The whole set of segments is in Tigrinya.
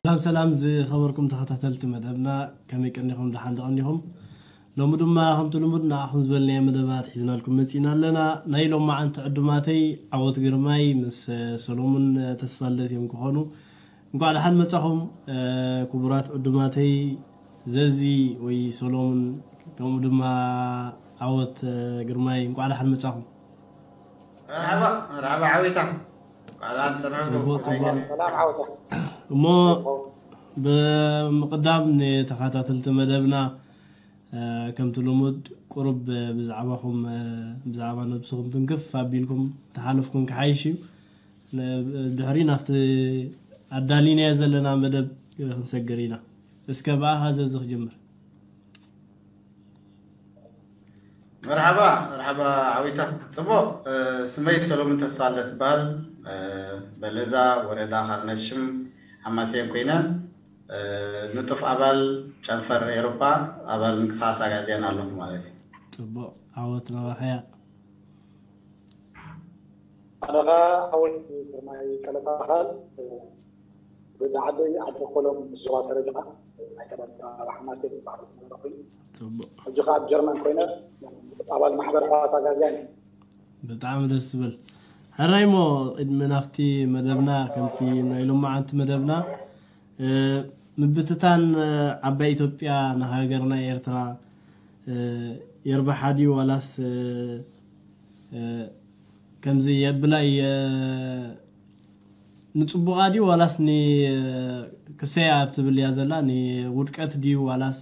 ሰላም ሰላም ዝኸበርኩም ተኸታተልቲ መደብና፣ ከመይ ቀኒኹም? ደሓን ዶ ቀኒኹም? ሎሚ ድማ ከምቲ ልሙድ ንዓኹም ዝበልናዮ መደባት ሒዝናልኩም መጺና ኣለና። ናይ ሎማዓንቲ ዕዱማተይ ዓወት ግርማይ ምስ ሰሎሙን ተስፋልደት እዮም ክኾኑ። እንኳዕ ደሓን መጻኹም ክቡራት ዕዱማተይ፣ ዘዚ ወይ ሰሎሙን፣ ከምኡ ድማ ዓወት ግርማይ፣ እንኳዕ ደሓን መጻኹም። መርሓባ መርሓባ ዓዊታ። ጽቡቕ ጽቡቕ። ሰላም ዓወታ። እሞ ብምቕዳም ንተኸታተልቲ መደብና ከምቲ ልሙድ ቁሩብ ብዛዕባኹም፣ ብዛዕባ ነብስኹም ትንክፍ ኣቢልኩም ተሓለፍኩም ክሓይሽ እዩ። ድሕሪ ናብቲ ኣዳሊናዮ ዘለና መደብ ክንሰግር ኢና። እስከ ብኣኻ ዘዚ ክጅምር። መርሓባ መርሓባ ዓዊታ። ጽቡቕ። ስመይ ሰሎምን ተስፋለ ትበሃል። በለዛ ወረዳ ካርነሽም ሓማሴን ኮይነ፣ ንጡፍ ኣባል ጨንፈር ኤሮፓ፣ ኣባል ምንቅስቃስ ኣጋዚያን ኣለኹ ማለት እዩ። ጽቡቕ። ዓወት ናባኸያ። ኣነኻ ሓወይ ግርማይ ቀለታ በሃል። ወዲ ዓደይ ዓዲ ኮሎም ምስ ዞባ ሰረጅኻ ናይ ቀደም ኣብ ሓማሴን ዝበሃል ኮይኑ፣ ሕጂ ከ ኣብ ጀርመን ኮይነ ኣባል ማሕበር ኣሕዋት ኣጋዝያን እየ። ብጣዕሚ ደስ ዝብል። ሕራይ እሞ ቅድሚ ናብቲ መደብና፣ ከምቲ ናይ ሎማዓንቲ መደብና ምብትታን ዓባይ ኢትዮጵያ ንሃገርና ኤርትራ የርብሓ ድዩ ዋላስ ከምዚ የብላ እየ ንጽቡቓ ድዩ ዋላስ ንክሰያ ኣብ ትብል እያ ዘላ? ንውድቀት ድዩ ዋላስ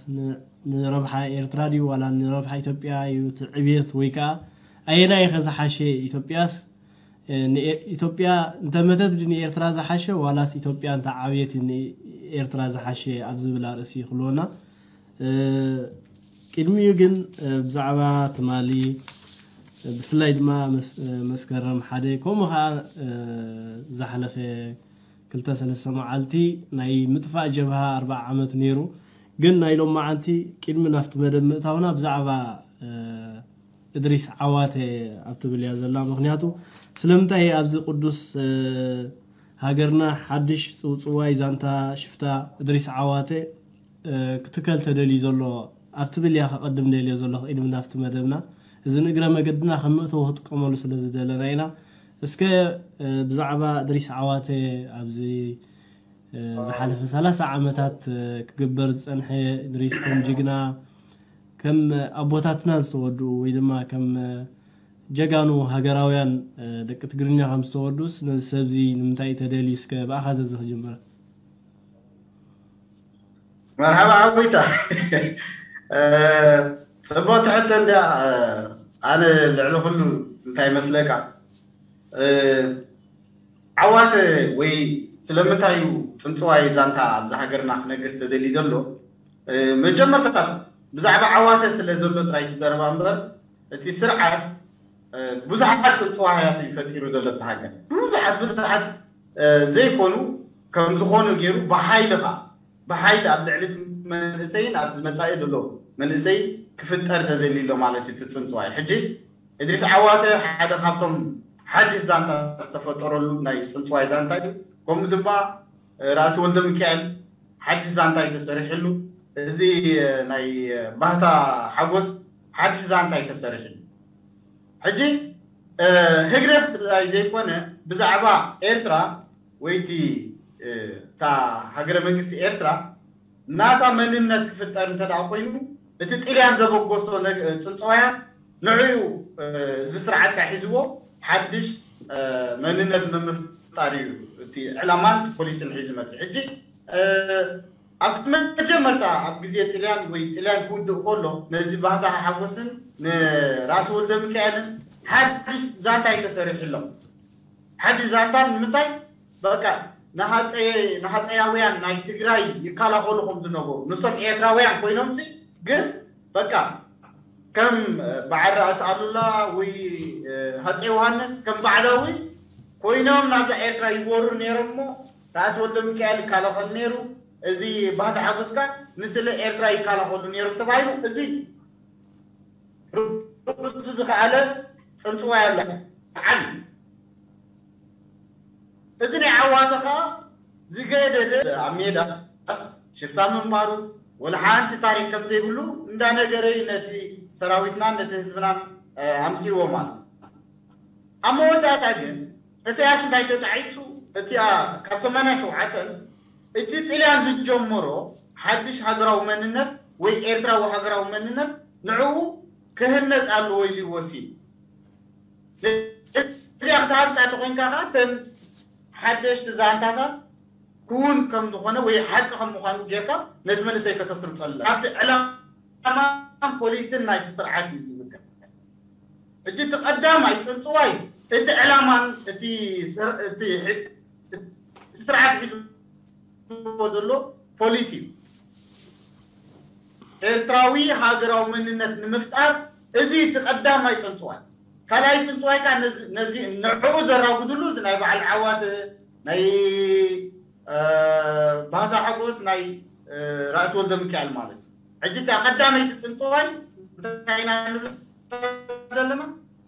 ንረብሓ ኤርትራ ድዩ ዋላ ንረብሓ ኢትዮጵያ እዩ እቲ ዕብየት? ወይ ከዓ ኣየናይ ኢኸ ዝሓሸ? ኢትዮጵያስ ኢትዮጵያ እንተመተት ድዩ ንኤርትራ ዝሓሸ ዋላስ ኢትዮጵያ እንተዓብየት ንኤርትራ ዝሓሸ ኣብ ዝብል ኣርእሲ ክልወና። ቅድሚኡ ግን ብዛዕባ ትማሊ ብፍላይ ድማ መስከረም ሓደ ከምኡ ከዓ ዝሓለፈ ክልተ ሰለስተ መዓልቲ ናይ ምጥፋእ ጀብሃ ኣርባዓ ዓመት ነይሩ። ግን ናይ ሎማዓንቲ ቅድሚ ናብቲ መደብ ምእታውና ብዛዕባ እድሪስ ዓዋተ ኣብ ትብል እያ ዘላ። ምክንያቱ ስለምንታይ ኣብዚ ቅዱስ ሃገርና ሓድሽ ጽውጽዋይ ዛንታ ሽፍታ እድሪስ ዓዋተ ክትከል ተደልዩ ዘሎ ኣብ ትብል እያ ከቐድም ደልዮ ዘለኹ ቅድሚ ናብቲ መደብና። እዚ ንእግረ መገድና ከም መእተዊ ክጥቀመሉ ስለ ዝደለና ኢና። እስከ ብዛዕባ እድሪስ ዓዋተ ኣብዚ ዝሓለፈ ሰላሳ ዓመታት ክግበር ዝጸንሐ እድሪስ ከም ጅግና ከም ኣቦታትና ዝተወድኡ ወይ ድማ ከም ጀጋኑ ሃገራውያን ደቂ ትግርኛ ከም ዝተወድኡስ ነዚ ሰብዚ ንምንታይ እዩ ተደልዩ? እስከ ብኣኻ ዘዚ ክጅምር። መርሓባ ዓዊታ። ጽቡቅ ትሕተ እንዲያ። ኣነ ልዕሊ ኩሉ እንታይ መስለካ ዓዋተ ወይ ስለምንታይ እዩ ጽንጽዋይ ዛንታ ኣብዚ ሃገርና ክነግስ ተደልዩ ዘሎ? መጀመርታ ብዛዕባ ዓዋተ ስለ ዘሎ ጥራይ ትዘረባ እምበር እቲ ስርዓት ብዙሓት ጽንጽዋያት እዩ ፈጢሩ ዘሎ እቲ ሃገር። ብዙሓት ብዙሓት ዘይኮኑ ከም ዝኾኑ ገይሩ ብሓይሊ ኸዓ ብሓይሊ ኣብ ልዕሊ መንእሰይን ኣብ ዝመጻኢ ዘሎ መንእሰይ ክፍጠር ተደልዩ ኣሎ ማለት እዩ እቲ ጽንጽዋይ። ሕጂ እድሪስ ዓዋተ ሓደ ካብቶም ሓድሽ ዛንታ ዝተፈጠረሉ ናይ ጽንጽዋይ ዛንታ እዩ። ከምኡ ድማ ራእሲ ወልደ ሚካኤል ሓድሽ ዛንታ እዩ ተሰሪሕሉ። እዚ ናይ ባህታ ሓጎስ ሓድሽ ዛንታ እዩ ተሰሪሕሉ። ሕጂ ህግደፍ ጥራይ ዘይኮነ ብዛዕባ ኤርትራ ወይ እቲ እታ ሃገረ መንግስቲ ኤርትራ ናታ መንነት ክፍጠር እንተ ደኣ ኮይኑ እቲ ጥልያን ዘበገሶ ጽንጽዋያት ንዕኡ እዚ ስርዓት ካብ ሒዝዎ ሓድሽ መንነት ንምፍጣር እዩ እቲ ዕላማን ፖሊስን ሒዙ መፅእ። ሕጂ ኣብ መጀመርታ ኣብ ግዜ ጥልያን ወይ ጥልያን ክውድእ ከሎ ነዚ ባህታ ሓጎስን ንራስ ወልደ ሚካኤልን ሓድሽ ዛንታ እዩ ተሰሪሕሎም። ሓድሽ ዛንታ ንምንታይ በቃ ንሃፀያውያን ናይ ትግራይ ይከላኸሉ ከም ዝነበሩ ንሶም ኤርትራውያን ኮይኖም ሲ ግን በቃ ከም በዓል ራእሲ ኣሉላ ወይ ሃፀ ዮሃንስ ከም ባዕዳዊ ኮይኖም ናብዛ ኤርትራ ይወሩ ነይሮም እሞ ራእሲ ወልደ ሚካኤል ይከላኸል ነይሩ። እዚ ባህታ ሓጎስካ ንስለ ኤርትራ ይከላኸሉ ነይሮም ተባሂሉ እዚ ርእሱ ዝኸኣለ ፅንፅዋይ ኣሎ ዓብዪ እዚ ናይ ዓዋተ ከዓ ዝገደደ ኣብ ሜዳ ሽፍታ ምንባሩ ወላ ሓንቲ ታሪክ ከም ዘይብሉ እንዳነገረ እዩ ነቲ ሰራዊትናን ነቲ ህዝብናን ኣምፅዎ ማለት። ኣብ መወዳእታ ግን እሰያስ እንታይ ተጣዒሱ? እቲኣ ካብ ሰማንያ ሸውዓተን እቲ ጥልያን ዝጀመሮ ሓድሽ ሃገራዊ መንነት ወይ ኤርትራዊ ሃገራዊ መንነት ንዕኡ ክህነፅ ኣለዎ ኢሉ ይወሲን። እዚኣ ክትሃንፃ ተኮይንካ ከዓ እተን ሓደሽቲ ዛንታታት ክውን ከም ዝኾነ ወይ ሓቂ ከም ምዃኑ ጌርካ ነቲ መንእሰይ ከተስርፀላ ኣብቲ ዕላማን ፖሊስን ናይቲ ስርዓት እዩ ዝብገስ። ሕጂ እቲ ቀዳማይ ፅንፅዋይ እቲ ዕላማን እቲ ስር- እቲ ሕ- እቲ ስርዓት ሒዝዎ ዘሎ ፖሊሲ እዩ። ኤርትራዊ ሃገራዊ መንነት ንምፍጣር እዚ እቲ ቀዳማይ ፅንፅዋይ። ካልኣይ ፅንፅዋይ ከዓ ነዚ- ነዚ ንዕኡ ዘራጉድሉ እዚ ናይ በዓል ዓዋተ ናይ እ፣ ባህታ ሓጎስ ናይ እ፣ ራእሲ ወልደ ሚካኤል ማለት እዩ። ሕጂ እታ ቀዳመይቲ ፅንፅዋይ እንታይ ኢና ንብል ዘለና?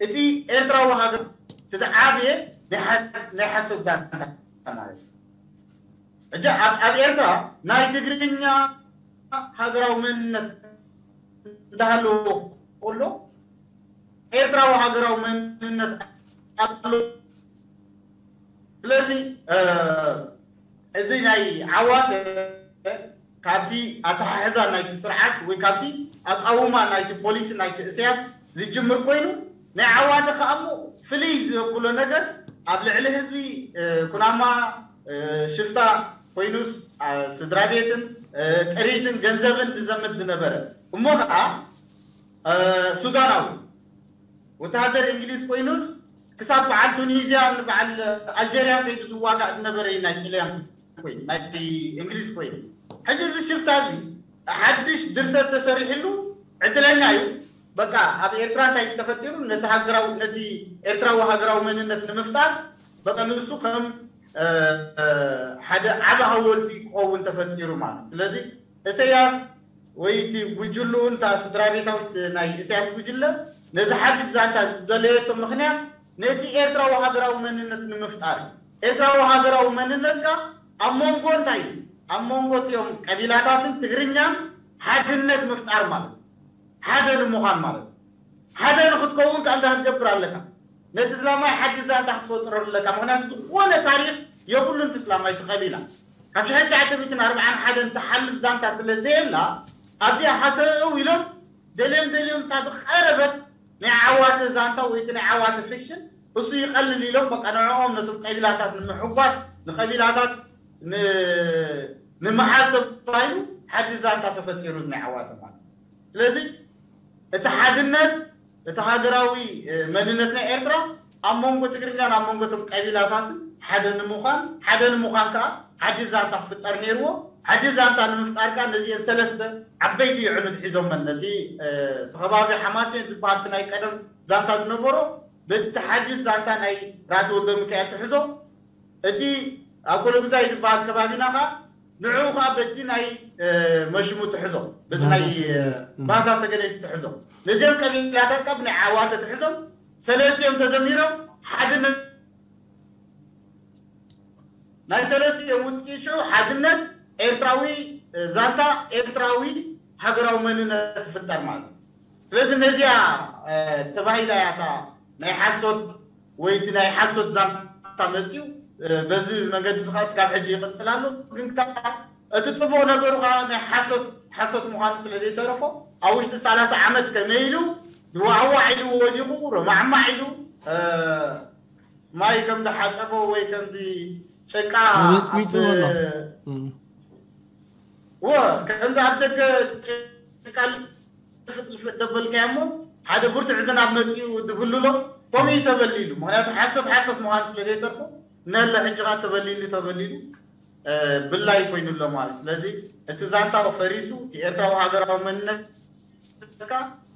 እቲ ኤርትራዊ ሃገር እቲ ዝዓበየ ናይ ሓ- ናይ ሓሶት ዛንታ ማለት እዩ። ሕጂ ኣብ ኣብ ኤርትራ ናይ ትግርኛ ሃገራዊ መንነት እንዳሃለዎ ከሎ ኤርትራዊ ሃገራዊ መንነት ኣሎ። ስለዚ እዚ ናይ ዓዋተ ካብቲ ኣተሓሕዛ ናይቲ ስርዓት ወይ ካብቲ ኣቃውማ ናይቲ ፖሊሲ ናይቲ እስያስ ዝጅምር ኮይኑ ናይ ዓዋተ ከኣሞ ፍልይ ዘብሎ ነገር ኣብ ልዕሊ ህዝቢ ኩናማ ሽፍታ ኮይኑስ ስድራ ቤትን ጥሪትን ገንዘብን ዝዘምት ዝነበረ እሞ ከዓ ሱዳናዊ ወተሃደር እንግሊዝ ኮይኑ ክሳብ በዓል ቱኒዝያን በዓል ኣልጀርያን ከይዱ ዝዋጋእ ዝነበረ እዩ ናይ ጥልያን ኮይኑ ናይ እንግሊዝ ኮይኑ ሕጂ እዚ ሽፍታ እዚ ሓድሽ ድርሰት ተሰሪሕሉ ዕድለኛ እዩ። በቃ ኣብ ኤርትራ እንታይ ተፈጢሩ ነቲ ሃገራዊ ነቲ ኤርትራዊ ሃገራዊ መንነት ንምፍጣር በቃ ንሱ ከም ሓደ ዓቢ ሃወልቲ ክኸውን ተፈጢሩ ማለት ስለዚ እሰያስ ወይ እቲ ጉጅልኡ እንታ ስድራ ቤታዊት ናይ ኢሳያስ ጉጅለ ነዚ ሓድሽ ዛንታ ዝደለየቶ ምክንያት ነቲ ኤርትራዊ ሃገራዊ መንነት ንምፍጣር እዩ። ኤርትራዊ ሃገራዊ መንነትካ ኣብ መንጎ እንታይ እዩ? ኣብ መንጎ እቲኦም ቀቢላታትን ትግርኛን ሓድነት ምፍጣር ማለት ሓደ ንምዃን ማለት ሓደ ንክትከውን ከኣ እንታይ ክትገብር ኣለካ? ነቲ ስላማይ ሓድሽ ዛንታ ክትፈጥረሉ ኣለካ። ምክንያቱ ዝኾነ ታሪክ የብሉን እቲ ስላማይ እቲ ቀቢላ ካብ ሽሕን ትሽዓተ ሚእትን ኣርባዓን ሓደን ትሓልፍ ዛንታ ስለ ዘየላ ኣብዚኣ ሃሰው ኢሎም ደልዮም ደልዮም እታ ዝቐረበት ናይ ዓዋተ ዛንታ ወይ እቲ ናይ ዓዋተ ፊክሽን እሱ ይቐልል ኢሎም በቃ ንዕኦም ነቶም ቀቢላታት ንምሕጓስ ንቀቢላታት ንምሓዝ ተባሂሉ ሓድሽ ዛንታ ተፈጢሩ እዚ ናይ ዓዋተ ማለት ስለዚ እቲ ሓድነት እቲ ሃገራዊ መንነት ናይ ኤርትራ ኣብ መንጎ ትግርኛን ኣብ መንጎ እቶም ቀቢላታትን ሓደ ንምዃን ሓደ ንምዃን ከዓ ሓድሽ ዛንታ ክፍጠር ነይርዎ። ሓድሽ ዛንታ ንምፍጣር ከዓ ነዚአን ሰለስተ ዓበይቲ ይዕኑድ ሒዞመን ነቲ እቲ ከባቢ ሓማሴን ዝበሃል እቲ ናይ ቀደም ዛንታ ዝነበሮ በቲ ሓድሽ ዛንታ ናይ ራእሲ ወልደ ሚካኤል ትሕዞ እቲ ኣብ ኮለጉዛይ ዝበሃል ከባቢና ከዓ ንዕኡ ከዓ በቲ ናይ መሽሙ ትሕዞ በቲ ናይ ባህታ ሰገነይቲ ትሕዞ ነዚኦም ቀቢላታት ካብ ናይ ዓዋተ ትሕዞም ሰለስቲኦም ተደሚሮም ሓድነት ናይ ሰለስቲኦም ውፅኢት ሽዑ ሓድነት ኤርትራዊ ዛንታ ኤርትራዊ ሃገራዊ መንነት ትፍጠር ማለት እዩ። ስለዚ ነዚኣ ተባሂላ እያ እታ ናይ ሓሶት ወይ እቲ ናይ ሓሶት ዛንታ መፅዩ በዚ መንገዲ ዝኸስ ካብ ሕጂ ይቕፅል ኣሎ። ግን ከዓ እቲ ፅቡቕ ነገሩ ከዓ ናይ ሓሶት ሓሶት ምዃኑ ስለ ዘይተረፎ ኣብ ውሽጢ ሰላሳ ዓመት ከመይ ኢሉ ድዋዕዋዕ ኢሉ ወዲቑ ረማዕማዕ ኢሉ ማይ ከም ዝሓፀቦ ወይ ከምዚ ጭቃ ሚፅሚፅዎ ኣሎ። ወ ከምዚ ኣብ ደገ ጭቃ ልፍጥልፍጥ ደበልካዮ እሞ ሓደ ብርቱዕ ዝናብ መፂኡ ድብልሎ ከምኡ እዩ ተበሊሉ። ምክንያቱ ሓሶት ሓሶት ምዃኑ ስለ ዘይተርፎ ነለ ሕጂ ከዓ ተበሊሉ ተበሊሉ ብላይ ኮይኑ ኣሎ ማለት ስለዚ እቲ ዛንታው ፈሪሱ እቲ ኤርትራዊ ሃገራዊ መንነት ካ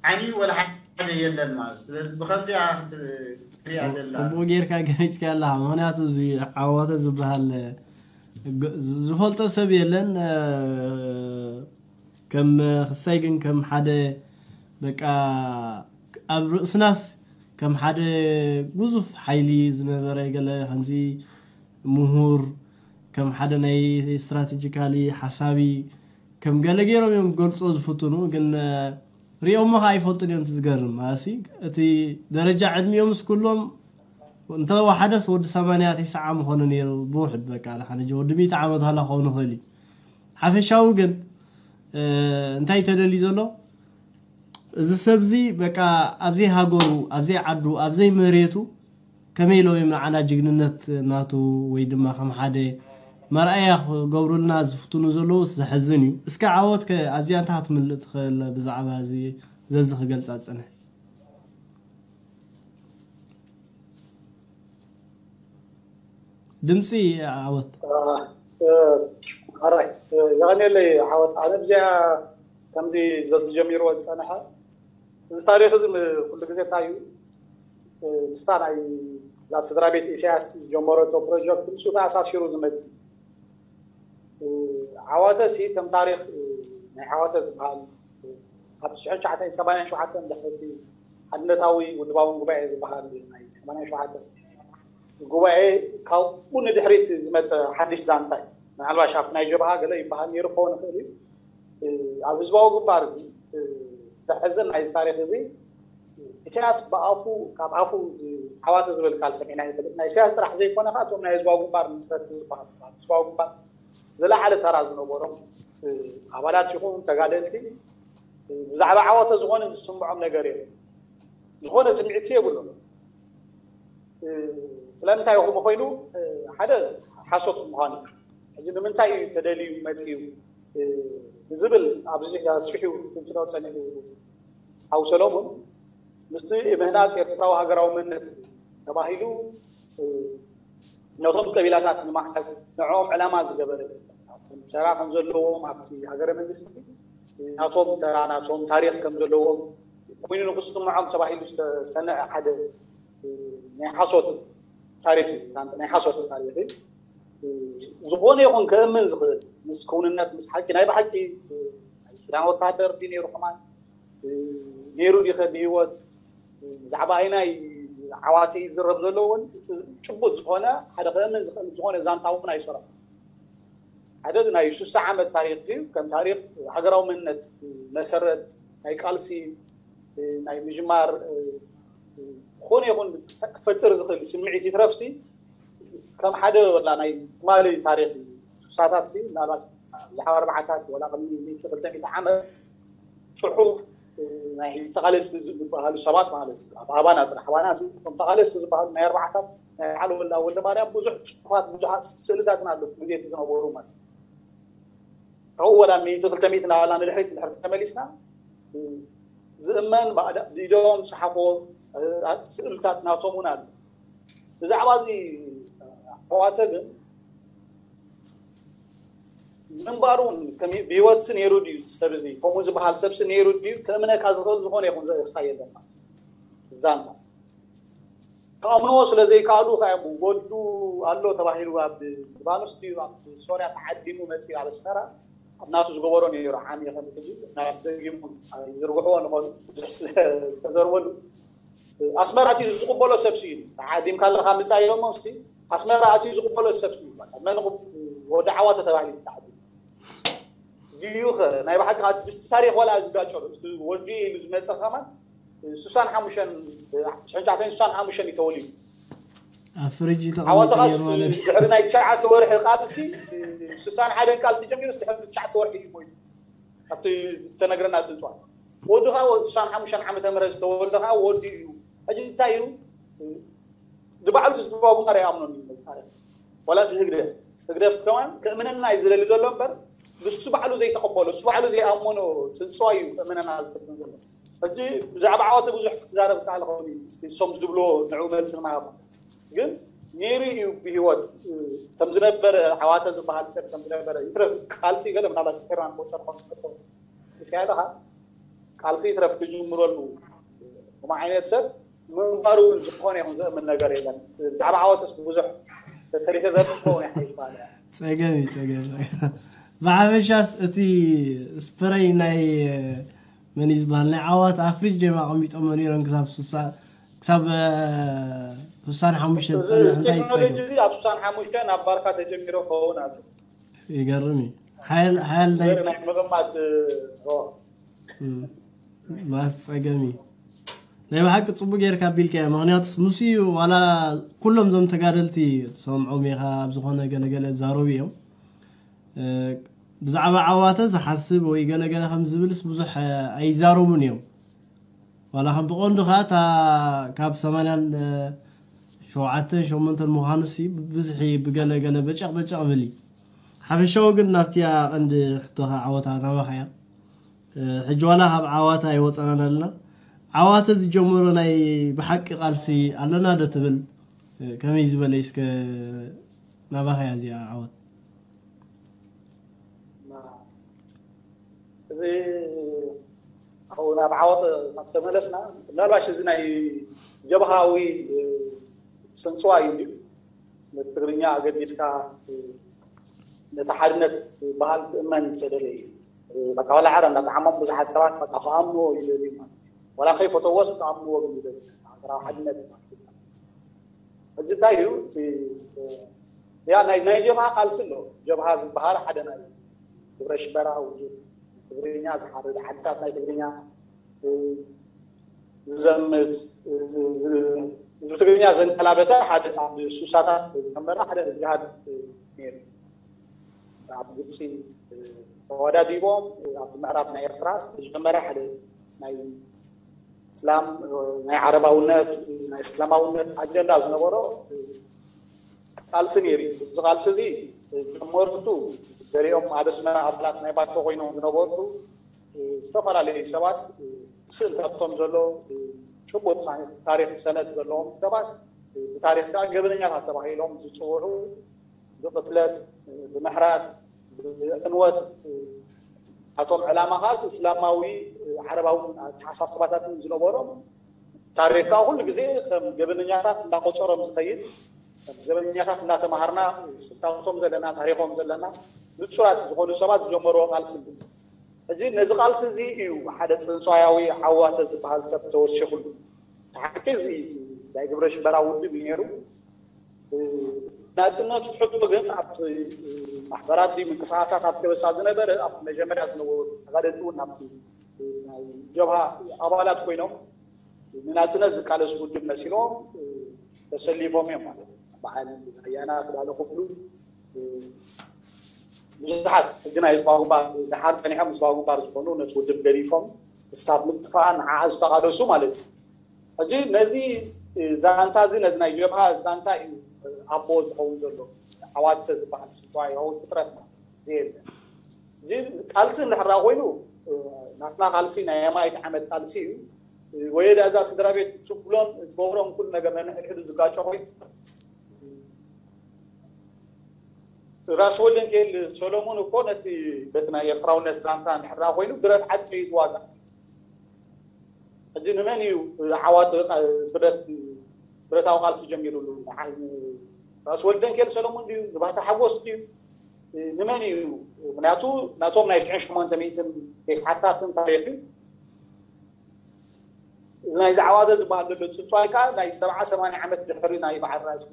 ዓይኒ ወላ ሓደ የለን ማለት ስለዚ ብከምዚኣ ክትሪኣ ዘላ ፅቡቅ ጌርካ ገሊፅካ ኣለካ። ምክንያቱ እዚ ዓዋተ ዝበሃል ዝፈልጦ ሰብ የለን። ከም ክሳይ ግን ከም ሓደ በቃ ኣብ ርእስናስ ከም ሓደ ጉዙፍ ሓይሊ ዝነበረ ገለ ከምዚ ምሁር ከም ሓደ ናይ ስትራቴጂካሊ ሓሳቢ ከም ገለ ገይሮም እዮም ክገልጾ ዝፍትኑ። ግን ሪኦሞ ከዓ ኣይፈልጡን እዮም። እቲ ዝገርም ኣሲ እቲ ደረጃ ዕድሚኦም ምስ ኩሎም እንተወሓደስ ወዲ ሰማንያ ተስዓ ምኾነ ነይሩ። ብውሕድ በቃ ደሓን ሕጂ ወዲ ሚእቲ ዓመት ሃላ ክኸውን ይኽእል እዩ። ሓፈሻዊ ግን እንታይ ተደልዩ ዘሎ? እዚ ሰብዚ በቃ ኣብዘይ ሃገሩ፣ ኣብዘይ ዓዱ፣ ኣብዘይ መሬቱ ከመይ ኢሎም እዮም ንዓና ጅግንነት ናቱ ወይ ድማ ከም ሓደ መርኣያ ክገብሩልና ዝፍትኑ ዘለዉ? ዘሕዝን እዩ። እስከ ዓወት ከ ኣብዚኣ እንታይ ክትምልእ ትኽእል ብዛዕባ እዚ ዘዚ ክገልጻ ዝጸንሐ? ድምፂ ዓወት። ኣራይ የቐኔለይ ዓወት። ኣነ ብዚኣ ከምዚ ዘዝጀሚርዎ ዝፀንሐ እዚ ታሪክ እዚ ኩሉ ግዜ እንታይ እዩ ምስታ ናይ ስድራ ቤት ኢሳያስ ዝጀመረቶ ፕሮጀክት ምስ ተኣሳሲሩ ዝመፅእ። ዓዋተ ሲ ከም ታሪክ ናይ ዓዋተ ዝበሃል ኣብ ሽሕን ትሽዓተ ሰማንያን ሸውዓተን ድሕርቲ ሓድነታዊ ውድባውን ጉባኤ ዝበሃል ናይ ሰማንያን ሸውዓተ ጉባኤ ካብኡ ንድሕሪት ዝመፀ ሓድሽ ዛንታ እዩ። ምናልባሽ ኣብቲ ናይ ጀብሃ ገለ ይበሃል ነይሩ ክኸውን ይኽእል እዩ። ኣብ ህዝባዊ ግንባር ግን ዘሕዝን ናይዚ ታሪክ እዚ ኢሳያስ ብኣፉ ካብ ኣፉ ዓዋተ ዝብል ቃል ሰሚዕና ይፈልጥ። ናይ ኢሳያስ ጥራሕ ዘይኮነ ከዓ እቶም ናይ ህዝባዊ ግንባር መስረቲ ዝበሃሉ ህዝባዊ ግንባር ዝለዓለ ተራ ዝነበሮም ኣባላት ይኹን ተጋደልቲ ብዛዕባ ዓወተ ዝኾነ ዝስምዖም ነገር የለን። ዝኾነ ስምዒት የብሉን። ስለምንታይ ከምኡ ኮይኑ ሓደ ሓሶት ምዃኑ ሕጂ ንምንታይ እዩ ተደልዩ መፅዩ ዝብል ኣብዚ ኣስፊሑ ትንትኖ ፀኒሑ ሓው ሰሎሙን ምስቲ ምህናፅ ኤርትራዊ ሃገራዊ መንነት ተባሂሉ ነቶም ቀቢላታት ንምሓዝ ንዕኦም ዕላማ ዝገበረ ተራ ከም ዘለዎም ኣብቲ ሃገረ መንግስቲ ናቶም ተራ ናቶም ታሪክ ከም ዘለዎም ኮይኑ ንክስምዖም ተባሂሉ ዝተሰነዐ ሓደ ናይ ሓሶት ታሪክ እዩ። ናይ ሓሶት ታሪክ እዩ። ዝኾነ ይኹን ክእምን ዝኽእል ምስ ክውንነት ምስ ሓቂ ናይ ብሓቂ ናይ ሱዳን ወታደር ድዩ ነይሩ ከማን ነይሩ ዲኸ ብህይወት ብዛዕባ ኣይናይ ዓዋተ እዩ ዝረብ ዘሎ እውን ጭቡጥ ዝኾነ ሓደ ክእምን ዝኽእል ዝኾነ ዛንታ እውን ኣይሰረኹ። ሓደ ናይ ሱሳ ዓመት ታሪክ እዩ። ከም ታሪክ ሃገራዊ መንነት መሰረት ናይ ቃልሲ ናይ ምጅማር ዝኾነ ይኹን ክፈጥር ዝኽእል ስምዒት ይትረፍሲ ከም ሓደ ወላ ናይ ትማሊ ታሪክ ሱሳታት ምናልባት ብዛዕባ ኣርባዓታት ወላ ቅድሚ ሚእቲ ክልተ ሚእቲ ዓመት ፅሑፍ ናይ ተቓለስቲ ዝበሃሉ ሰባት ማለት እዩ። ኣብ ኣባና ጥራሕ ኣባና እቶም ተቓለስቲ ዝበሃሉ ናይ ኣርባዓታት ናይ በዓል ወላ ወልደ ማርያም ብዙሕ ፅሑፋት ብዙሓት ስእልታትን ኣሎ ግዜቲ ዝነበሩ ማለት እዩ። ካብኡ ወላ ሚእቲ ክልተ ሚእቲ እናበልና ንድሕሪት ንድሕሪ ተመሊስና ዝእመን ብኢዶም ዝፀሓፎ ስእልታት ናቶም እውን ኣሎ። ብዛዕባ እዚ ኣሕዋተ ግን ምንባሩ እውን ብህይወትሲ ነይሩ ድዩ ሰብ እዚ ከምኡ ዝበሃል ሰብሲ ነይሩ ድዩ ከእምነካ ዝኽእል ዝኾነ ይኹን ዘእሳ የለና ዛንታ ክኣምንዎ ስለ ዘይከኣሉ ከ ወዱ ኣሎ ተባሂሉ ኣብ ሊባኖስ ድዩ ኣብ ሶርያ ተዓዲሙ መፅኡ ኣብ ኣስመራ ኣብ ናቱ ዝገበሮ ነይሩ ዓሚ ከም ሕጂ ናቱ ደጊሙ ይዝርግሕዎ ንኾኑ ብዙሕ ዝተዘርበሉ ኣስመራ እቲ ዝቕበሎ ሰብ ስዩ ተዓዲምካ ኣለካ ምፃእ ኢሎሞ ስ ኣስመራ እቲ ዝቕበሎ ሰብ ስዩ መን ወዲ ዓዋተ ተባሂሉ ተዓዲሙ ድዩ ኸ ናይ ብሓቂ ምስ ታሪክ ወላ ዝጋጨሉ ወዲ ኢሉ ዝመፀ ከማን ስሳን ሓሙሽተን ሽሕን ትሽዓተን ስሳን ሓሙሽተን እዩ ተወሊዱ ኣብ ፍርጅ ዓዋተ ተቐሚጡ ኻስ ነይሩ ማለት እዩ። ድሕሪ ናይ ትሽዓተ ወርሒ ቃልሲ ስሳን ሓደን ቃልሲ ጀሚሩ ድሕሪ ትሽዓተ ወርሒ እዩ ሞይቱ ኣብቲ ዝተነግረና ፅንፅዋን ወዲ ከዓ ስሳን ሓሙሽተን ዓመተ ምህረት ዝተወልደ ከዓ ወዲ እዩ ሕጂ እንታይ እዩ ንባዕሉ ዝዝባቡ ጋር ኣይኣምኖን እዩ መፃርያ ዋላ እቲ ህግደፍ ህግደፍ ከማን ክእምነና እዩ ዝደሊ ዘሎ እምበር ንሱ ባዕሉ ዘይተቐበሎ እሱ ባዕሉ ዘይኣመኖ ፅንፅዋ እዩ ክእምነና ዝፍትን ዘሎ ሕጂ ብዛዕባ ዓወተ ብዙሕ ክትዛረብ ከኣለ ከውን እሶም ዝብሎ ንዑ መልሲ ንምሃብ ግን ነይሩ እዩ ብሂወት ከም ዝነበረ ዓዋተ ዝበሃል ሰብ ከም ዝነበረ ይትረፍ ቃልሲ ገለ ምናልባት ስሒርና ንቆፀር ከውን ትፈልጦ እስያ ኢለካ ቃልሲ ይትረፍ ክጅምረሉ ከም ዓይነት ሰብ ምንባሩ እውን ዝኾነ ይኹን ዘእምን ነገር የለን ብዛዕባ ዓወተስ ብዙሕ ተተሪፈ ዘርፍ ከውን ይሓይባለ ፀገም እዩ ፀገም ብሓፈሻስ እቲ ስፕረይ ናይ መን እዩ ዝበሃል ናይ ዓዋት ኣፍሪጅ ደማ ኣቐሚጦሞ ነይሮም ክሳብ ስሳ ክሳብ ስሳን ሓሙሽተ ዝፀንሕ እንታይ ይፀገም? ኣብ ስሳን ሓሙሽተ ናብ ባርካ ተጀሚሮ ክኸውን ኣሎ። ይገርም እዩ። ሓያል ናይ ናይ ምቕማጥ ማስ ፀገም እዩ። ናይ ብሓቂ ፅቡቅ ጌርካ ኣቢልካ። ምክንያቱስ ምስ እዩ ዋላ ኩሎም እዞም ተጋደልቲ ሰምዖም ኢኻ ኣብ ዝኾነ ገለገለ ዛረቡ እዮም። ብዛዕባ ዓዋተ ዝሓስብ ወይ ገለገለ ከም ዝብልስ ብዙሕ ኣይዛረቡን እዮም። ዋላ ከም ብቐንዱ ከዓ እታ ካብ ሰማንያን ሸውዓተን ሸሞንተን ምዃኑሲ ብብዝሒ ብገለገለ በጨቕ በጨቕ ብል እዩ። ሓፈሻዊ ግን ናብቲ ቀንዲ ሕቶኻ ዓወታ ናባኻ እያ። ሕጂ ዋላ ካብ ዓዋተ ኣይወፀናን ኣለና። ዓዋተ ዝጀመሮ ናይ ብሓቂ ቃልሲ ኣለና ዶ ትብል? ከመይ ዝበለ እስከ ናባኻ እያ እዚኣ ዓወት? እዚ ኣብኡ ናብ ዓወት ተመለስና፣ ምናልባሽ እዚ ናይ ጀብሃዊ ስንፅዋ እዩ። ነቲ ትግርኛ ኣገዲድካ ነቲ ሓድነት በሃል ክእመን ዝደለ እዩ። በቃ ዋላ ዓረ እንዳተዓሞም ብዙሓት ሰባት በቃ ክኣምንዎ ይደልዩ ማለት እዩ። ዋላ ከይፈተዎስ ክኣምንዎ ግን ይደልዩ። ሃገራዊ ሓድነት ማለት እዩ። ሕጂ እንታይ እዩ እቲ ያ ናይ ናይ ጀብሃ ቃልሲ ኣሎ። ጀብሃ ዝበሃል ሓደ ናይ ግብረ ሽበራ ውድብ ትግርኛ ዝሓርድ ዓድታት ናይ ትግርኛ ዝዘምት ህዝቢ ትግርኛ ዘንቀላበተ ሓደ ኣብ ሱሳታት ዝነበረ ሓደ ጅሃድ ነይሩ። ኣብ ግብፂ ተወዳዲቦም ኣብ ምዕራብ ናይ ኤርትራ ዝተጀመረ ሓደ ናይ እስላም ናይ ዓረባውነት ናይ እስላማውነት ኣጀንዳ ዝነበሮ ቃልሲ ነይሩ። እዚ ቃልሲ እዚ ጀመርቱ ገሊኦም ኣብ ኣስመራ ኣባላት ናይ ባይቶ ኮይኖም ዝነበሩ ዝተፈላለዩ ሰባት ስእልታቶም ዘሎ ጭቡጥ ታሪክ ሰነድ ዘለዎም ሰባት ብታሪክ ከዓ ገበነኛታት ተባሂሎም ዝፅውዑ ብቅትለት፣ ብምሕራድ፣ ብዕንወት ኣቶም ዕላማ ከዓ እስላማዊ ዓረባዊ ኣተሓሳስባታትን ዝነበሮም ታሪክ ከዓ ኩሉ ግዜ ከም ገበነኛታት እንዳቆፀሮም ዝኸይድ ከም ገበነኛታት እንዳተማሃርና ስልታቶም ዘለና ታሪኮም ዘለና ንፁራት ዝኾኑ ሰባት ዝጀመርዎ ቃልሲ እዩ። ሕጂ ነዚ ቃልሲ እዚ እዩ ሓደ ፅንፃያዊ ዓዋተ ዝበሃል ሰብ ተወሲኹሉ። ሓቂ እዚ ናይ ግብረ ሽበራ ውድብ እዩ ነይሩ። ናፅነት ትሕቶ ግን ኣብቲ ማሕበራት ድዩ ምንቅስቃሳት ኣብ ከበሳ ዝነበረ ኣብ መጀመርያ ዝነበሩ ተጋደልቲ እውን ኣብቲ ናይ ጀብሃ ኣባላት ኮይኖም ንናፅነት ዝቃለሱ ውድብ መሲሎም ተሰሊፎም እዮም ማለት እዩ። በዓል ኣያና ክዳለ ክፍሉ ብዙሓት ሕጂ ናይ ህዝባዊ ግንባር ድሓር ፀኒሖም ህዝባዊ ግንባር ዝኾኑ ነቲ ውድብ ገዲፎም ክሳብ ምጥፋእ ንዓኣ ዝተቃለሱ ማለት እዩ። ሕጂ ነዚ ዛንታ እዚ ነዚ ናይ ጀብሃ ዛንታ እዩ ኣቦ ዝኸውን ዘሎ። ዓዋተ ዝበሃል ስንትዋይ ፍጥረት ማለት እዩ። እዚ ቃልሲ እንድሕር ኮይኑ ናትና ቃልሲ ናይ ኣማኢት ዓመት ቃልሲ እዩ። ወየዳ እዛ ስድራ ቤት ትብሎን ትገብሮን ኩሉ ነገር ነንሕድሕዱ ዝጋጮ ኮይኑ ራስ ወልደንኬል ሰሎሙን እኮ ነቲ በቲ ናይ ኤርትራውነት ዛንታ እንድሕር ኮይኑ ብረት ዓጥቂ እዩ ዝዋጋእ። ሕጂ ንመን እዩ ዓዋት ብረት ብረታዊ ቃልሲ ጀሚሩሉ? ራስ ወልደንኬል ሰሎሙን ድዩ? ንባህታ ሓጎስ ድዩ? ንመን እዩ? ምክንያቱ ናቶም ናይ ሽሕን ሸሞንተ ሚእትን ቤት ሓታትን ታሪክ እዩ። እዚ ናይ ዛዕባ ዝበሃል ዘሎ ፅንፅዋይ ከዓ ናይ ሰብዓ ሰማንያ ዓመት ድሕሪ ናይ በዓል ራስ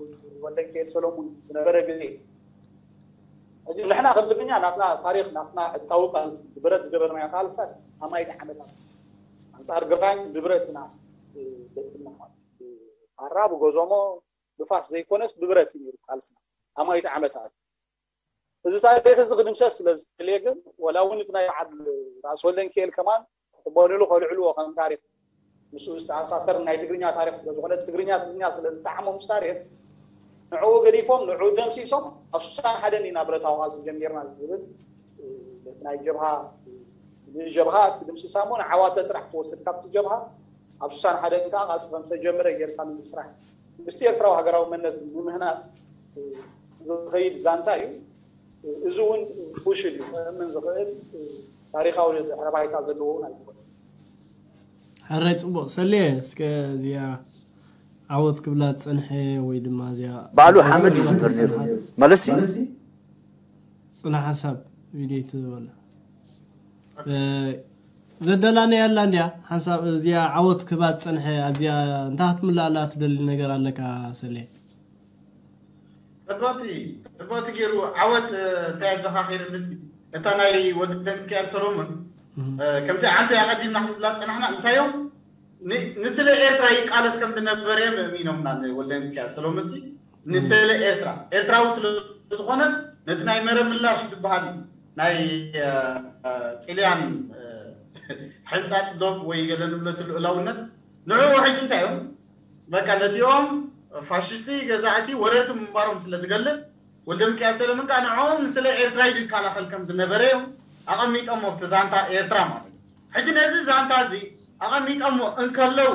ወልደንኬል ሰሎሙን ዝነበረ ግዜ። ሕጂ ንሕና ከም ትግርኛ ናትና ታሪክ ናትና ዕጥቃዊ ቃልሲ ብብረት ዝገበርናዮ ቃልሳት ኣማይት ዓመታት ኣንፃር ግራኝ ብብረት ኢና ገጥምና ማለት እዩ። ኣራ ብጎዞሞ ብፋስ ዘይኮነስ ብብረት እዩ ነይሩ ቃልስና ኣማይት ዓመታት። እዚ ታሪክ እዚ ክድምሰስ ስለ ዝደልየ ግን ወላ እውን እቲ ናይ በዓል ራስ ወልደንኪኤል ከማን ክቕበልሉ ከልዕልዎ ከም ታሪክ ምስኡ ዝተኣሳሰር ናይ ትግርኛ ታሪክ ስለ ዝኾነ ትግርኛ ትግርኛ ስለ ዝጠዓሞም ምስ ታሪክ ንዕኡ ገዲፎም ንዕኡ ደምሲሶም ኣብ ስሳን ሓደን ኢና ብረታዊ ቃልሲ ጀሚርና ዝብል ናይ ጀብሃ ንጀብሃ እቲ ድምስሳ እሞ ንዓዋተ ጥራሕ ትወስድ ካብቲ ጀብሃ ኣብ ስሳን ሓደን ከዓ ቃልሲ ከም ዝተጀመረ ጌርካ ንምስራሕ ምስቲ ኤርትራዊ ሃገራዊ መንነት ንምህናፅ ዝኸይድ ዛንታ እዩ። እዚ እውን ቁሽል እዩ ክእምን ዝኽእል ታሪካዊ ድሕረ ባይታ ዘለዎ እውን ኣይኮነን። ሕራይ ፅቡቅ ሰልየ እስከ እዚኣ ዓወት ክብላ ዝፀንሐ ወይ ድማ እዚኣ ባዕሉ ሓመድ እዩ ዝንበር ነይሩ ማለት እዩ። ፅና ሓሳብ ቪድዮ ትበለ ዘደላናያ ኣላ እንድያ ሓንሳብ እዚኣ ዓወት ክህባ ዝጸንሐ ኣብዚኣ እንታይ ክትምላኣላ ትደሊ ነገር ኣለካ ሰሌ? ጽብቕቲ ጽብቕቲ ገይሩ ዓወት እንታይ ኣዘኻኺርንስ እታ ናይ ወልደ ሚካኤል ሰሎሞን ከምቲ ዓንቶ ኣቐዲምና ክንብላ ዝጸናሕና እንታዮም ንስለ ኤርትራ ይቃለስ ከም ዝነበረ እዮም እሚኖምና ንወልደ ሚካኤል ሰሎሞን ሲ ንስለ ኤርትራ ኤርትራዊ ስለ ዝኾነስ ነቲ ናይ መረብ ምላሽ ዝበሃል ናይ ጥልያን ሕንጻጽ ዶብ ወይ ገለ ንብለቱ ልኡላውነት ንዕኡ ሕጂ እንታይ እዮም በቃ ነዚኦም ፋሽስቲ ገዛእቲ ወረርቲ ምንባሮም ስለ ዝገልጽ ወልደ ሚካኤል ሰለሙን ከዓ ንዕኦም ንስለ ኤርትራ ኢሉ ይከላኸል ከም ዝነበረ እዮም ኣቐሚጦሞ ኣብቲ ዛንታ ኤርትራ ማለት እዩ። ሕጂ ነዚ ዛንታ እዚ ኣቐሚጦሞ እንከለዉ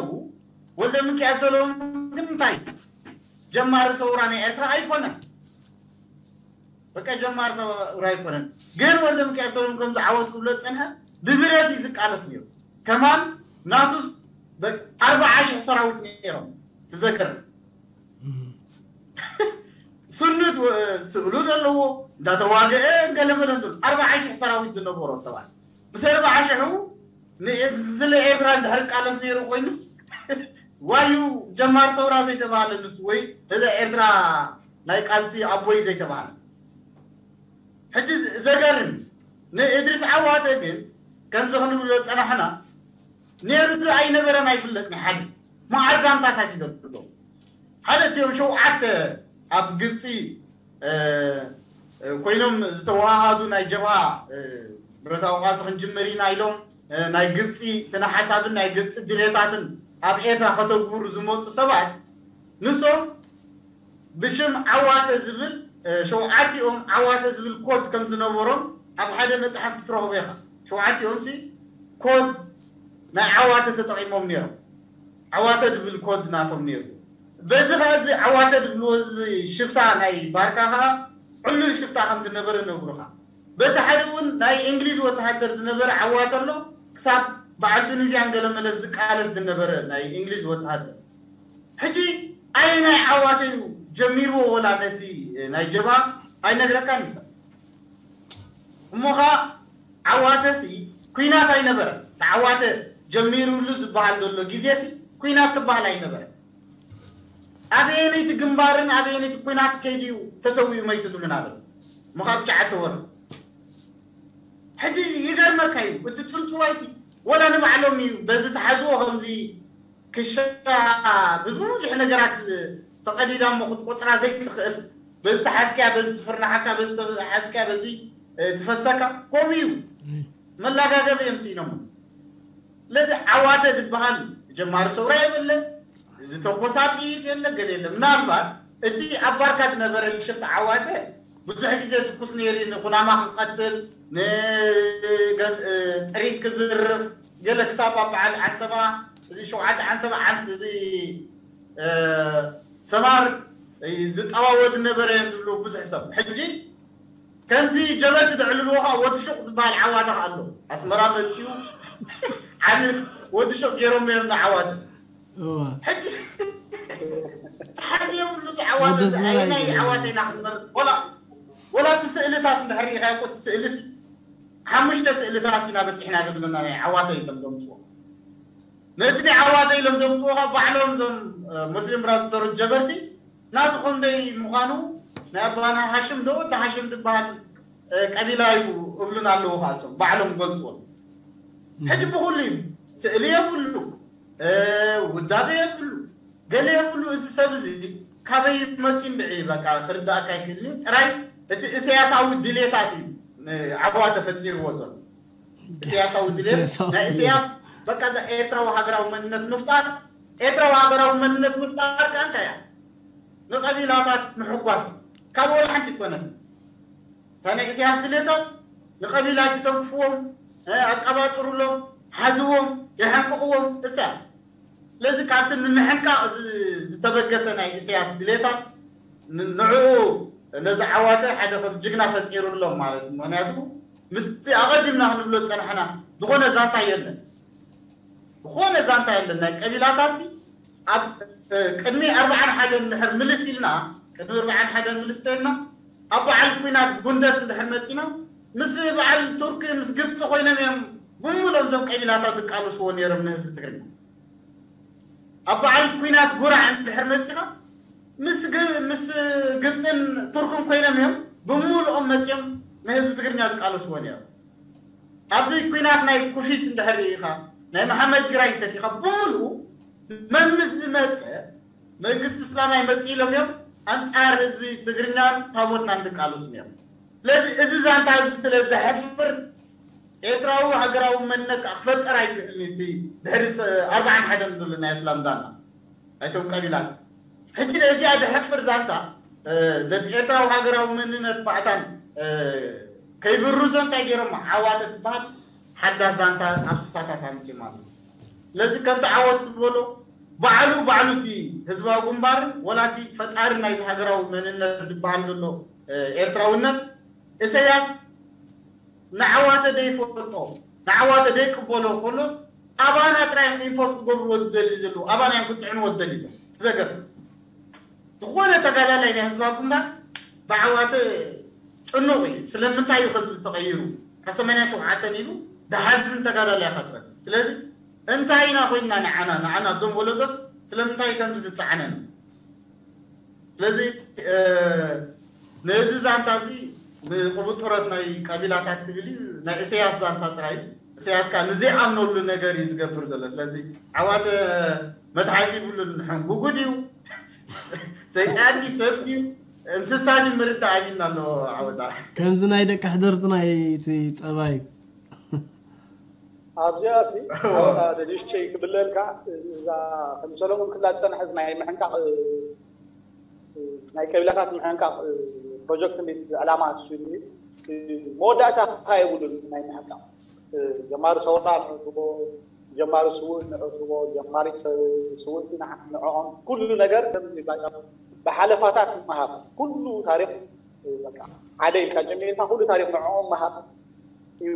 ወልደ ሚካኤል ሰለሙን ግን እንታይ ጀማሪ ሰውራ ናይ ኤርትራ ኣይኮነን። በቃ ጀማሪ ሰውራ ኣይኮነን። ግን ወልደ ሚካኤል ሰለሙን ከም ዝዓወት ክብሎ ዝጸንሐ ብብረት እዩ ዝቃለስ ነይሩ። ከማን ናቱስ ኣርባዓ ሽሕ ሰራዊት ነይሮም ትዘክር ስኑት ስእሉ ዘለዎ እንዳተዋገአ ገለመለ እንዶ ኣርባዓ ሽሕ ሰራዊት ዝነበሮ ሰባት ምስ ኣርባዓ ሽሑ ስለ ኤርትራ እንድሕር ቃለስ ነይሩ ኮይኑስ ዋዩ ጀማር ሰውራ ዘይተባሃለ ንሱ ወይ እዛ ኤርትራ ናይ ቃልሲ ኣቦይ ዘይተባሃለ ሕጂ ዘገርም ንእድሪስ ዓዋተ ግን ከምዚ ክንብሎ ዝጸናሕና ነይሩ ኣይነበረን ኣይፍለጥን ሓደ መዓዛምታታት እዩ ዘሎ ሓደ እቲኦም ሸውዓተ ኣብ ግብፂ ኮይኖም ዝተወሃሃዱ ናይ ጀብሃ ብረታዊ ቃልሲ ክንጅምር ኢና ኢሎም ናይ ግብፂ ስነ ሓሳብን ናይ ግብፂ ድሌታትን ኣብ ኤርትራ ከተግብሩ ዝመፁ ሰባት ንሶም ብሽም ዓዋተ ዝብል ሸውዓቲኦም ዓዋተ ዝብል ኮድ ከም ዝነበሮም ኣብ ሓደ መፅሓፍ ክትረኽቦ ኢኻ። ሸውዓቲኦም ሲ ኮድ ናይ ዓዋተ ተጠቒሞም ነይሮም። ዓዋተ ዝብል ኮድ ናቶም ነይሩ። በዚ ከዓ እዚ ዓዋተ ዝብልዎ እዚ ሽፍታ ናይ ባርካ ከዓ ዕሉል ሽፍታ ከም ዝነበረ ነግሩኻ። በቲ ሓደ እውን ናይ እንግሊዝ ወተሃደር ዝነበረ ዓዋተ ኣሎ ክሳብ በዓል ቱኒዝያን ገለመለ ዝቃለስ ዝነበረ ናይ እንግሊዝ ወተሃደር ሕጂ ኣየናይ ዓዋተ እዩ ጀሚርዎ ወላ ነቲ ናይ ጀባ ኣይነግረካን ይሰ እሞ ኸዓ ዓዋተሲ ኩናት ኣይነበረ ተዓዋተ ጀሚሩሉ ዝበሃል ዘሎ ግዜሲ ኩናት ትበሃል ኣይነበረ ኣበየነይቲ ግንባርን ኣበየነይቲ ኩናት ከይድዩ ተሰዊኡ መይቱ ትብሉና ለ ምኻብ ሸዓተ ወር ሕጂ ይገርመካ እዩ እቲ ጥንፅዋይሲ ወላ ንባዕሎም እዩ በዚ ተሓዝዎ ከምዚ ክሻ ብብዙሕ ነገራት ተቐዲዳ እሞ ክትቆፅራ ዘይትኽእል በዚ ተሓዝክያ በዚ ትፍርናሓካ በዚ ተሓዝክያ በዚ ትፈሰካ ከምኡ እዩ መላጋገብ እዮም ስኢኖም ስለዚ ዓዋተ ዝበሃል ጀማሪ ሰውራ የብለ ዝተኮሳ ጥይት የለ ገለ የለ ምናልባት እቲ ኣብ ባርካ ዝነበረ ሽፍቲ ዓዋተ ብዙሕ ግዜ ትኩስ ነይሩ ንኩናማ ክቀትል ንጥሪት ክዝርፍ ገለ ክሳብ ኣብ በዓል ዓንሰባ እዚ ሸውዓተ ዓንሰባ ዓንስ እዚ ሰማር ዝጠዋወ ዝነበረ እዮም ዝብሉ ብዙሕ ሰብ ሕጂ ከምዚ ጀበቲ ዘዕልልዎ ከዓ ወዲ ሹቕ ዝበሃል ዓዋተ ከዓ ኣሎ ኣስመራ መፅኡ ዓሚ ወዲ ሹቕ ገይሮም እዮም ንዓዋተ ሕጂ ሓዚ የብሉ ዝዓዋተ ኣየናይ ዓዋተ ኢና ክንመርጥ ወላ እቲ ስእልታት እንድሕር ሪኢኻ እኮ እቲ ስእሊ ሓሙሽተ ስእልታት ኢና በፂሕና ዘለና ናይ ዓዋተ ኢሎም ዘምፅዎ ነቲ ናይ ዓዋተ ኢሎም ዘምፅዎ ከዓ ባዕሎም እዞም ሙስሊም ብራዘሮች ጀበርቲ ናቱ ክንደይ ምዃኑ ናይ ኣባና ሃሽም ዶ ወዲ ሃሽም ዝበሃል ቀቢላ እዩ እብሉን ኣለዉ ከዓ እሶም ባዕሎም ገልፅዎ ሕጂ ብኩሉ እዩ ስእሊ የብሉ ውዳቤ የብሉ ገለ የብሉ እዚ ሰብ እዚ ካበይ መፂ እንድዒ በቃ ክርዳእካ ይክእል እዩ ጥራይ እቲ እስያሳዊ ድሌታት እዩ ዓዋ ተፈጢርዎ ዘሎ እስያሳዊ ድሌት ናይ እስያስ በቃ እዛ ኤርትራዊ ሃገራዊ መንነት ምፍጣር ኤርትራዊ ሃገራዊ መንነት ምፍጣር ከ እንታይ እያ ንቐቢላታት ምሕጓስ ካብ ወላ ሓንቲ ይኮነት እታ ናይ እስያስ ድሌታት ንቐቢላት ይተንክፍዎም ኣቀባጥሩሎም ሓዝዎም የሐንቅቕዎም እሳ ስለዚ ካብቲ ንምሕንቃቕ ዝተበገሰ ናይ ኢሳያስ ድሌታት ንዕኡ ነዚ ዓዋተ ሓደ ከም ጅግና ፈጢሩሎም ማለት እዩ። ምክንያቱ ምስቲ ኣቐዲምና ክንብሎ ዝጸናሕና ዝኾነ ዛንታ የለን፣ ዝኾነ ዛንታ የለን። ናይ ቀቢላታሲ ኣብ ቅድሚ ኣርብዓን ሓደን እንድሕር ምልስ ኢልና ቅድሚ ኣርብዓን ሓደን ምልስ ተልና ኣብ በዓል ኲናት ጉንደት እንድሕር መጺና ምስ በዓል ቱርኪ ምስ ግብፂ ኮይኖም እዮም ብምሉኦም እዞም ቀቢላታት ዝቃለስዎ ነይሮም ንህዝቢ ትግርኛ። ኣብ በዓል ኲናት ጉራዕ እንድሕር መጺኻ ምስ ግ- ምስ ግብፅን ቱርክን ኮይኖም እዮም ብምሉኦም መፂኦም ንህዝቢ ትግርኛ ዝቃለስዎ ነይሮም። ኣብዚ ኲናት ናይ ኩፊት እንድሕር ርኢኻ ናይ መሓመድ ግራኝ እንተሪኢኻ ብምሉኡ መን ምስ ዝመፀ መንግስቲ እስላማይ መፂ ኢሎም እዮም ኣንፃር ህዝቢ ትግርኛን ታቦትናን ዝቃለሱ እዮም። ስለዚ እዚ ዛንታ እዚ ስለ ዘሕፍር ኤርትራዊ ሃገራዊ መንነት ከዓ ክፈጠር ኣይክእልን እዩ። እቲ ድሕሪ ስ- ኣርባዓን ሓደን ዘሎ ናይ እስላም ዛንታ ኣይቶም ቀቢላት ሕጂ ነዚኣ ዘሕፍር ዛንታ ነቲ ኤርትራዊ ሃገራዊ መንነት ባእታን ከይብርዞ እንታይ ገይሮም ዓዋተ ትበሃል ሓዳስ ዛንታ ኣብ ሱሳታት ኣምፅኦም ኣለዉ። ስለዚ ከምቲ ዓወት ዝበሎ ባዕሉ ባዕሉ እቲ ህዝባዊ ግንባርን ወላ እቲ ፈጣሪ ናይዚ ሃገራዊ መንነት ዝበሃል ዘሎ ኤርትራውነት ኢሰያስ ንዓዋተ ዘይፈልጦ ንዓዋተ ዘይቅበሎ ከሎስ ኣባና ጥራይ ኢምፖስ ክገብርዎ ዝደሊ ዘለዉ ኣባና እዮም ክፅዕንዎ ዝደሊ ዘለዉ። ዘገርም ዝኾነ ተጋዳላይ ናይ ህዝባዊ ግንባር ብዓዋተ ጭኑቕ እዩ። ስለምንታይ እዩ ከምዚ ዝተቐይሩ ካብ ሰማንያ ሸውዓተ ኢሉ ዝሓዝን ተጋዳላይ ኢኻ ትረክብ። ስለዚ እንታይ ኢና ኮይንና ንዓና ንዓና እዞም ወለዶስ ስለምንታይ ከምዚ ዝፀዓነን? ስለዚ ነዚ ዛንታ እዚ ንቅብጥሮት ናይ ቀቢላታት ክብል እዩ ናይ እሰያስ ዛንታ ጥራይ እዩ። እሰያስ ከዓ ንዘይኣምነሉ ነገር እዩ ዝገብር ዘሎ። ስለዚ ዓዋተ መትሓዚ ይብሉን ሕንጉጉ ድዩ ሰይጣን ድዩ ሰብ ድዩ እንስሳ ድዩ ምርዳእ ኣቢልና ኣሎ። ዓወታ ከምዚ ናይ ደቂ ሕደርትና እዩ እቲ ጠባይ። ኣብዚኣ ሲ ዓወታ ንእሽተይ ክብለልካ እዛ ከም ሰለሙን ክላ ዝፀንሐት ናይ ምሕንቃቕ ናይ ቀቢላታት ምሕንቃቕ ፕሮጀክት እንዴት ዕላማ እሱ መወዳእታ የብሉን ናይ ምሕንቃቕ ጀማሪ ሰውራ ንዕትቦ ጀማሪ ስውእ ንዕትቦ ጀማሪ ስውእቲ ንዕኦም ኩሉ ነገር ብሓለፋታት ምሃብ ኩሉ ታሪክ ሓደ ኢልካ ጀሚርካ ኩሉ ታሪክ ንዕኦም ምሃብ እዩ።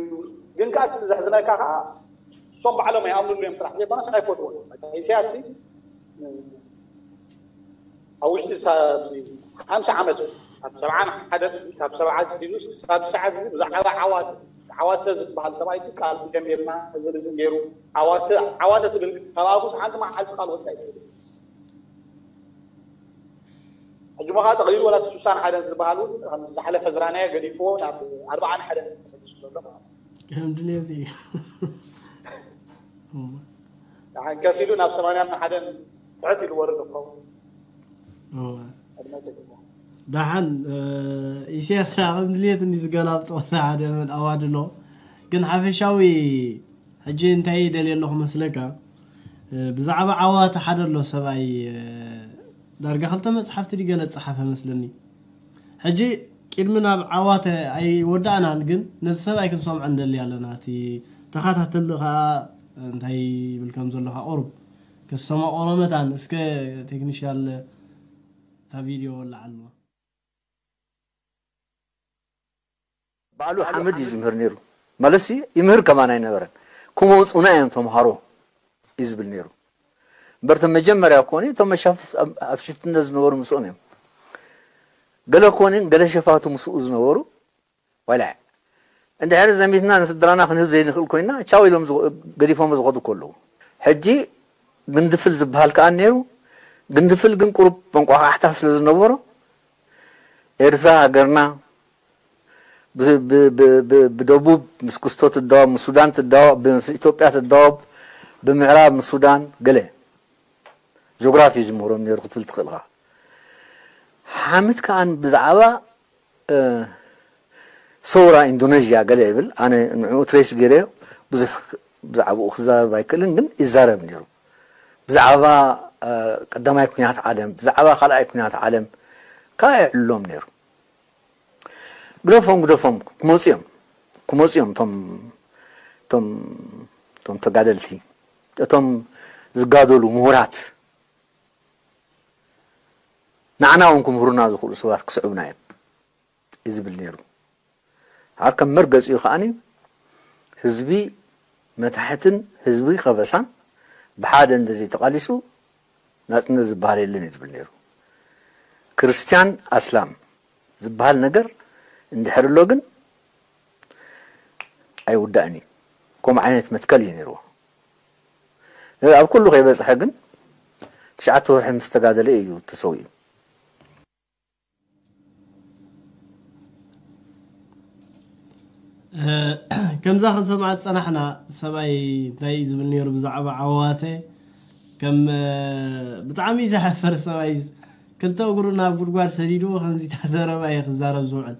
ግን ከዓ ዘሕዝነካ ከዓ እሶም ባዕሎም ኣይኣምኑሉ እዮም ጥራሕ ዘይኮነስ ኣይፈትዎ ኢሳያስ ኣብ ውሽጢ ኣብዚ ሓምሳ ዓመት ካብ ሰብዓን ሓደ ካብ ሰብዓ ሒዙ ክሳብ ሰዓት እዚ ብዛዕባ ዓዋተ ዓዋተ ዝበሃል ሰብኣይ ሲ ቃልሲ ጀሚርና እዚ ርዝን ገይሩ ዓዋተ ዓዋተ ትብል ካብ ኣፉስ ሓንቲ መዓልቲ ቃል ወፃኢ ትብል ሕጂ ሞ ከዓ ጠቕሊሉ ወላ ስሳን ሓደን ዝበሃል እውን ዝሓለፈ ዝራናዮ ገዲፍዎ ናብ ኣርባዓን ሓደን ተመሊሱ ዘሎ ማለት እዩ። ከም ድሌት እዩ። ከሲሉ ናብ ሰማንያን ሓደን ትሕት ኢሉ ወርድ ክኸውን ደሓን ኢሳያስ ከም ድሌት እንዲ ዝገላብጦ ሓደ መን ኣዋድሎ ግን ሓፈሻዊ ሕጂ እንታይ ደልየ ኣለኹ መስለካ ብዛዕባ ዓዋተ ሓደ ኣሎ ሰብኣይ ዳርጋ ክልተ መፅሓፍቲ ድገለ ዝፀሓፈ መስለኒ ሕጂ ቅድሚ ናብ ዓዋተ ኣይወዳእናን ግን ነዚ ሰብኣይ ክንሰምዖ ንደሊ ኣለና እቲ ተኸታተሊ ከዓ እንታይ ይብል ከም ዘለካ ቁሩብ ከሰማቆሮ መታን እስከ ቴክኒሻል እታ ቪድዮ ወላዓልዋ ባዕሉ ሓመድ እዩ ዝምህር ነይሩ ማለትሲ ይምህር ከማን ኣይነበረን ክመውፁና እዮም ተምሃሮ እዩ ዝብል ነይሩ እምበርቶም መጀመርያ ኮኒ እቶም መሻፍት ኣብ ሽፍትነት ዝነበሩ ምስኦም እዮም ገለ ኮኒ ገለ ሸፋቱ ምስኡ ዝነበሩ ዋላ እንድሕር ዘሚትና ንስድራና ክንህብ ዘይንኽእል ኮይና ቻው ኢሎም ገዲፎም ዝኸዱ ከለዉ ሕጂ ግንድፍል ዝበሃል ከኣ ነይሩ ግንድፍል ግን ቁሩብ መንቋቋሕታ ስለ ዝነበሮ ኤርትራ ሃገርና ብደቡብ ምስ ክስቶ ትዳወብ ምስ ሱዳን ትዳወብ ምስ ኢትዮጵያ ትዳወብ ብምዕራብ ምስ ሱዳን ገለ ጆግራፊ ዝምህሮም ነይሩ ክትብል ትኽእል ኢኻ ሓምት ከኣ ብዛዕባ ሰውራ ኢንዶነዥያ ገለ ይብል ኣነ ንዕኡ ትሬስ ገይረዮ ብዙሕ ብዛዕባኡ ክዛረብ ኣይክእልን ግን ይዛረብ ነይሩ ብዛዕባ ቀዳማይ ኩናት ዓለም ብዛዕባ ካልኣይ ኩናት ዓለም ከዓ ይዕልሎም ነይሩ ግደፎም ግደፎም ክመፁ እዮም ክመፁ እዮም እቶም እቶም እቶም ተጋደልቲ እቶም ዝጋደሉ ምሁራት ንዓና እውን ክምህሩና ዝኽእሉ ሰባት ክስዕቡና እዮም እዩ ዝብል ነይሩ። ኣብ ከም መርገፂኡ ከዓኒ ህዝቢ መታሕትን ህዝቢ ከበሳን ብሓደ እንደዘይተቓሊሱ ናፅነት ዝበሃል የለን እዩ ዝብል ነይሩ። ክርስትያን ኣስላም ዝበሃል ነገር እንድሕር ኣሎ ግን ኣይውዳእን እዩ። ከምኡ ዓይነት መትከል እዩ ነይርዎ። ኣብ ኩሉ ከይበፅሐ ግን ትሽዓተ ወርሒ ምስ ተጋደለ እዩ ተሰዊኡ። ከምዛ ክንሰምዓ ዝፀናሕና ሰብኣይ እንታይ እዩ ዝብል ነይሩ ብዛዕባ ዓዋተ ከም ብጣዕሚ ዘሕፈር ሰብኣይ ክልተ እግሩ ናብ ጉድጓድ ሰዲዱ ከምዚ ተዘረባ እየ ክዛረብ ዝውዕል።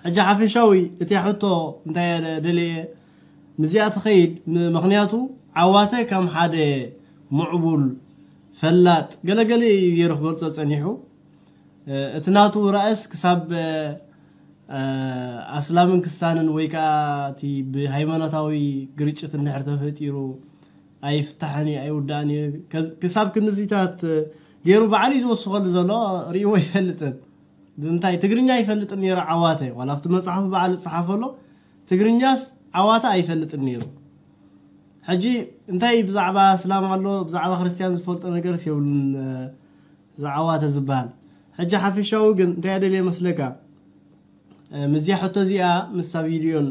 ሕጂ ሓፈሻዊ እቲ ሕቶ እንታይ ደልየ ምስዚኣ ትኸይድ ምክንያቱ ዓዋተ ከም ሓደ ምዕቡል ፈላጥ ገለገለ እዩ ገይሩ ክገልፆ ፀኒሑ። እቲ ናቱ ራእስ ክሳብ ኣስላምን ክስታንን ወይ ከዓ እቲ ብሃይማኖታዊ ግርጭት እንድሕር ተፈጢሩ ኣይፍታሕን እዩ ኣይውዳእን እዩ። ክሳብ ክንዚታት ገይሩ በዓል እዩ ዝወስኸሉ ዘሎ። ርእይዎ ኣይፈልጥን። እንታይ ትግርኛ ኣይፈልጥን ነይሩ ዓዋተ ዋላ ኣብቲ መፅሓፉ በዓል ዝፀሓፈሎ ትግርኛስ ዓዋተ ኣይፈልጥን ነይሩ። ሕጂ እንታይ ብዛዕባ እስላም ኣሎ ብዛዕባ ክርስትያን ዝፈልጦ ነገርስ የብሉን። ዝዓዋተ ዝበሃል ሕጂ ሓፈሻዊ ግን እንታይ ኣደልየ መስለካ? ምዚያ ሕቶ እዚኣ ምስታ ቪድዮን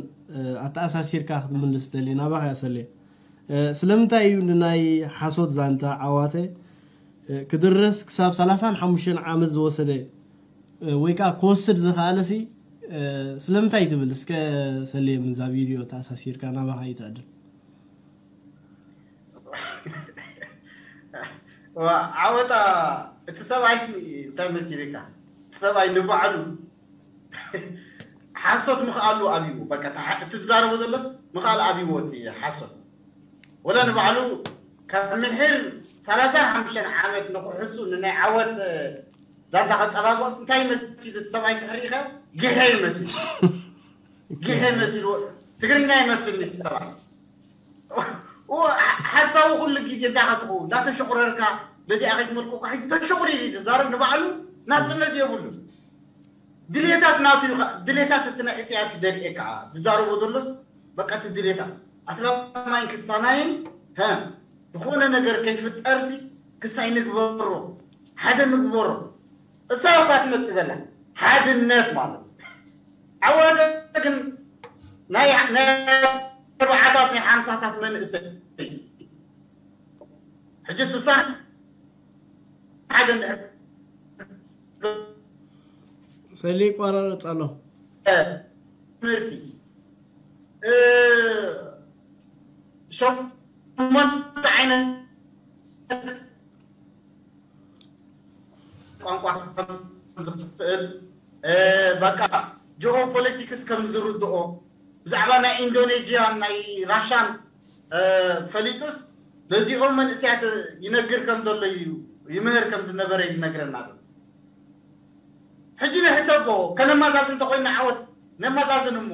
ኣተኣሳሲርካ ክትምልስ ደልየ ናባኻ ያሰለ። ስለምንታይ እዩ ንናይ ሓሶት ዛንታ ዓዋተ ክድረስ ክሳብ ሰላሳን ሓሙሽተን ዓመት ዝወሰደ ወይ ከዓ ክወስድ ዝኸኣለሲ ስለምንታይ ትብል እስከ ሰሌ ምዛ ቪድዮ ተኣሳሲርካ ናባኻ ይትዕድል። ዓወታ እቲ ሰብኣይ እንታይ መሲልካ? እቲ ሰብኣይ ንባዕሉ ሓሶት ምኽኣሉ ኣብይዎ። በቃ እቲ ዝዛረቦ ዘሎስ ምኽኣል ኣብይዎ እቲ ሓሶት። ወላ ንባዕሉ ካብ ምሕር ሰላሳን ሓሙሽተን ዓመት ንክሕሱ ንናይ ዓወት ዛንታ ከፀባበቕ እንታይ መሲሉ እቲ ሰብኣይ እንድሕር ሪኢኻ ግሐ ይመስል። ግሐ መሲሉ ትግርኛ ይመስል እቲ ሰብኣይ። ሓሳቡ ኩሉ ግዜ እንታይ ክትኸውን እንዳተሸቑረርካ በዚኣ ከይትመልኩ ተሸቑሪር እዩ ዝዛረብ። ንባዕሉ ናፅነት የብሉ። ድሌታት ናቱ እዩ። ድሌታት እቲ ናይ ኢሳያስ ደልኤ ከዓ ዝዛረቦ ዘሎስ በቃ እቲ ድሌታት ኣስላማይን ክስታናይን ዝኾነ ነገር ከይፍጠርሲ ክሳይ ንግበሮ ሓደ ንግበሮ። እሳ እኳ ትመፅእ ዘላ ሓድነት ማለት ዓዋተ ግን ናይ ኣርባዓታት ናይ ሓምሳታት መንእሰይ ሕጂ ሱሳን ሓደ ሰሊ ይቋራረፅ ኣሎ። ትምህርቲ ሸሞንተ ዓይነት ቋንቋ ዝኽእል በቃ ጂኦ ፖለቲክስ ከም ዝርድኦ ብዛዕባ ናይ ኢንዶኔዥያን ናይ ራሻን ፈሊጡስ ነዚኦም መንእስያት ይነግር ከም ዘሎ እዩ ይምህር ከም ዝነበረ ይነግረና ኣሎ። ሕጂ ንሕሰቦ ከነመዛዝን እንተኮይና ዓወት ነመዛዝን እሞ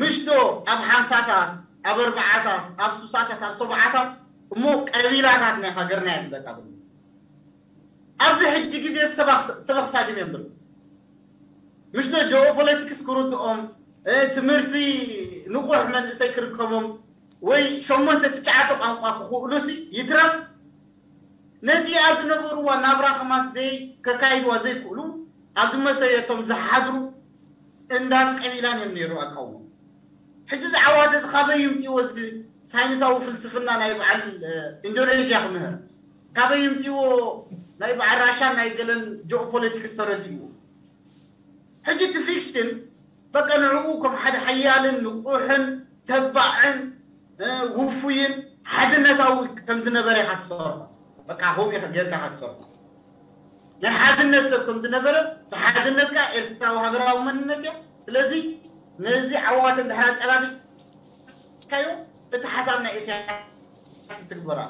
ምሽዶ ኣብ ሓምሳታት ኣብ ኣርባዓታት ኣብ ሱሳታት ኣብ ሰብዓታት እሞ ቀቢላታት ናይ ሃገርና እየ ዝብለካ ዘሎ። ኣብዚ ሕጂ ግዜ ሰበኽ ሳግም እዮም ብሎ ምሽዶ ጂኦፖለቲክስ ክርድኦም ትምህርቲ ንቑሕ መንእሰይ ክርከቦም ወይ ሸሞንተ ትሽዓተ ቋንቋ ክኽእሉሲ ይትረፍ ነዚኣ ዝነበርዋ ናብራ ከማስ ዘይ ከካይድዋ ዘይክእሉ ኣብ ዝመሰየቶም ዝሓድሩ እንዳ ቀቢላን እዮም ነይሩ ኣቃውሞ። ሕጂ እዚ ዓዋተ እዚ ካበይ ይምፅዎ እዚ ሳይንሳዊ ፍልስፍና ናይ በዓል ኢንዶኔዥያ ክምህር ካበይ ይምፅዎ ናይ በዓል ራሻን ናይ ገለን ጂኦፖለቲክስ ተረዲእዎ። ሕጂ እቲ ፊክሽን በቃ ንዕኡ ከም ሓደ ሓያልን ንቑሕን ተባዕን ውፉይን ሓድነታዊ ከም ዝነበረ ኢኻ ትሰርሖ። በቃ ከምኡ ኢኻ ጌርካ ኢኻ ትሰርሖ። ናይ ሓድነት ሰብ ከም ዝነበረ እቲ ሓድነት ከኣ ኤርትራዊ ሃገራዊ መንነት እያ። ስለዚ ነዚ ዓዋተ እንድሕር ኣጸባቢኻዮ እቲ ሓሳብ ናይ ኢሳያስ ትግበራ።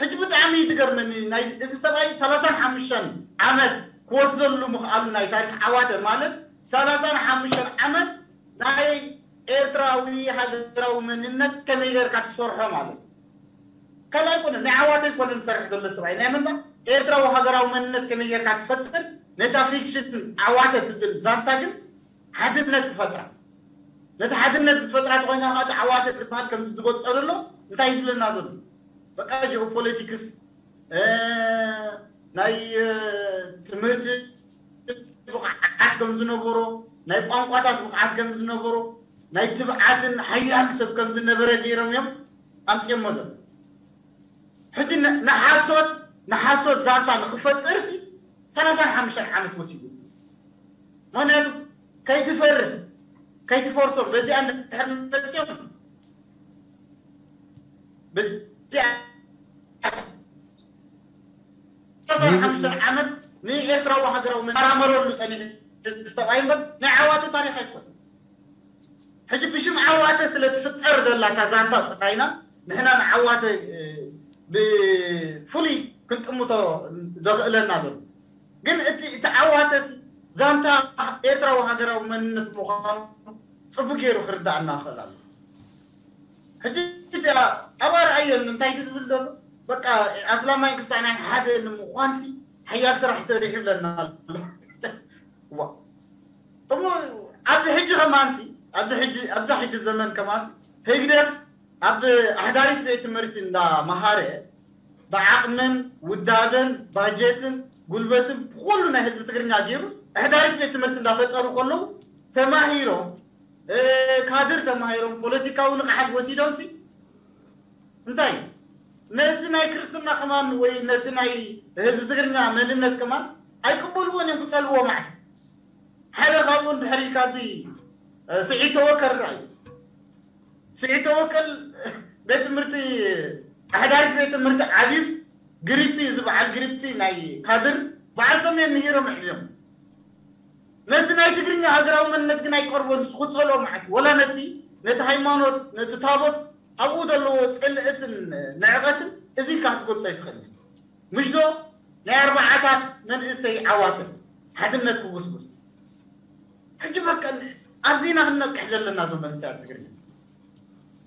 ሕጂ ብጣዕሚ እዩ ዝገርመኒ ናይ እዚ ሰብኣይ ሰላሳን ሓሙሽተን ዓመት ክወስደሉ ምኽኣሉ ናይ ታሪክ ዓዋተ ማለት ሰላሳን ሓሙሽተን ዓመት ናይ ኤርትራዊ ሃገራዊ መንነት ከመይ ጌርካ ትሰርሖ ማለት እዩ። ካልእ ኣይኮነን ናይ ዓዋተ ኣይኮነን ዝሰርሕ ዘሎ ሰብኣይ ናይ መና ኤርትራዊ ሃገራዊ መንነት ከመይ ጌርካ ትፈጥር ነታ ፊክሽን ዓዋተ ትብል ዛንታ ግን ሓድነት ትፈጥራ ነቲ ሓድነት ዝፈጥራ ተኮይና ከዓ ዓዋተ ዝበሃል ከምዚ ዝገልፀ ዘሎ እንታይ ዝብለና ዘሎ በቃ ጂኦፖለቲክስ ናይ ትምህርቲ ብቕዓት ከም ዝነበሮ ናይ ቋንቋታት ብቕዓት ከም ዝነበሮ ናይ ትብዓትን ሓያል ሰብ ከም ዝነበረ ገይሮም እዮም ኣምፅኦሞ ዘሎ። ሕጂ ን- ንሓሶት ንሓሶት ዛንታ ንክፈጥርሲ ሰላሳን ሓሙሽተን ዓመት ወሲዱ። ምክንያቱ ከይትፈርስ ከይትፈርሶም በዚኣ እንድሕር መፅኦም በዚኣ ሰላሳን ሓሙሽተን ዓመት ንኤርትራዊ ሃገራዊ መራመረሉ ፀኒሑ ሰብኣይ እምበር ናይ ዓዋተ ታሪክ ኣይኮን። ሕጂ ብሽም ዓዋተ ስለ ትፍጠር ዘላ እታ ዛንታ ጥራይና ንሕና ንዓዋተ ብፍሉይ ክንጥምቶ ዘኽእለና ዘሎ ግን እቲ እቲ ዓዋተ ዛንታ ኤርትራዊ ሃገራዊ መንነት ምዃኑ ፅቡቅ ገይሩ ክርዳእና ክእል ኣሎ። ሕጂ እዚኣ ኣብ ኣርኣዮን እንታይ ትብል ዘሎ በቃ ኣስላማይ ክሳናይ ሓደ ንምዃን ሲ ሓያል ስራሕ ሰሪሑ ይብለና ኣሎ። ዋ እሞ ኣብዚ ሕጂ ከማንሲ ኣብዚ ሕጂ ኣብዛ ሕጂ ዘመን ከማንሲ ህግደፍ ኣብ ኣሕዳሪት ቤት ትምህርቲ እንዳ መሃረ ብዓቕምን ውዳበን ባጀትን ጉልበትን ብኩሉ ናይ ህዝቢ ትግርኛ ገይሩ ኣሕዳሪት ቤት ትምህርቲ እንዳፈጠሩ ከለዉ ተማሂሮም ካድር ተማሂሮም ፖለቲካዊ ንቕሓት ወሲዶም ሲ እንታይ ነቲ ናይ ክርስትና ከማን ወይ ነቲ ናይ ህዝቢ ትግርኛ መንነት ከማን ኣይቅበልዎን እዮም ክፀልዎ ማለት ሓደ ካብኡ እንድሕር ኢልካ እዚ ስዒድ ተወከል ራእዩ ስዒድ ተወከል ቤት ትምህርቲ ኣሕዳሪት ቤት ትምህርቲ ዓብዩስ ግሪፒ ዝበዓል ግሪፒ ናይ ካድር በዓል ሰሜን ምሂሮም ዕብዮም ነቲ ናይ ትግርኛ ሃገራዊ መንነት ግን ኣይቀርቦን ንሱ ክፀልኦ ማለት ወላ ነቲ ነቲ ሃይማኖት ነቲ ታቦት ኣብኡ ዘለዎ ፅልእትን ንዕቐትን እዚ ኢልካ ክትገልፆ ኣይትኽእልን ምሽ ዶ ናይ ኣርባዓታት መንእሰይ ዓዋተ ሓድነት ክጉስጉስ ሕጂ በቃ ኣብዚ ኢና ክንነቅሕ ዘለና እዞም መንእሰያት ትግርኛ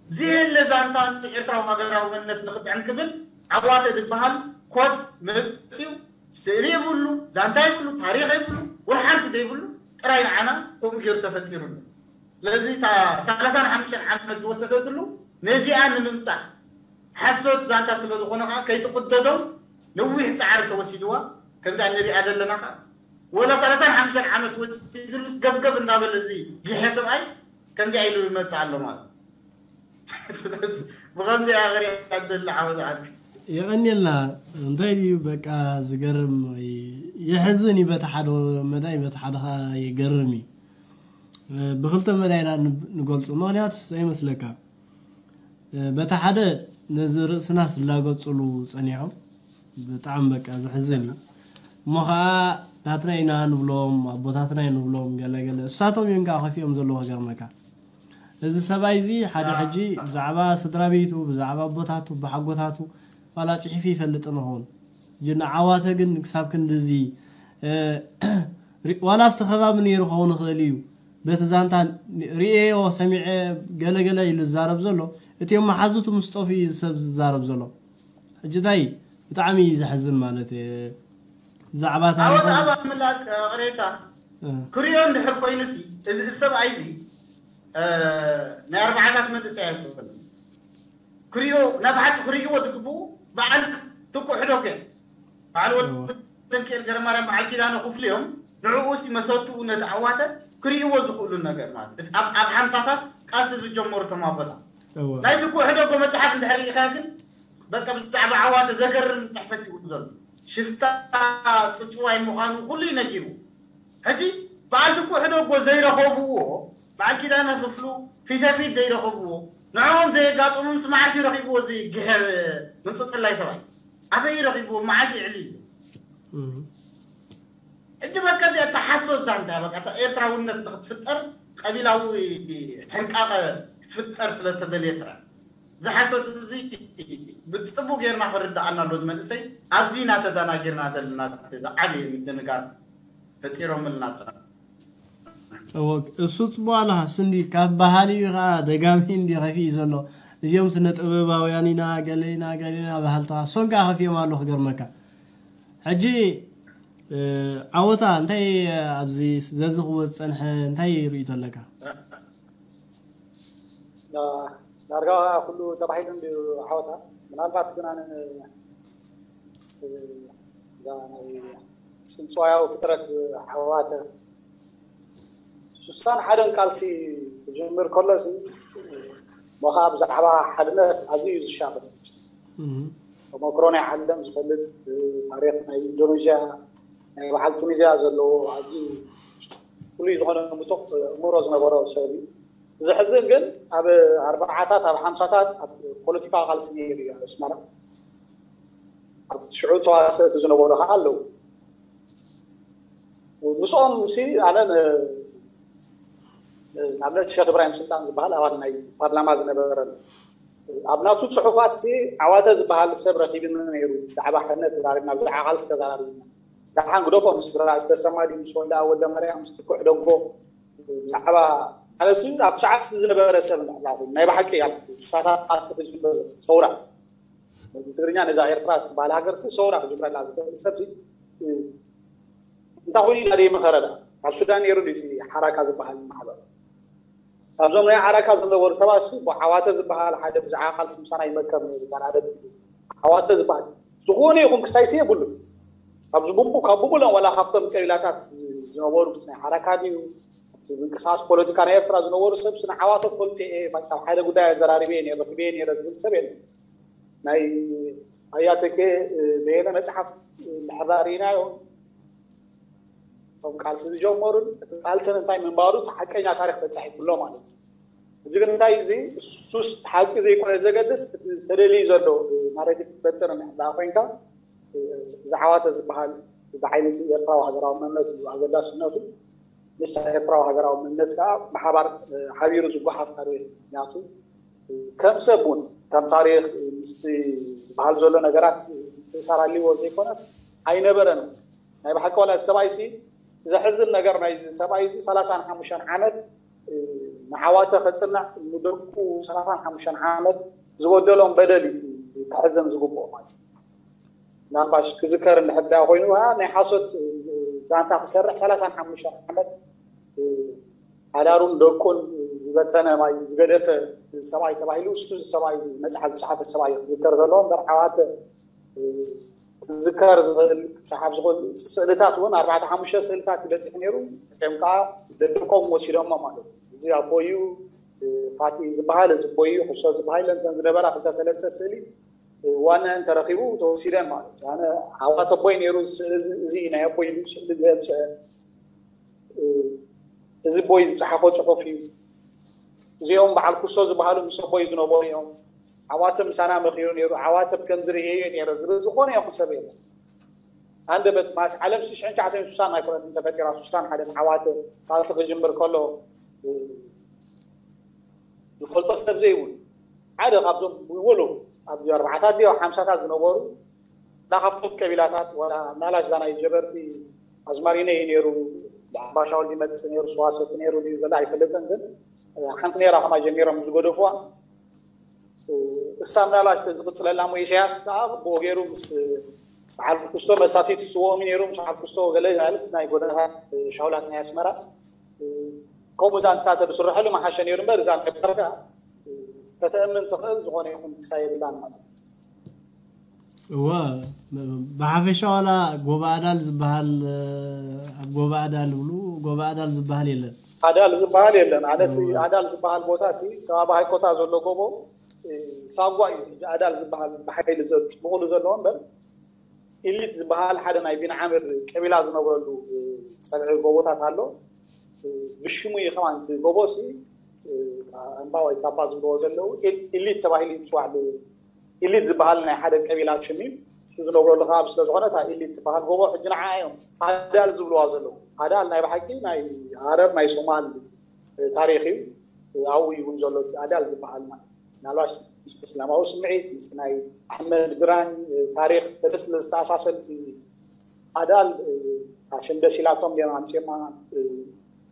ዘየለ ዛንታ ኤርትራዊ ሃገራዊ መንነት ንክጥዕም ክብል ዓዋተ ዝበሃል ኮድ መፅዩ ስእሊ የብሉ ዛንታ የብሉ ታሪክ የብሉ ወላ ሓንቲ ዘይብሉ ጥራይ ንዓና ከምኡ ገይሩ ተፈጢሩሉ ስለዚ እታ ሰላሳን ሓሙሽተን ዓመት ዝወሰደትሉ ነዚኣ ንምምፃእ ሓሶት ዛንታ ስለ ዝኾነ ከዓ ከይትቕደዶም ነዊሕ ፃዕሪ ተወሲድዋ ከምዚኣ ንሪኣ ዘለና ከዓ ወላ ሰላሳን ሓሙሽተን ዓመት ወሲድሉስ ገብገብ እናበለ እዚ ጊሐ ሰብኣይ ከምዚኣ ኢሉ ይመፅእ ኣሎ ማለት ስለዚ ብኸምዚኣ ክሪኣ ደሊ ዓወት ዓዲ የቐንየልና እንታይ ድዩ በቃ ዝገርም ወይ የሕዝን እዩ በቲ ሓደ መዳይ በቲ ሓደ ከዓ የገርም እዩ ብክልተ መዳይና ንገልፁ ምክንያት እንታይ ይመስለካ በቲ ሓደ ነዚ ርእስና ስላገፅሉ ፀኒሖም ብጣዕሚ በቃ ዘሕዝን እዩ እሞ ከዓ ናትና ኢና ንብሎም ኣቦታትና ንብሎም ገለገለ እሳቶም እዮም ከዓ ከፊኦም ዘለዎ ገርመካ እዚ ሰብኣይ እዚ ሓደ ሕጂ ብዛዕባ ስድራ ቤቱ ብዛዕባ ኣቦታቱ ብሓጎታቱ ዋላ ፅሒፉ ይፈልጥ ንኸውን ንዓዋተ ግን ክሳብ ክንድዚ ዋላ ኣብቲ ከባቢ ነይሩ ክኸውን ይኽእል እዩ በቲ ዛንታ ርእየዮ ሰሚዐ ገለገለ ኢሉ ዝዛረብ ዘሎ እቲኦም መሓዙቱ ምስ ጠፍኡ እዩ ሰብ ዝዛረብ ዘሎ ሕጂ እንታይ ብጣዕሚ እዩ ዘሕዝን ማለት ብዛዕባ ታሪኹ ዓወት ኣብ ኣምላክ ቅሬታ ክሪኦ እንድሕር ኮይኑ ሲ እዚ ሰብኣይ እዚ ናይ ኣርባዓታት መንእሰይ ኣይኮነ ክሪኦ ናብ ሓቂ ክርእይዎ ዝግብኡ በዓል ትኩ ሕደጎ በዓል ወደንክኤል ገረማርያም በዓል ኪዳነ ክፍሉ እዮም ንዕኡ ሲ መሰትኡ ነቲ ዓዋተ ክርእይዎ ዝኽእሉ ነገር ማለት እቲ ኣብ ኣብ ሓምሳታት ቃልሲ ዝጀመሩ እቶም ኣቦታት ናይ ትኩ ሕደጎ መፅሓፍ እንድሕር ርኢኻ ግን በቃ ብዛዕባ ዓዋተ ዘገርም ፅሕፈት እዩ ዘሎ ሽፍታ ፅጭዋይ ምዃኑ ኩሉ እዩ ነጊሩ ሕጂ በዓል ትኩ ሕደጎ ዘይረኸብዎ በዓል ኪዳነ ክፍሉ ፊተፊት ዘይረኸብዎ ንዕኦም ዘየጋጠሞምስ መዓስ እዩ ረኺብዎ እዚ ግሐ ምንፅፅላይ ሰብኣይ ኣበይ ረኺብዎ መዓስ ይዕሊ እዩ ሕጂ በቃ እዚኣ እታ ሓሶት ዛንታ በቃ እታ ኤርትራውነት ንክትፍጠር ቀቢላዊ ሕንቃቐ ክትፍጠር ስለተደልየ ጥራይ እዚ ሓሶት እዚ ብፅቡቅ ጌርና ክርዳኣና ኣሎ እዚ መንእሰይ ኣብዚ ኢና ተዳናጊርና ዘለና ዝዓበየ ምድንጋር ፈጢሮምልና ጸ እሱ ፅቡቅ ኣለካ እሱ እንዲ ካብ ባህሊ እዩ ከዓ ደጋሚ እንዲ ከፊ እዩ ዘሎ እዚኦም ስነ ጥበባውያን ኢና ገለ ኢና ገለ ኢና ባህልታ እሶም ከዓ ከፊኦም ኣሎ ክገርመካ ሕጂ ዓወታ እንታይ ኣብዚ ዘዝኽዎ ዝፀንሐ እንታይ ርእቶ ኣለካ ዳርጋ ኩሉ ተባሂሉ እንድዩ ዓወታ ምናልባት ግን ኣነ እዛ ናይ ፅንፅዋያዊ ፍጥረት ዓዋተ ስሳን ሓደን ቃልሲ ክጅምር ከሎ ሞኻ ብዛዕባ ሓድነት ኣዝዩ እዩ ዝሻፈል። ተመክሮ ናይ ዓለም ዝፈልጥ፣ ታሪክ ናይ ኢንዶኔዥያ፣ ናይ በዓል ቱኒዝያ ዘለዎ ኣዝዩ ፍሉይ ዝኾነ ምጡቕ እምሮ ዝነበሮ ሰብ እዩ። ዘሕዝን ግን ኣብ ኣርባዓታት ኣብ ሓምሳታት ኣብ ፖለቲካዊ ቃልሲ ነይሩ እዩ ኣስመራ። ኣብ ሽዑ ተዋሰእቲ ዝነበሩ ከዓ ኣለዉ። ምስኦም ሲ ኣነ ንኣብነት ሸክ እብራሂም ስልጣን ዝበሃል ኣባል ናይ ፓርላማ ዝነበረ ኣብ ናቱ ፅሑፋት ዓዋተ ዝበሃል ሰብ ረኪብኒ ነይሩ። ብዛዕባ ሕነ ተዛሪብና ብዛዕባ ቃልሲ ተዛሪብና። ደሓን ግደፎ ምስ ብራ ዝተሰማ ድዩ ምስ ወልደ ወልደ ማርያም ምስ ትኩዕ ደጎ ብዛዕባ ኣነሱ ኣብ ሰዓት ዝነበረ ሰብ ናይ ብሓቂ ኣብ ሳታት ቃልሲ ክጅምር ሰውራ ትግርኛ ነዛ ኤርትራ ትበሃል ሃገር ሲ ሰውራ ክጅምረላ ዝኽእል ሰብ እንታይ ኮይኑ ኢና ደይመኸረዳ ኣብ ሱዳን ነይሩ ድዩ ሓራካ ዝበሃል ማሕበር ካብዞም ናይ ዓረካ ዝነበሩ ሰባት ዓዋተ ዝበሃል ሓደ ብዛዕባ ቃልሲ ምሳና ይመከር ነይሩ። ዓዋተ ዝበሃል ዝኾነ ይኹን ክሳይሲ የብሉ ካብዚ ቡቡ ካብ ቡቡለን ዋላ ካብቶም ቀቢላታት ዝነበሩ ናይ ዓረካ ድዩ ምንቅስቃስ ፖለቲካ ናይ ኤርትራ ዝነበሩ ሰብ ስነ ዓዋተ ፈልጡ እየ ካብ ሓደ ጉዳይ ኣዘራሪበ እየ ረክበ እየ ዝብል ሰብ የለ ናይ ኣያተኬ በየነ መፅሓፍ ምሕራር ኢናዮ እቶም ቃልሲ ዝጀመሩን እቲ ቃልስን እንታይ ምንባሩ ሓቀኛ ታሪክ ተፃሒፉሎ ማለት እዩ። እዚ ግን እንታይ እዚ እሱስ ሓቂ ዘይኮነ ዘገድስ እቲ ዝተደልዩ ዘሎ ናሬቲቭ ክትፈጥር እንድሕር ኮይንካ እዚ ዓዋተ ዝበሃል ብሓይሊ ኤርትራዊ ሃገራዊ መንነት እዩ ኣገዳስነቱ። ምስ ኤርትራዊ ሃገራዊ መንነት ከዓ ብሓባር ሓቢሩ ዝጓሓፍ ታሪክ ምክንያቱ ከም ሰብ እውን ከም ታሪክ ምስቲ ዝበሃል ዘሎ ነገራት ምትእሳር ኣልዎ ዘይኮነስ ኣይነበረን። ናይ ብሓቂ ዋላ ሰብኣይ ሲ ዘሕዝን ነገር ናይ ሰብኣይ እዚ ሰላሳን ሓሙሽተን ዓመት ንዓዋተ ከፅንዕ ንደቁ ሰላሳን ሓሙሽተን ዓመት ዝበደሎም በደል እዩ ክሕዘን ዝግብኦ ማለት እዩ። ምናልባሽ ክዝከር እንድሕር ኮይኑ ናይ ሓሶት ዛንታ ክሰርሕ ሰላሳን ሓሙሽተን ዓመት ሓዳሩን ደቁን ዝበተነ ማይ ዝገደፈ ሰብኣይ ተባሂሉ እሱ ሰብኣይ መፅሓፍ ዝፅሓፈ ሰብኣይ ክዝከር ዘለዎ እምበር ዓዋተ ክዝከር ዝኽእል ክፀሓፍ ዝኽእል ስእልታት እውን ኣርባዕተ ሓሙሽተ ስእልታት ይበፅሕ ነይሩ። እም ከዓ ደደቆም ወሲዶሞ ማለት እዩ። እዚ ኣቦዩ ፋቲ ዝበሃል እዚ ቦዩ ክሶ ዝበሃል ለንተን ዝነበራ ክልተ ሰለስተ ስእሊ ዋና እንተረኺቡ ተወሲደን ማለት እዩ። ኣነ ዓዋተ ቦይ ነይሩ እዚ ናይ ኣቦይ ስእሊ ዘብፀ እዚ ቦይ ዝፀሓፎ ፅሑፍ እዩ። እዚኦም በዓል ኩሶ ዝበሃሉ ምስ ኣቦይ ዝነበሩ እዮም። ዓዋተ ምሳና መኺሩ ነይሩ። ዓዋተ ከም ዝርእየዮ ነይረ ዝብል ዝኾነ ይኹን ሰብ የለን። ኣንደበት ማስ ዓለም ሽሕን ትሽዓተ ሚእትን ስሳን ኣይኮነትን ተፈጢራ ስሳን ሓደን ዓዋተ ቃልሲ ክጅምር ከሎ ዝፈልጦ ሰብ ዘይብሉ ሓደ ካብዞም ወሎ ኣብ ኣርባዓታት ድዮ ሓምሳታት ዝነበሩ እና ካብቶም ቀቢላታት ወላ ናላሽ ዛናይ ጀበርቲ ኣዝማሪነ እዩ ነይሩ። ዓባሻውል ይመፅእ ነይሩ ስዋሰቲ ነይሩ ድዩ ዘላ ኣይፈልጥን ግን ሓንቲ ነይራ ከማ ጀሚሮም ዝገደፉዋ እሳ ምናልባት ዝቕፅለላ እሞ ኢሳያስ ከዓ ብኡ ገይሩ ምስ በዓል ክስቶ መሳቲት ዝስወኦም ነይሩ ምስ በዓል ክስቶ ገለ ማለት ናይ ጎደናታት ሻውላት ናይ ኣስመራ ከምኡ ዛንታ ተብስርሐሉ መሓሸ ነይሩ እምበር እዛ ነበር ከዓ ከተእምን ትኽእል ዝኾነ ይኹን ክሳ የብላን ማለት እዩ። እወ ብሓፈሻ ዋላ ጎባእዳል ዝበሃል ኣብ ጎባእዳል ይብሉ ጎባእዳል ዝበሃል የለን ኣዳል ዝበሃል የለን ኣነት ኣዳል ዝበሃል ቦታ ሲ ከባቢ ሃይኮታ ዘሎ ጎቦ ሳጓ እዩ ሕጂ ኣዳል ዝበሃል ብሓይሊ ብቕሉ ዘለዎ እምበር ኢሊት ዝበሃል ሓደ ናይ ቢንዓምር ቀቢላ ዝነብረሉ ፀብዒ ጎቦታት ኣሎ ብሽሙ እዩ ከማን እቲ ጎቦ ሲ ኣምባ ወይ ታባ ዝብልዎ ዘለዉ ኢሊት ተባሂሉ ይፅዋዕ ኢሊት ዝበሃል ናይ ሓደ ቀቢላ ሽም እዩ እሱ ዝነብረሉ ከባቢ ስለዝኾነ እታ ኢሊት ዝበሃል ጎቦ ሕጂ ንዓ እዮም ኣዳል ዝብልዋ ዘለዉ ኣዳል ናይ ብሓቂ ናይ ዓረብ ናይ ሶማል ታሪክ እዩ ኣብኡ ይውን ዘሎ ኣዳል ዝበሃል ማለት ምናልባት ምስቲ እስላማዊ ስምዒት ምስቲ ናይ ኣሕመድ ግራኝ ታሪክ ተደስለ ዝተኣሳሰልቲ ኣዳል ኣሸም ደስ ኢላቶም ዲም ኣምፅማ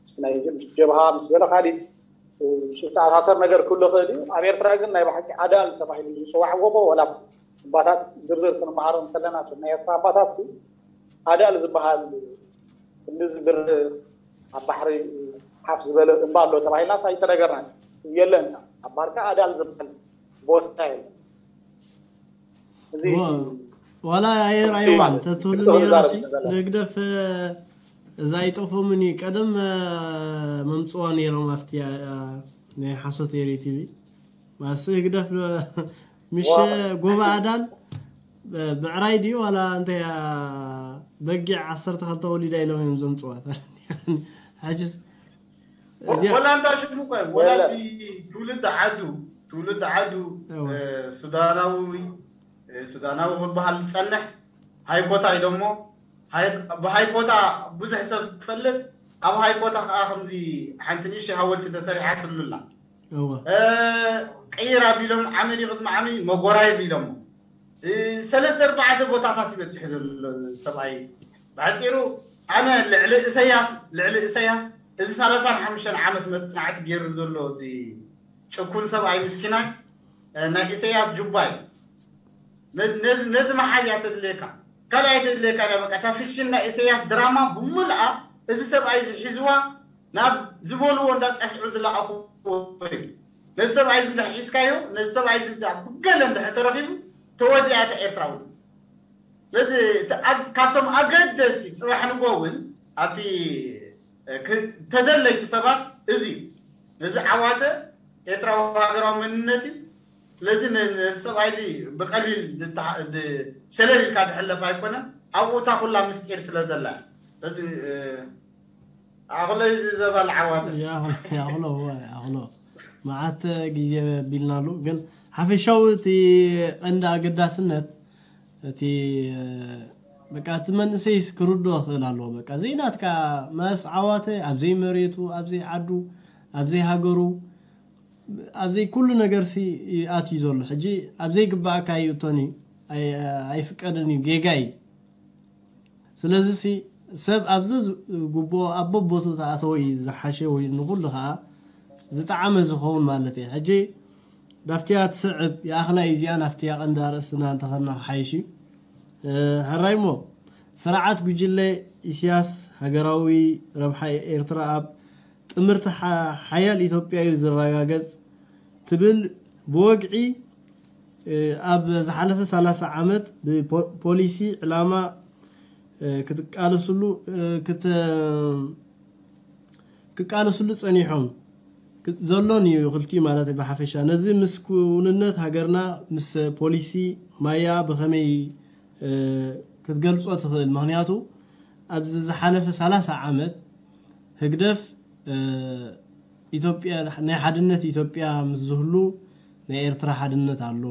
ምስ ናይ ጀብሃ ምስ ገለ ካሊእ ምስ ዝተኣሳሰር ነገር ክህሉ ይኽእል እዩ ኣብ ኤርትራ ግን ናይ ብሓቂ ኣዳል ተባሂሉ ዝፅዋዕ ጎቦ ወላ ኣባታት ዝርዝር ክንመሃሮም ከለና ናይ ኤርትራ ኣባታት ኣዳል ዝበሃል ክንዲ ዝብርህ ኣብ ባሕሪ ሓፍ ዝበለ እምባ ኣሎ ተባሂልናስ ኣይተነገርናን የለን ኣብ ባርካ ኣዳል ዝበሃል ቦታ የለን እዚ ዋላ ኣየር ኣይዋን ተትህሉ ነይራ ንግደፍ እዛ ኣይጠፎምን እዩ ቀደም መምፅዋ ነይሮም ኣብቲ ናይ ሓሶት ኤሪ ቲቪ ማስ ህግደፍ ምሽ ጎባ ኣዳል ብዕራይ ድዩ ዋላ እንታይ በጊዕ ዓሰርተ ክልተ ወሊዳ ኢሎም እዮም ዘምፅዋ። ሕጅስ እዚኣ ወላ እንዳ ሽሙ እኮ ወላ እቲ ትውልድ ዓዱ ትውልድ ዓዱ ሱዳናዊ ሱዳናዊ ክበሃል ዝፀንሕ ሃይኮታ ኢሎሞ። ብሃይኮታ ብዙሕ ሰብ ክፈልጥ ኣብ ሃይኮታ ከዓ ከምዚ ሓንቲ ንእሽተይ ሃወልቲ ተሰሪሓትሉ ኣላ። ቀይር ኣቢሎም ዓመዲ ቅድሚ ዓሚ መጎራይ ቢሎም ሰለስተ ኣርባዕተ ቦታታት ይበፅሑ ዘሎ ሰብኣይ። ብሓፂሩ ኣነ ልዕሊ እሰያስ ልዕሊ እሰያስ እዚ ሰላሳን ሓሙሽተን ዓመት መፅናዕቲ ገይሩ ዘሎ እዚ ጭኩን ሰብኣይ ምስኪናይ ናይ ኢሰያስ ጁባይ ነዚ መሓዝያ ተድልየካ ካልኣይ ተድልየካ ዳ በቃ እታ ፊክሽን ናይ ኢሰያስ ድራማ ብሙልኣ እዚ ሰብኣይ እዚ ሒዝዋ ናብ ዝበልዎ እንዳፀፍዑ ዝለኣኽዎ እዩ። ነዚ ሰብኣይ እዚ እንድሕር ሒዝካዮ ነዚ ሰብኣይ እዚ ብገለ እንድሕር ተረኺቡ ተወዲኣ እታ ኤርትራ እውን ነዚ ካብቶም ኣገደስቲ ፅባሕ ንጎ እውን ኣብቲ ተደለይቲ ሰባት እዚ ነዚ ዓዋተ ኤርትራዊ ሃገራዊ መንነት እዩ። ስለዚ ነዚ ሰብኣይ እዚ ብቀሊል ሸለል ኢልካ ዝሕለፍ ኣይኮነን። ኣብኡ እታ ኩላ ምስጢር ስለ ዘላ ስለዚ ኣኽሎ እዩ ዘባል ዓዋተ ያኽሎ ያኽሎ መዓት ግዜ ቢልናሉ ግን ሓፈሻዊ እቲ ቀንዲ ኣገዳስነት እቲ በቃ እቲ መንእሰይስ ክርድኦ ክእል ኣለዎ። በቃ ዘይናትካ መስ ዓዋተ ኣብዘይ መሬቱ ኣብዘይ ዓዱ ኣብዘይ ሃገሩ ኣብዘይ ኩሉ ነገር ሲ ኣትዩ ዘሎ ሕጂ ኣብዘይ ግባእካ ይእቶን እዩ ኣይፍቀድን እዩ ጌጋ እዩ። ስለዚ ሲ ሰብ ኣብዚ ግቡኦ ኣብ በቦቱ ተኣተወ እዩ ዝሓሸ ወይ ንኩሉ ከዓ ዝጠዓመ ዝኸውን ማለት እዩ። ሕጂ ናፍቲያ ትስዕብ ይኣኽላ እዩ እዚኣ ናፍቲያ ቀንዲ ኣርእስትና እንተኸድና ክሓይሽ እዩ። ሕራይ እሞ ስርዓት ጉጅለ ኢስያስ ሃገራዊ ረብሓ ኤርትራ ኣብ ጥምርቲ ሓያል ኢትዮጵያ እዩ ዝረጋገጽ ትብል ብወግዒ ኣብ ዝሓለፈ ሰላሳ ዓመት ብፖሊሲ ዕላማ ክትቃለስሉ ክቃለስሉ ጸኒሖም ዘሎን እዩ ክልቲኡ ማለት ብሓፈሻ ነዚ ምስ ክውንነት ሃገርና ምስ ፖሊሲ ማያ ብኸመይ ክትገልጾ ትኽእል? ምኽንያቱ ኣብዚ ዝሓለፈ ሰላሳ ዓመት ህግደፍ ኢትዮጵያ ናይ ሓድነት ኢትዮጵያ ምስ ዝህሉ ናይ ኤርትራ ሓድነት ኣሎ፣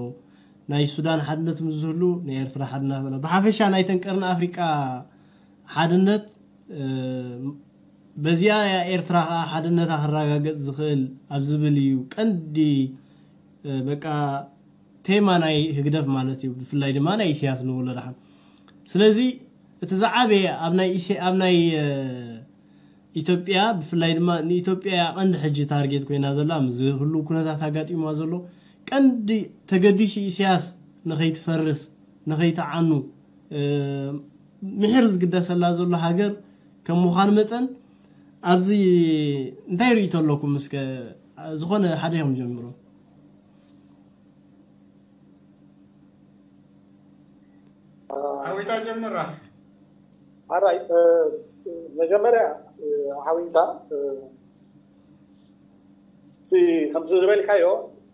ናይ ሱዳን ሓድነት ምስ ዝህሉ ናይ ኤርትራ ሓድነት ኣሎ። ብሓፈሻ ናይተን ቀርኒ ኣፍሪቃ ሓድነት በዚኣ እያ ኤርትራ ከዓ ሓድነታ ክረጋገጽ ዝኽእል ኣብ ዝብል እዩ ቀንዲ በቃ ቴማ ናይ ህግደፍ ማለት እዩ። ብፍላይ ድማ ናይ ኢሳያስ ንብሎ ደሓን። ስለዚ እቲ ዝዓበየ ኣብ ናይ ኢሴ- ኣብ ናይ ኢትዮጵያ ብፍላይ ድማ ንኢትዮጵያ ቀንዲ ሕጂ ታርጌት ኮይና ዘላ ምስ ዝህሉ ኩነታት ኣጋጢማ ዘሎ ቀንዲ ተገዲሱ ኢሳያስ ንኸይትፈርስ ንኸይትዓኑ ምሕር ዝግደሰላ ዘሎ ሃገር ከም ምዃን መጠን ኣብዚ እንታይ ርእይቶ ኣለኩም? እስከ ዝኾነ ሓደ ኢኹም ጀምሩ። ዓዊታ ጀምር ራስ ኣራይ መጀመርያ ዓዊታ እቲ ከምዚ ዝበልካዮ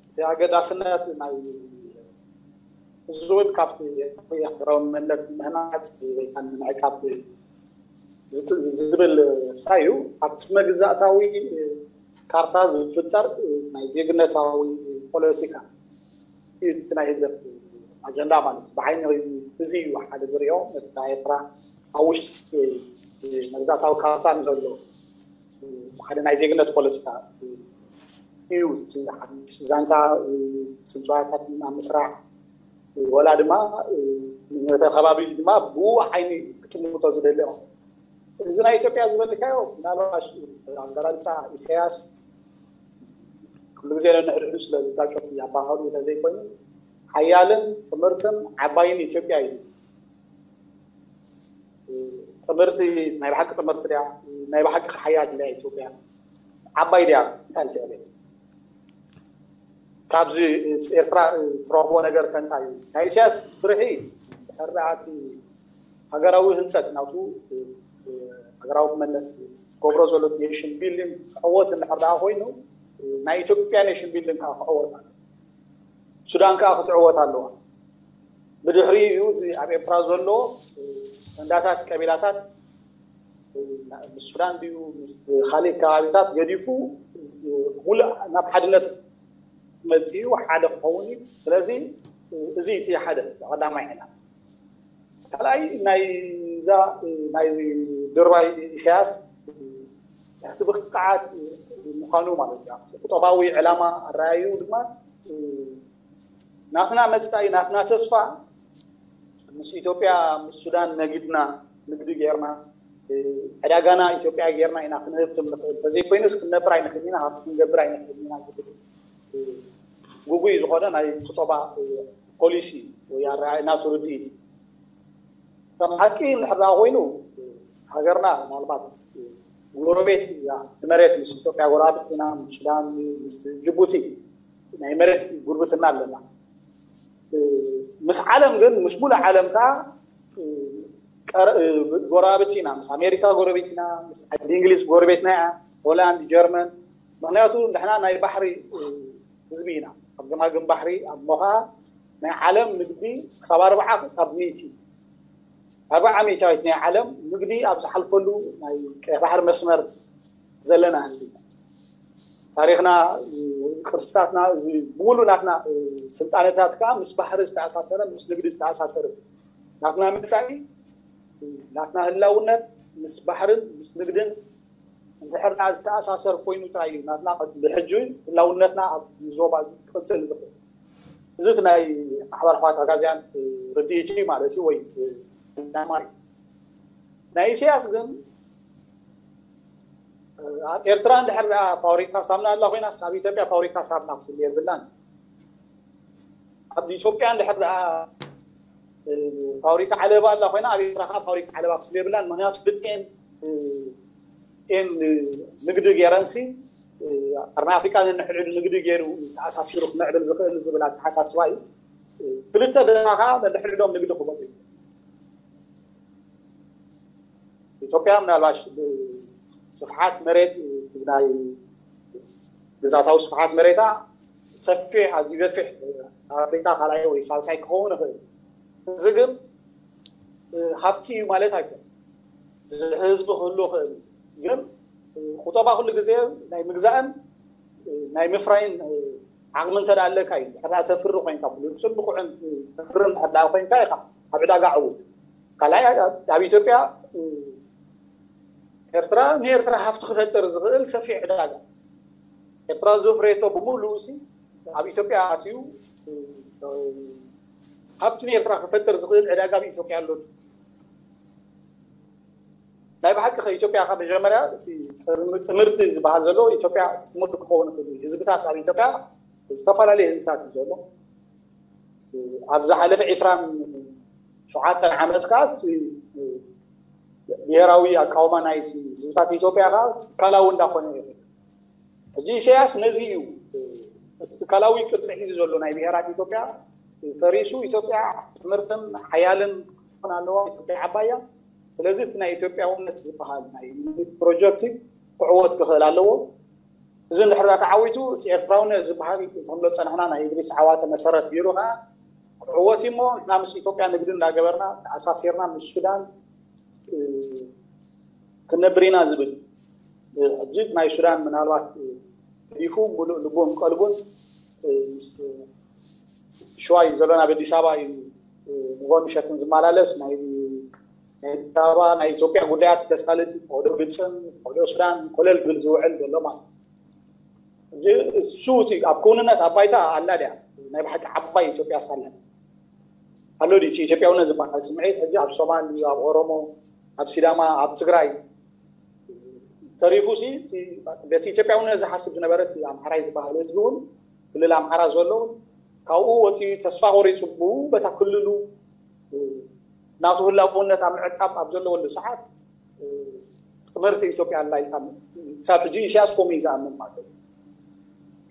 እቲ ኣገዳስነት ናይ ህዝብን ካብቲ ሃገራዊ መንነት ምህናፅ ወይ ከዓ ንምዕቃብ ዝብል ሳዩ ኣብቲ መግዛእታዊ ካርታ ዝፍጠር ናይ ዜግነታዊ ፖለቲካ እዩ እቲ ናይ ህግደፍ ኣጀንዳ ማለት እዩ። ብዓይኒ እዚ እዩ ሓደ ዝሪኦ ነታ ኤርትራ ኣብ ውሽጢ መግዛእታዊ ካርታ ንዘሎ ሓደ ናይ ዜግነት ፖለቲካ እዩ። እቲ ሓድሽ ዛንታ ስምፅዋታት ኣብ ምስራሕ ወላ ድማ ነተ ከባቢ ድማ ብኡ ዓይኒ ክጥምቶ ዝደሊ ማለት እዩ። እዚ ናይ ኢትዮጵያ ዝበልካዮ ምናልባሽ ኣገላልፃ ኢሳያስ ኩሉ ግዜ ነንሕድሕዱ ስለ ዝጋጨት ኣባሃሉ እንተዘይኮይኑ ሓያልን ጥምርትን ዓባይን ኢትዮጵያ እዩ። ጥምርቲ ናይ ብሓቂ ጥምርቲ ድያ ናይ ብሓቂ ሓያል ድያ ኢትዮጵያ ዓባይ ድያ እንታይ ትዕብል ካብዚ ኤርትራ ትረኽቦ ነገር ከንታ እዩ ናይ ኢሳያስ ፍርሒ ሕራኣቲ ሃገራዊ ህንፀት ናቱ ሃገራዊ ክመነት ገብሮ ዘሎ ኔሽን ቢልዲንግ ክዕወት እንድሕር ደኣ ኮይኑ ናይ ኢትዮጵያ ኔሽን ቢልዲንግ ከዓ ክዕወት ኣሎ ሱዳን ከዓ ክትዕወት ኣለዋ። ብድሕሪኡ እዩ እዚ ኣብ ኤርትራ ዘሎ ተንዳታት ቀቢላታት ምስ ሱዳን ድዩ ምስ ካልእ ከባቢታት ገዲፉ ሙሉእ ናብ ሓድነት መፅኡ ሓደ ክኸውን እዩ። ስለዚ እዚ እቲ ሓደ ቀዳማይ ዕላማ። ካልኣይ ናይዛ ናይ ድርባይ ኢሳያስ ትሕቲ ብቕዓት ምዃኑ ማለት እዩ። ቁጠባዊ ዕላማ ኣረኣዩ ድማ ናትና መፃኢ ናትና ተስፋ ምስ ኢትዮጵያ ምስ ሱዳን ነጊድና ንግዲ ጌርና ዕዳጋና ኢትዮጵያ ጌርና ኢና ክንህብትም ንኽእል። ተዘይኮይኑስ ክንነብር ኣይንኽእል ኢና፣ ሃብቲ ክንገብር ኣይንኽእል ኢና ዝብል ግጉይ ዝኾነ ናይ ቁጠባ ፖሊሲ ወይ ኣረኣእያ ናቱ ርድኢት። ከም ሓቂ እንድሕር ደኣ ኮይኑ ሃገርና ምናልባት ጎረቤት እያ፣ እቲ መሬት ምስ ኢትዮጵያ ጎረባብቲ ኢና፣ ምስ ሱዳን፣ ምስ ጅቡቲ ናይ መሬት ጉርብትና ኣለና። ምስ ዓለም ግን ምስ ሙሉእ ዓለም ከዓ ጎረባብቲ ኢና። ምስ ኣሜሪካ ጎረቤት ኢና፣ ምስ ዓዲ እንግሊዝ ጎረቤትና እያ፣ ሆላንድ፣ ጀርመን። ምክንያቱ ንሕና ናይ ባሕሪ ህዝቢ ኢና። ኣብ ገማግም ባሕሪ ኣብ ሞኻ ናይ ዓለም ንግዲ ክሳብ ኣርባዓ ካብ ሚእቲ ኣርባዓ ሚእታዊት ናይ ዓለም ንግዲ ኣብ ዝሓልፈሉ ናይ ቀይ ባሕሪ መስመር ዘለና ህዝቢ ኢና። ታሪኽና፣ ቅርስታትና፣ እዚ ብሙሉ ናትና ስልጣነታት ከዓ ምስ ባሕሪ ዝተኣሳሰረ ምስ ንግዲ ዝተኣሳሰረ ናትና መፃኢ ናትና ህላውነት ምስ ባሕርን ምስ ንግድን እንድሕር ደኣ ዝተኣሳሰር ኮይኑ ጥራይ እዩ ናትና ብሕጂ ህላውነትና ኣብ ዞባ እዚ ክቕፅል ዝኽእል። እዚ እቲ ናይ ማሕበር ኣሕዋት ኣጋዝያን ርድኢት እዩ ማለት እዩ ወይ ዕላማ እዩ። ናይ ኢሳያስ ግን ኣብ ኤርትራ እንድሕር ደኣ ፋብሪካ ሳምና ኣላ ኮይናስ ኣብ ኢትዮጵያ ፋብሪካ ሳምና ክትህሉ የብላን። ኣብ ኢትዮጵያ እንድሕር ደኣ ፋብሪካ ዓለባ ኣላ ኮይና ኣብ ኤርትራ ከዓ ፋብሪካ ዓለባ ክትህሉ የብላን። ምክንያቱ ብጤን ጤን ንግዲ ገይረንሲ ቀርኒ ኣፍሪቃ ነንሕድሕዱ ንግዲ ገይሩ ተኣሳሲሩ ክምዕብል ዝኽእል ዝብል ኣተሓሳስባ እዩ። ክልተ ድማ ከዓ ነንሕድሕዶም ንግዲ ክገብሩ ኢትዮጵያ ምናልባሽ ስፍሓት መሬት ናይ ግዛታዊ ስፍሓት መሬታ ሰፊሕ ኣዝዩ ገፊሕ ኣፍሪካ ካልኣይ ወይ ሳልሳይ ክኸውን ይኽእል። እዚ ግን ሃብቲ እዩ ማለት ኣይኮን። ህዝቢ ክህሉ ይኽእል እዩ። ግን ቁጠባ ኩሉ ግዜ ናይ ምግዛእን ናይ ምፍራይን ዓቕሚ እንተ ኣለካ እዩ። ድሕር ተፍሪ ኮይንካ ብሉፅን ብቑዕን ተፍርን ድሕር ኮይንካ ኢኻ ኣብ ዕዳጋ ዕውት። ካልኣይ ኣብ ኢትዮጵያ ኤርትራ ንኤርትራ ሃፍቲ ክፈጥር ዝኽእል ሰፊሕ ዕዳጋ ኤርትራ ዘፍረየቶ ብምሉኡ ሲ ኣብ ኢትዮጵያ ኣትዩ ሃብቲ ንኤርትራ ክፈጥር ዝኽእል ዕዳጋ ኣብ ኢትዮጵያ ኣሎ። ናይ ብሓቂ ከ ኢትዮጵያ ካብ መጀመርያ እቲ ትምህርቲ ዝበሃል ዘሎ ኢትዮጵያ ትምህርቲ ክኸውን ይኽእል እዩ። ህዝብታት ኣብ ኢትዮጵያ ዝተፈላለዩ ህዝብታት እዩ ዘሎ። ኣብ ዝሓለፈ ዕስራን ሸውዓተን ዓመት ከዓ ብሄራዊ ኣቃውማ ናይ ህዝብታት ኢትዮጵያ ከዓ ትካላዊ እንዳኮነ ይኸ ሕጂ ኢሳያስ ነዚ እዩ እቲ ትካላዊ ቅርፂ ሒዙ ዘሎ ናይ ብሄራት ኢትዮጵያ ፈሪሱ ኢትዮጵያ ትምህርትን ሓያልን ክትኾን ኣለዋ ኢትዮጵያ ዓባያ። ስለዚ እቲ ናይ ኢትዮጵያውነት ዝበሃል ናይ ፕሮጀክት ክዕወት ክኽእል ኣለዎ። እዚ እንድሕር ተዓዊቱ እቲ ኤርትራውነት ዝበሃል ከምሎ ፀናሕና ናይ እድሪስ ዓዋተ መሰረት ገይሩ ከዓ ክዕወት እሞ ንሕና ምስ ኢትዮጵያ ንግዲ እንዳገበርና ተኣሳሲርና ምስ ሱዳን ክነብር ኢና ዝብል ሕጂ ናይ ሱዳን ምናልባት ገዲፉ ሙሉእ ልቡን ቀልቡን ምስ ሽዋ እዩ ዘሎ ናብ ኣዲስ ኣበባ እዩ ንጎን ምሸትን ዝመላለስ ናይ ኣዲስ ኣበባ ናይ ኢትዮጵያ ጉዳያት ከሳልጥ ፈቅዶ ግብፅን ፈቅዶ ሱዳን ኮለል ግል ዝውዕል ዘሎ ማለት እሱ እቲ ኣብ ክውንነት ኣብ ባይታ ኣላ ድያ ናይ ብሓቂ ዓባይ ኢትዮጵያ ሳለን ኣሎ ድዩ ኢትዮጵያውነት ዝበሃል ስምዒት ሕጂ ኣብ ሶማል ኣብ ኦሮሞ ኣብ ሲዳማ ኣብ ትግራይ ተሪፉ ሲ በቲ ኢትዮጵያውነት ዝሓስብ ዝነበረ ኣምሓራይ ዝበሃል ህዝቢ እውን ክልል ኣምሓራ ዘሎ እውን ካብኡ ወፂኡ ተስፋ ቆሪፁ ብኡ በታ ክልሉ ናቱ ህላውነት ኣብ ምዕቃብ ኣብ ዘለወሉ ሰዓት ትምህርቲ ኢትዮጵያ ኣላ ኢልካ ክሳብ ሕጂ ኢሳያስ ከምኡ እዩ ዝኣምን ማለት እዩ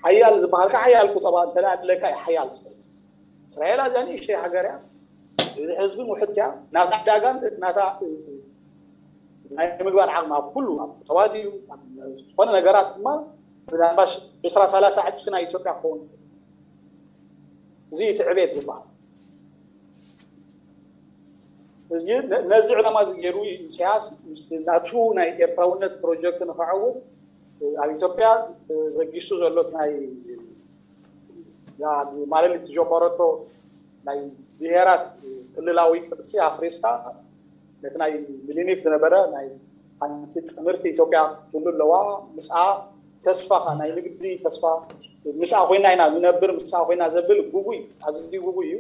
ሓያል ዝበሃልካ ሓያል ቁጠባ እንተ ኣለካ ሓያል እስራኤል ኣዝያ ንእሽተይ ሃገር እያ እዚ ህዝብን ውሕድቲ እያ ናታ ዕዳጋን እቲ ናታ ናይ ምግባር ዓቕሚ ኣብ ኩሉ ኣብ ተዋዲኡ ዝኾነ ነገራት ድማ ብናባሽ ዕስራ ሰላሳ ዕፅፊ ናይ ኢትዮጵያ ክኸውን እዚ እቲ ዕቤት ዝበሃል። ነዚ ዕላማ እዚ ገይሩ ኢሳያስ ናቱ ናይ ኤርትራውነት ፕሮጀክት ንክዓውት ኣብ ኢትዮጵያ በጊሱ ዘሎ ናይ ማለሊት ዝጀመረቶ ናይ ብሄራት ክልላዊ ቅርፂ ኣፍሪስካ ነቲ ናይ ሚሊኒክ ዝነበረ ናይ ሓንቲ ጥምርቲ ኢትዮጵያ ትሉ ኣለዋ። ምስኣ ተስፋ ናይ ንግዲ ተስፋ ምስኣ ኮይና ኢና ንነብር፣ ምስኣ ኮይና ዘብል ጉጉይ ኣዝዩ ጉጉይ እዩ።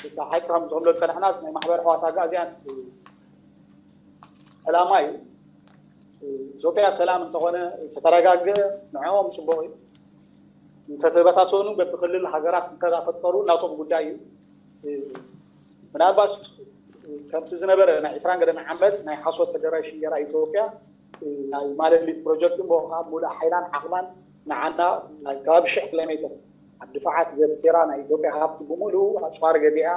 እቲ ሓቂ ከም ዝብሎ ዝፀናሕና ናይ ማሕበር ኣሕዋት ኣጋእዝያን ዕላማ እዩ። ኢትዮጵያ ሰላም እንተኾነ ተተረጋገ ንዕኦም ፅቡቕ እዩ። እንተተበታተኑ በብክልል ሃገራት እንተፈጠሩ ናቶም ጉዳይ እዩ። ምናልባት ከምቲ ዝነበረ ናይ ዕስራን ገደን ዓመት ናይ ሓሶት ፈደሬሽን ገይራ ኢትዮጵያ ናይ ማለሊት ፕሮጀክት እሞ ከዓ ሙሉእ ሓይላን ዓቕማን ንዓና ናይ ከባቢ ሽሕ ኪሎ ሜትር ኣብ ድፋዓት ገቲራ ናይ ኢትዮጵያ ሃብቲ ብምሉእ ኣፅዋር ገዚኣ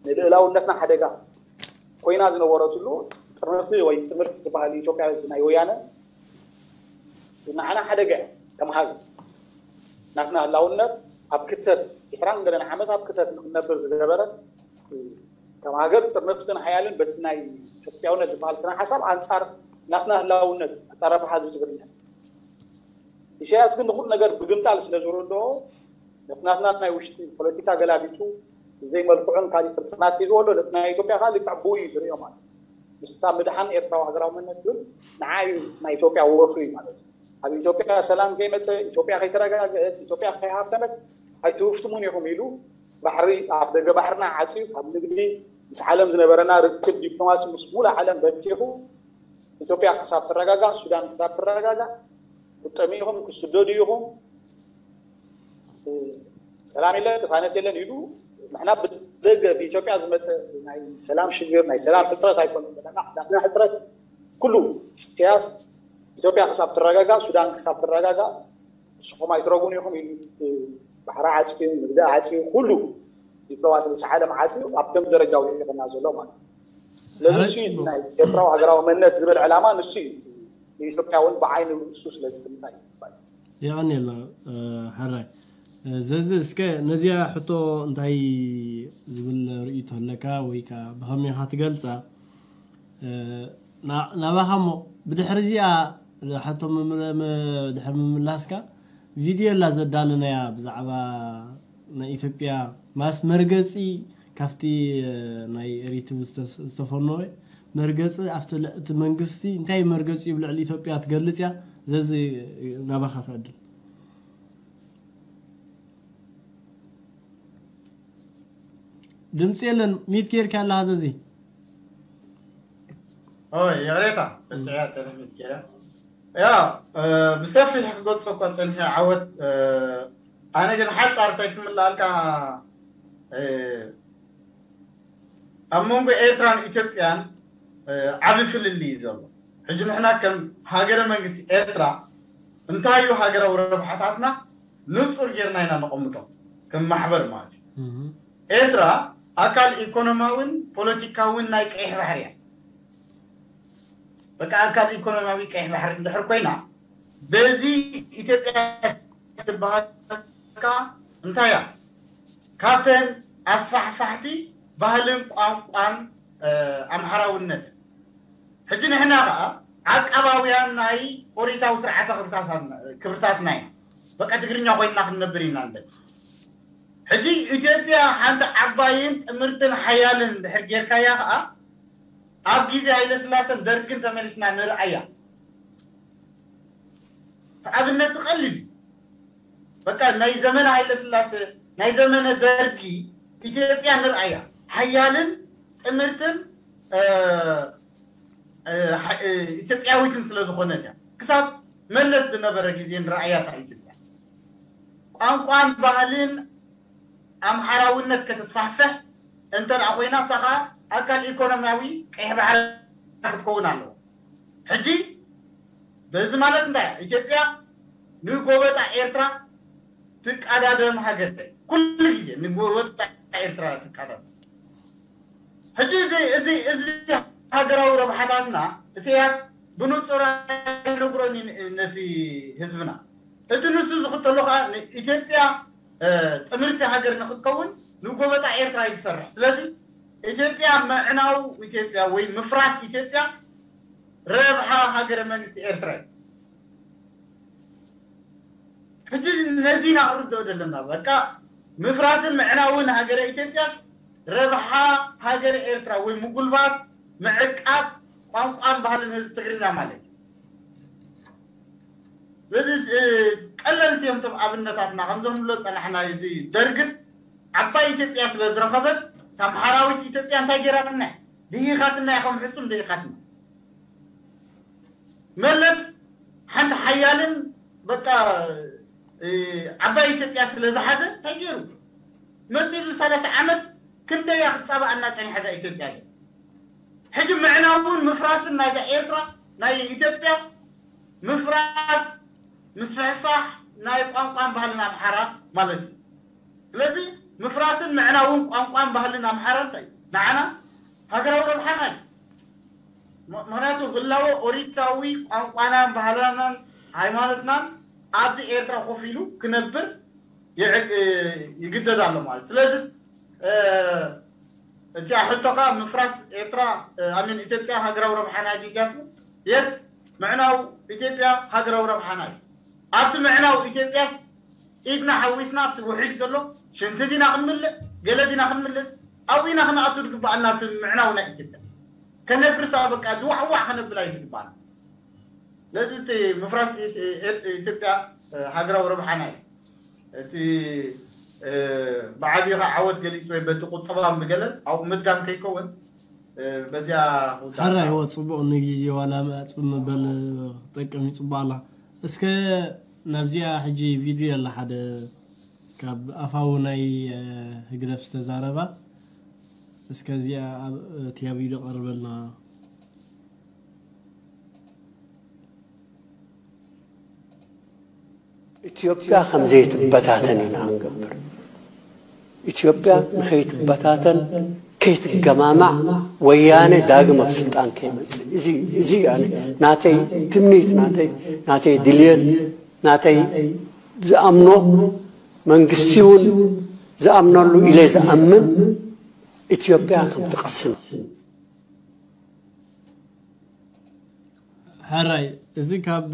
ንልእላውነትና ሓደጋ ኮይና ዝነበረትሉ ጥርንፍቲ ወይ ጥምርቲ ዝበሃል ኢትዮጵያ ናይ ወያነ ንዓና ሓደጋ እያ። ከም ሃገር ናትና ህላውነት ኣብ ክተት ዕስራን ገለን ዓመት ኣብ ክተት ንክነብር ዝገበረ ከም ሃገር ጥርንፍትን ሓያልን በቲ ናይ ኢትዮጵያውነት ዝበሃል ስነ ሓሳብ ኣንጻር ናትና ህላውነት ኣጻረፋ ህዝቢ ትግርኛ ኢሳያስ ግን ንኩሉ ነገር ብግምጣል ስለ ዝረድኦ ነቲ ናትና ናይ ውሽጢ ፖለቲካ ገላቢጡ ዘይመልክዑን ካሊእ ቅርፅናት ሒዝዎ ኣሎ። ነቲ ናይ ኢትዮጵያ ከዓ ልክዕ ብኡ እዩ ዝሪኦ ማለት እዩ። ምስታ ምድሓን ኤርትራዊ ሃገራዊ መንነት ዝብል ንዓ እዩ ናይ ኢትዮጵያ ወፍሪ ማለት እዩ። ኣብ ኢትዮጵያ ሰላም ከይመፀ፣ ኢትዮጵያ ከይተረጋገአት፣ ኢትዮጵያ ከይሃፍተመት ኣይትህፍትሙን ኢኹም ኢሉ ባሕሪ ኣብ ደገ ባሕርና ዓፅዩ ካብ ንግዲ ምስ ዓለም ዝነበረና ርክብ ዲፕሎማሲ ምስ ሙሉእ ዓለም በቲኹ ኢትዮጵያ ክሳብ ትረጋጋእ፣ ሱዳን ክሳብ ትረጋጋእ ክትጠምዩ ኢኹም፣ ክትስደዱ ኢኹም፣ ሰላም የለን፣ ቅሳነት የለን ኢሉ ንሕና ብደገ ብኢትዮጵያ ዝመፀ ናይ ሰላም ሽግር ናይ ሰላም ሕፅረት ኣይኮነን ዘለና። ናትና ሕፅረት ኩሉ ኢሳያስ ኢትዮጵያ ክሳብ ትረጋጋእ፣ ሱዳን ክሳብ ትረጋጋእ ንስኹም ኣይትረጉን ኢኹም ኢሉ ባሕሪ ዓፅዩ፣ ንግዲ ዓፅዩ፣ ኩሉ ዲፕሎማሲ ምስ ዓለም ዓፅዩ ኣብ ደም ደረጃ ውዒልና ዘሎ ማለት እዩ። ስለዚ እሱ እዩ እቲ ናይ ኤርትራዊ ሃገራዊ መንነት ዝብል ዕላማ ንሱ እዩ። ንኢትዮጵያ እውን ብዓይኒ ንሱ ስለ ዝጥምታ እዩ። የቐንየልና ሕራይ። ዘዚ እስከ ነዚኣ ሕቶ እንታይ ዝብል ርእይቶ ኣለካ ወይ ከዓ ብኸመይ ኢኻ ትገልፃ? ናባኻ እሞ ብድሕሪ እዚኣ ሕቶ ድሕሪ ምምላስካ ቪድዮ ላ ዘዳለናያ ብዛዕባ ናይ ኢትዮጵያ ማስ መርገፂ ካብቲ ናይ ኤሪትብ ዝተፈነወ መርገፂ ኣብቲ መንግስቲ እንታይ መርገፂ እዩ ልዕሊ ኢትዮጵያ ትገልፅ እያ። ዘዚ ናባኻ ትዕድል። ድምፂ የለን። ሚት ጌርካ ኣለኻ ዘዚ። ኦይ ይቕሬታ፣ በስዕያ ተለሚት ገይረ። ያ ብሰፊሕ ክገልፆ እኳ ፀኒሐ ዓወት። ኣነ ግን ሓፃር እንታይ ክምልኣልካ፣ ኣብ መንጎ ኤርትራን ኢትዮጵያን ዓቢ ፍልልይ እዩ ዘሎ። ሕጂ ንሕና ከም ሃገረ መንግስቲ ኤርትራ እንታይ እዩ ሃገራዊ ረብሓታትና ንፁር ጌርና ኢና ነቐምጦ፣ ከም ማሕበር ማለት እዩ። ኤርትራ ኣካል ኢኮኖማዊን ፖለቲካዊን ናይ ቀይሕ ባሕሪ እያ። በቃ ኣካል ኢኮኖሚያዊ ቀይሕ ባሕሪ እንድሕር ኮይና በዚ ኢትዮጵያ ትበሃልካ እንታይ እያ? ካብተን ኣስፋሕፋሕቲ ባህልን ቋንቋን ኣምሓራውነት። ሕጂ ንሕና ከዓ ዓቃባውያን ናይ ኦሪታዊ ስርዓተ ክብርታትና ኢና። በቃ ትግርኛ ኮይንና ክንነብር ኢና ንደሊ። ሕጂ ኢትዮጵያ ሓንቲ ዓባይን ጥምርትን ሓያልን ድሕር ጌርካያ ከዓ ኣብ ግዜ ሃይለስላሰን ደርግን ተመሊስና ንርኣያ። ኣብነት ቀሊል እዩ። በቃ ናይ ዘመነ ሃይለስላሰ ናይ ዘመነ ደርጊ ኢትዮጵያ ንርኣያ ሓያልን ጥምርትን ኢትዮጵያዊትን ስለ ዝኾነት እያ። ክሳብ መለስ ዝነበረ ግዜ ንረኣያ እታ ኢትዮጵያ ቋንቋን ባህልን ኣምሓራውነት ከተስፋሕፍሕ እንተ ደኣ ኮይና እሳ ኸዓ ኣካል ኢኮኖሚያዊ ቀይሕ ባሕሪ ክትከውን ኣለዎ። ሕጂ በዚ ማለት እንታይ ኢትዮጵያ ንጎበጣ ኤርትራ ትቃዳደም ሃገር ኩሉ ግዜ ንጎበጣ ኤርትራ ትቃዳደም። ሕጂ እዚ እዚ እዚ ሃገራዊ ረብሓታትና ኢሳያስ ብንጹር ኣይነግሮን ነቲ ህዝብና። እቲ ንሱ ዝኽተሎ ከዓ ኢትዮጵያ ጥምርቲ ሃገር ንክትከውን ንጎበጣ ኤርትራ እዩ ዝሰርሕ። ስለዚ ኢትዮጵያ ምዕናው ኢትዮጵያ ወይ ምፍራስ ኢትዮጵያ ረብሓ ሃገረ መንግስቲ ኤርትራ እዩ። ሕጂ ነዚ ኢና ክንርድኦ ዘለና። በቃ ምፍራስን ምዕናውን ሃገረ ኢትዮጵያ ረብሓ ሃገረ ኤርትራ ወይ ምጉልባት ምዕቃብ ቋንቋን ባህልን ህዝቢ ትግርኛ ማለት እዩ። ስለዚ ቀለልቲ እዮም እቶም ኣብነታትና ከምዞም ንብሎ ፀናሕና። እዚ ደርግስ ዓባይ ኢትዮጵያ ስለ ዝረኸበት ታምሓራዊት ኢትዮጵያ እንታይ ገይራትና? ድሂኻትና ኢኹም፣ ሕሱም ድሂኻትና። መለስ ሓንቲ ሓያልን በቃ ዓባይ ኢትዮጵያ ስለ ዝሓዘ እንታይ ገይሩ? መፂኡ ሰላሳ ዓመት ክንደያ ክትፃባኣና ፀኒሓ እዛ ኢትዮጵያ እዚኣ። ሕጂ ምዕናውን ምፍራስን ናይዛ ኤርትራ ናይ ኢትዮጵያ ምፍራስ ምስፍሕፋሕ ናይ ቋንቋን ባህልን ኣምሓራ ማለት እዩ። ስለዚ ምፍራስን ምዕናውን ቋንቋን ባህልን ኣምሓራ እንታይ ንዓና ሃገራዊ ረብሓና እዩ። ምክንያቱ ህላወ ኦሪታዊ ቋንቋናን ባህልናን ሃይማኖትናን ኣብዚ ኤርትራ ኮፍ ኢሉ ክነብር ይግደድ ኣሎ ማለት። ስለዚ እቲ ሕቶካ ምፍራስ ኤርትራ ኣሚን ኢትዮጵያ ሃገራዊ ረብሓና ዲጋት የስ ምዕናው ኢትዮጵያ ሃገራዊ ረብሓና እዩ። ኣብቲ ምዕናው ኢትዮጵያስ ኢድና ሓዊስና ኣብቲ ውሒድ ዘሎ ሽንቲ ዲና ክንምልእ ገለ ዲና ክንምልስ ኣብኡ ኢና ክንኣቱ ዝግባኣና ኣብቲ ምዕናው ናይ ኢትዮጵያ ከነፍርሳ በቃ ዝዋዕዋዕ ከነብል እዩ ዝግባኣና። ስለዚ እቲ ምፍራስ ኢትዮጵያ ሃገራዊ ረብሓና እዩ። እቲ ብዓብኻ ዓወት ገሊፅ ወይ በቲ ቁጠባ ምገለን ኣብኡ ምድጋም ከይከውን በዚያ ሕራይ ወ ፅቡቕ ንግዜ ዋላ መፅብ ምበል ክጠቅም ይፅቡቕ ኣላ። እስከ ናብዚኣ ሕጂ ቪድዮ ኣላ ሓደ ካብ ኣፋዊ ናይ ህግደፍ ዝተዛረባ እስከ እዚኣ እቲያ ቪድዮ ቀርበልና። ኢትዮጵያ ከም ዘይትበታተን ኢና ክንገብር። ኢትዮጵያ ንኸይትበታተን ከይትገማማዕ ወያነ ዳግም ኣብ ስልጣን ከይመፅእ እዚ እዚ ኣነ ናተይ ትምኒት ናተይ ናተይ ድልየት ናተይ ዝኣምኖ መንግስቲ እውን ዝኣምነሉ ኢለ ዝኣምን ኢትዮጵያ ከም ትቐስም ሕራይ እዚ ካብ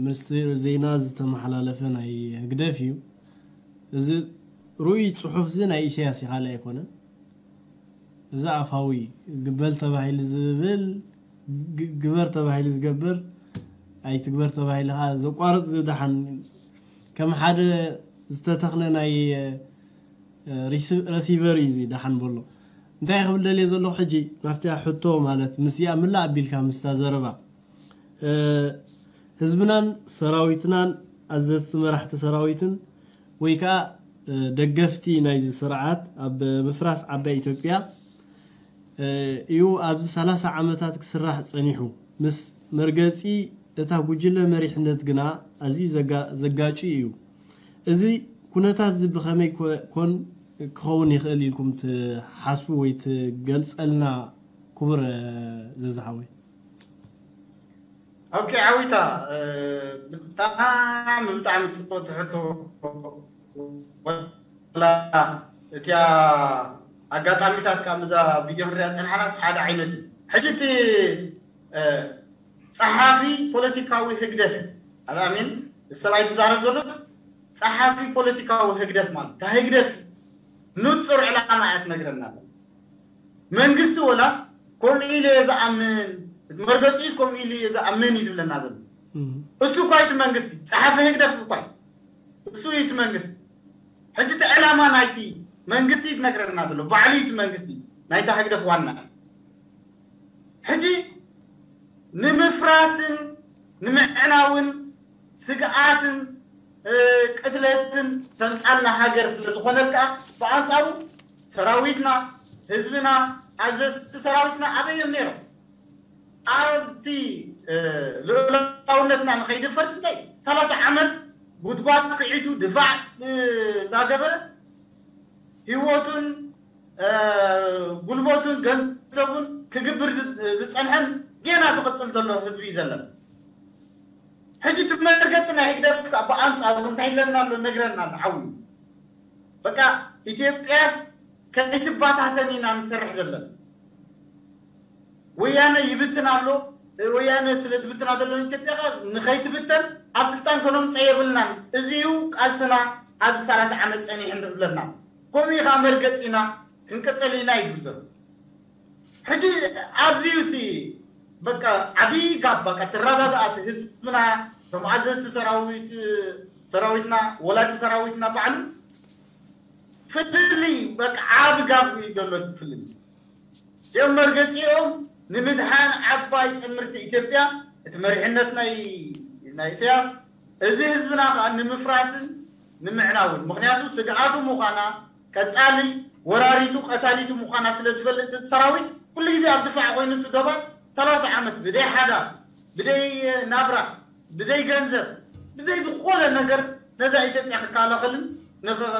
ሚኒስትሪ ዜና ዝተመሓላለፈ ናይ ህግደፍ እዩ። እዚ ርኡይ ፅሑፍ እዚ ናይ ኢሳያስ እዩ ካልእ ኣይኮነን። እዚ ኣፋዊ ግበል ተባሂሉ ዝብል ግበር ተባሂሉ ዝገብር ኣይትግበር ተባሂሉ ከዓ ዘቋርፅ ዝደሓን ከም ሓደ ዝተተኽለ ናይ ረሲቨር እዩ እዚ ደሓን በሎ። እንታይ ክብል ደልየ ዘለኹ ሕጂ ናብቲ ሕቶ ማለት ምስዚኣ ምላእ ኣቢልካ ምስታ ዘረባ ህዝብናን ሰራዊትናን ኣዘዝቲ መራሕቲ ሰራዊትን ወይ ከዓ ደገፍቲ ናይዚ ስርዓት ኣብ ምፍራስ ዓባይ ኢትዮጵያ እዩ ኣብዚ ሰላሳ ዓመታት ክስራሕ ፀኒሑ። ምስ መርገፂ እታ ጉጅለ መሪሕነት ግና ኣዝዩ ዘጋጭ እዩ። እዚ ኩነታት እዚ ብኸመይ ኮን ክኸውን ይኽእል ኢልኩም ትሓስቡ ወይ ትገልፀልና ክቡር ዘዝሓወይ? ኦኬ ዓዊታ ብጣዕሚ ብጣዕሚ ጽቡቅ ትሕቶ። ወላ እቲያ ኣጋጣሚታት ካብ እዛ ቪድዮ ክንሪኣ ጸንሓናስ ሓደ ዓይነት እዩ። ሕጂ እቲ ጸሓፊ ፖለቲካዊ ህግደፍ ኣልኣሚን ሰብኣይ ትዛረብ ዘሎ ጸሓፊ ፖለቲካዊ ህግደፍ ማለት እታ ህግደፍ ንጹር ዕላማ እያ ትነግረና። መንግስቲ ወላስ ከምኡ ኢለ እየ ዝኣምን መርገፂ ከምኡ ኢሉ እየ ዝኣምን እዩ ዝብለና ዘሎ። እሱ እኳ እቲ መንግስቲ ጸሓፊ ህግደፍ እኳ እሱ እዩ እቲ መንግስቲ። ሕጂ እቲ ዕላማ ናይቲ መንግስቲ እዩ ትነግረና ዘሎ ባዕሉ እዩ እቲ መንግስቲ ናይታ ህግደፍ ዋና። ሕጂ ንምፍራስን ንምዕናውን ስግኣትን ቅትለትን ተምፃልና ሃገር ስለ ዝኾነት ከዓ ብኣንፃሩ ሰራዊትና ህዝብና ኣዘዝቲ ሰራዊትና ኣበይ እዮም ነይሮም? ኣብቲ ልኡላውነትና ንኸይድፈርስ እንታይ ሰላሳ ዓመት ጉድጓድ ክዒቱ ድፋዕ እንዳገበረ ህይወቱን ጉልበቱን ገንዘቡን ክግብር ዝፀንሐን ጌና ዝቕፅል ዘሎ ህዝቢ እዩ ዘለና። ሕጂ እቲ መርገፂ ናይ ህግደፍ ከዓ ብኣንፃሩ እንታይ ይብለና ኣሎ ነግረና ኣሎ ዓው በቃ ኢትዮጵያስ ከይትባታተን ኢና ንሰርሕ ዘለና። ወያነ ይብትን ኣሎ። ወያነ ስለ ዝብትና ዘሎ ኢትዮጵያ ከ ንኸይትብተን ኣብ ስልጣን ከነምፀ የብልናን። እዚ እዩ ቃልስና ኣብዚ ሰላሳ ዓመት ፀኒሑ ንብለና። ከምኡ እዩ ከዓ መርገፂና ክንቅፅል ኢና ይብል ዘሎ። ሕጂ ኣብዚ እዩ እቲ በቃ ዓብዪ ጋብ በቃ ትረዳድኣት ህዝብና፣ እቶም ኣዘዝቲ ሰራዊት ሰራዊትና ወላዲ ሰራዊትና ባዕሉ ፍልልይ በቃ ዓቢ ጋብ እዩ ዘሎ። እቲ ፍልልይ እዚኦም መርገፂኦም ንምድሓን ዓባይ ጥምርቲ ኢትዮጵያ፣ እቲ መሪሕነት ናይ ናይ ኢሳያስ፣ እዚ ህዝብና ከዓ ንምፍራስን ንምዕናውን። ምክንያቱ ስግኣቱ ምዃና፣ ቀፃሊ ወራሪቱ ቀታሊቱ ምዃና ስለ ዝፈልጥ እቲ ሰራዊት ኩሉ ግዜ ኣብ ድፋዕ ኮይኑ እቲ ዶባት ሰላሳ ዓመት ብደይ ሓዳር፣ ብደይ ናብራ፣ ብደይ ገንዘብ፣ ብዘይ ዝኾነ ነገር ነዛ ኢትዮጵያ ክከላኸልን ንኸ-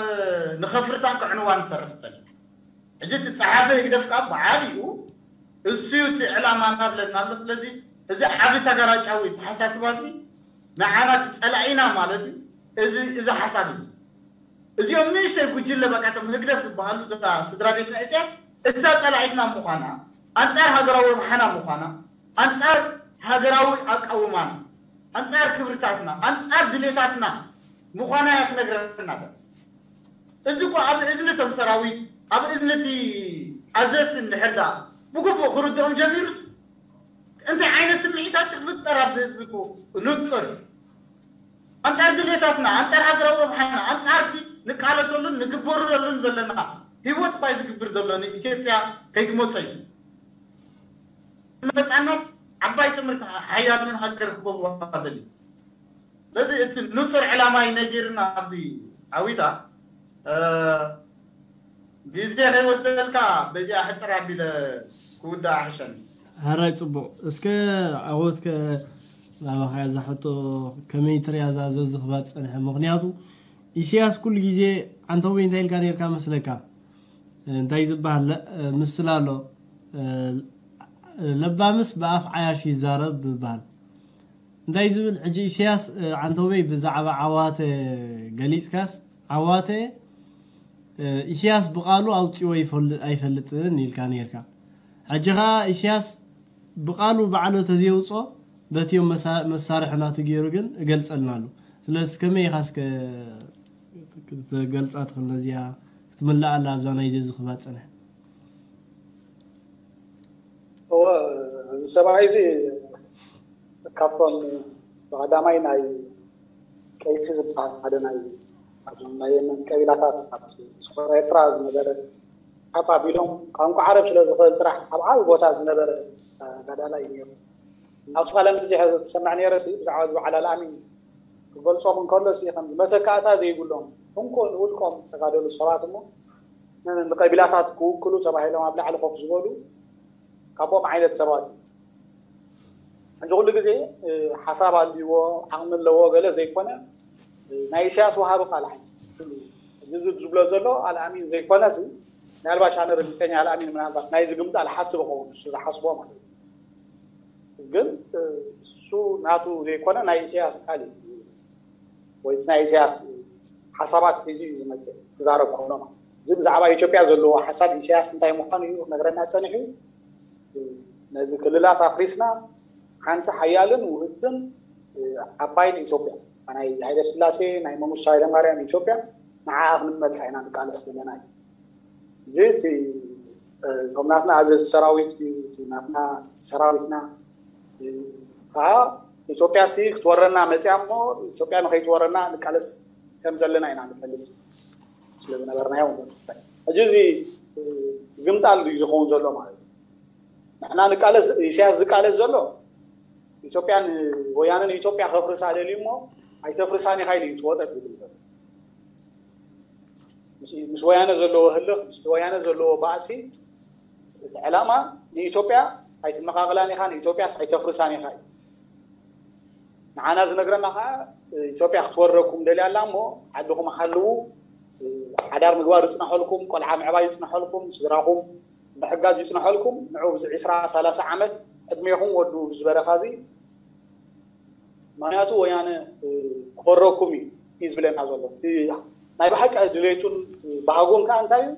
ንኸፍርሳን ከዕንዋን ዝሰርሕ ዝፀንሕ። ሕጂ እቲ ፀሓፊ ህግደፍ ከዓ ብዓቢኡ እሱ እዩ እቲ ዕላማ እናብለና ኣሎ። ስለዚ እዚ ዓቢ ተጋራጫዊ ተሓሳስባ እዚ ንዓና እቲ ፀላኢና ማለት እዩ። እዚ እዚ ሓሳብ እዚ እዚኦም ንእሽተይ ጉጅለ በቃ እቶም ህግደፍ ዝበሃሉ እዛ ስድራ ቤት ናይ ኢሳያስ እሳ ፀላኢትና ምዃና፣ ኣንፃር ሃገራዊ ረብሓና ምዃና፣ ኣንፃር ሃገራዊ ኣቃውማና፣ ኣንፃር ክብርታትና፣ ኣንፃር ድሌታትና ምዃና እያ ትነግረና ዘላ። እዚ እኮ ኣብ እዝኒ እቶም ሰራዊት፣ ኣብ እዝኒ እቲ ኣዘዝቲ እንድሕር ደኣ ብግቡእ ክርድኦም ጀሚሩስ እንታይ ዓይነት ስምዒታት ክፍጠር ኣብዚ ህዝቢ እኮ ንጹር እዩ። ኣንጻር ድሌታትና፣ ኣንጻር ሃገራዊ ረብሓና፣ ኣንጻር እቲ ንቃለሰሉን ንግበረሉን ዘለና ህይወት እኳ እዩ ዝግብር ዘሎ ንኢትዮጵያ ከይትመጾ እዩ። መጻናስ ዓባይ ጥምርቲ ሓያልን ሃገር ክገብሩዋ ዘድልዩ። ስለዚ እቲ ንጹር ዕላማ እዩ ነጊርና ኣብዚ ዓዊታ፣ እ፣ ግዜ ከይወስደልካ በዚኣ ሕጽር ኣቢለ ክውዳእ ኣሕሸኒ። ሕራይ ጽቡቕ። እስከ ዓወትከ ናባኻ እያ እዛ ሕቶ፣ ከመይ ትሪኣ እዛ ዘዝኽባ ዝጸንሐ? ምኽንያቱ ኢሳያስ ኩሉ ግዜ ዓንተቦይ እንታይ ኢልካ ነይርካ መስለካ? እንታይ ዝበሃል ለ-፣ ምስላ ኣሎ፣ ለባምስ ብኣፍ ዓያሹ ይዛረብ ይበሃል። እንታይ ዝብል ሕጂ ኢሳያስ፣ ዓንተቦይ ብዛዕባ ዓዋተ ገሊጽካስ፣ ዓዋተ ኢሳያስ ብቓሉ ኣውጺዎ ይፈል-፣ ኣይፈልጥን ኢልካ ነይርካ። ሕጂ ኸኣ ኢሳያስ ብቓሉ ባዕሉ ተዘየውጾ በቲዮም መሳ-፣ መሳርሒ ናቱ ገይሩ ግን እገልጸልና ኣሎ። ስለዚ ከመይ ኢኻ እስከ ክትገልጻ ትኽእል ነዚኣ ክትምልኣላ ኣብዛ ናይ ዘዝኽባ ጸንሐ? እወ፣ እዚ ሰብኣይ እዚ ካብቶም ብቐዳማይ ናይ ቀይሲ ዝበሃል ሓደ ናይ፣ ናይ የመን ቀቢላታት ኣብ ሰፈራ ኤርትራ ዝነበረ ሓፍ ኣቢሎም ቋንቋ ዓረብ ስለ ዝኽእል ጥራሕ ኣብ ዓቢ ቦታ ዝነበረ ተጋዳላይ እዩ ነይሩ። ናብቲ ቃለ መሕትት ዝሰምዕ ነይረ ሲ ብዛዕባ እዚ በዓል ኣልኣሚን ክገልጾም እንከሎ ሲ ከምዚ መተካእታ ዘይብሎም እንኮ ንውልቆም ዝተጋደሉ ሰባት እሞ ን-፣ ንቀቢላታት ክውክሉ ተባሂሎም ኣብ ላዕሊ ኮፍ ዝበሉ ካብኦም ዓይነት ሰባት እዩ። ሕጂ ኩሉ ግዜ፣ እ፣ ሓሳብ ኣልዎ ዓቕሚ ኣለዎ ገለ ዘይኮነ፣ እ፣ ናይ ኢሳያስ ወሃቢ ቃል ዓይነት። እዚ ዝብሎ ዘሎ ኣልኣሚን ዘይኮነሲ፣ ምናልባሽ ኣነ ረጊፀኛ ኣልኣሚን ምናልባት ናይዚ ግምጣል ሓስብ እኸውን፣ እሱ ዝሓስቦ ማለት እዩ። ግን፣ እ፣ እሱ ናቱ ዘይኮነ ናይ ኢሳያስ ቃል እዩ። ወይ እቲ ናይ ኢሳያስ ሓሳባት ሒዙ እዩ ዝመጽእ፣ ክዛረብ ከሎ ማለት እዩ። እዚ ብዛዕባ ኢትዮጵያ ዘለዎ ሓሳብ ኢሳያስ እንታይ ምዃኑ እዩ ክነግረና ጸኒሑ። ነዚ ክልላት ኣፍሪስና ሓንቲ ሓያልን ውህብትን ዓባይን ኢትዮጵያ፣ ናይ ሃይለ ስላሴ፣ ናይ መንግስቱ ሃይለ ማርያም ኢትዮጵያ፣ ንዓኣ ክንመልሳ ኢና ንቃለስ ዘለና እዩ። እዚ እቲ፣ እ፣ እቶም ናትና ኣዘዝቲ ሰራዊት እዩ፣ እቲ ናትና ሰራዊትና፣ እ፣ ከዓ ኢትዮጵያ ሲ ክትወረና መፅያ እሞ ኢትዮጵያ ንኸይትወረና ንቃለስ ከም ዘለና ኢና ንፈልጥ ስለ ዝነበርናዮ ማለት እዩ። ሕጂ እዚ፣ እ፣ ግምጣል እዩ ዝኸውን ዘሎ ማለት እዩ። ንሕና ንቃለስ፣ ኢሳያስ ዝቃለስ ዘሎ ኢትዮጵያ ን-፣ ወያነ ንኢትዮጵያ ከፍርሳ ደልዩ እሞ ኣይተፍርሳን ኢኻ ኢሉ እዩ ትወጠጥ ዝብል ዘሎ። ምስ፣ ምስ ወያነ ዘለዎ ህልኽ፣ ምስ ወያነ ዘለዎ ባእሲ፣ እቲ ዕላማ ንኢትዮጵያ ኣይትመቓቕላን ኢኻ፣ ንኢትዮጵያስ ኣይተፍርሳን ኢኻ እዩ። ንዓና ዝነግረና ኸዓ፣ ኢትዮጵያ ክትወረኩም ደልያ ኣላ እሞ፣ ዓድኹም ሓልዉ፣ ሓዳር ምግባር ይጽናሐልኩም፣ ቆልዓ ምዕባይ ይጽናሐልኩም፣ ስድራኹም ምሕጋዝ ይጽናሐልኩም፣ ንዑ ብዚ ዒስራ ሰላሳ ዓመት ዕድሜኹም ወዱ ብዚ በረኻ እዚ፣ ምኽንያቱ ወያነ፣ እ፣ ክወረኩም እዩ፣ እዩ ዝብለና ዘሎ። እቲ ናይ ብሓቂ ድሌቱን ባህጉን ከዓ እንታይ እዩ?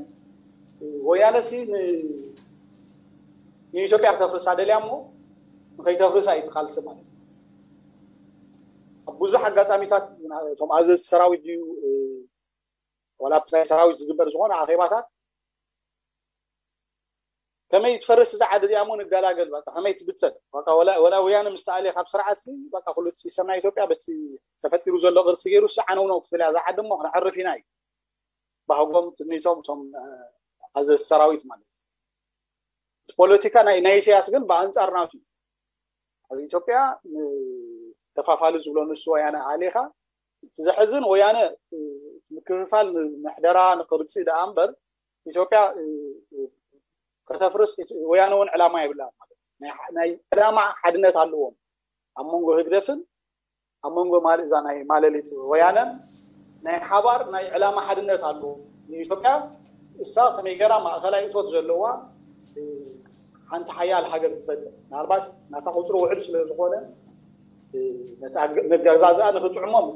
ወያነ ሲ ንኢትዮጵያ ክተፍርሳ ደልያ እሞ ንከይተፍርሳ እዩ ትቃልሲ ማለት እዩ። ኣብ ብዙሕ ኣጋጣሚታት እቶም ኣዘዝቲ ሰራዊት ድዩ ዋላ ናይ ሰራዊት ዝግበር ዝኾነ ኣኼባታት ከመይ ትፈርስ እዛ ዓዲ እዚኣ እሞ ንገላገል በቃ ከመይ ትብተን በቃ ወላ ወላ ወያነ ምስ ተኣልየ ካብ ስርዓት ሲ በቃ ኩሉ እቲ ሲስተም ናይ ኢትዮጵያ በቲ ተፈጢሩ ዘሎ ቅርሲ ገይሩ ሲ ዓነውነው ክትብል እያ እዛ ዓዲ እሞ ክነዕርፍ ኢና እዩ ባህጎም ትምኒቶም እቶም ኣዘዝቲ ሰራዊት ማለት እዩ። እቲ ፖለቲካ ናይ ናይ ኢሳያስ ግን ብኣንጻር ናቱ እዩ። ኣብ ኢትዮጵያ ተፋፋሊ ዝብሎ ንሱ ወያነ ኣሊኻ እቲ ዘሕዝን ወያነ ምክፍፋል ምሕደራ ንቅርፂ ደኣ እምበር ኢትዮጵያ ከተፍርስ ወያነ እውን ዕላማ የብላ ማለት ናይ ዕላማ ሓድነት ኣለዎም ኣብ መንጎ ህግደፍን ኣብ መንጎ ማል እዛ ናይ ማለሊት ወያነን ናይ ሓባር ናይ ዕላማ ሓድነት ኣለዎም ንኢትዮጵያ እሳ ከመይ ገራ ማእኸላይ እቶት ዘለዋ ሓንቲ ሓያል ሃገር ትፈጥር ምናልባት ናታ ቁፅሪ ውዕል ስለ ዝኾነ መጋዛዝኣ ንክጥዕሞም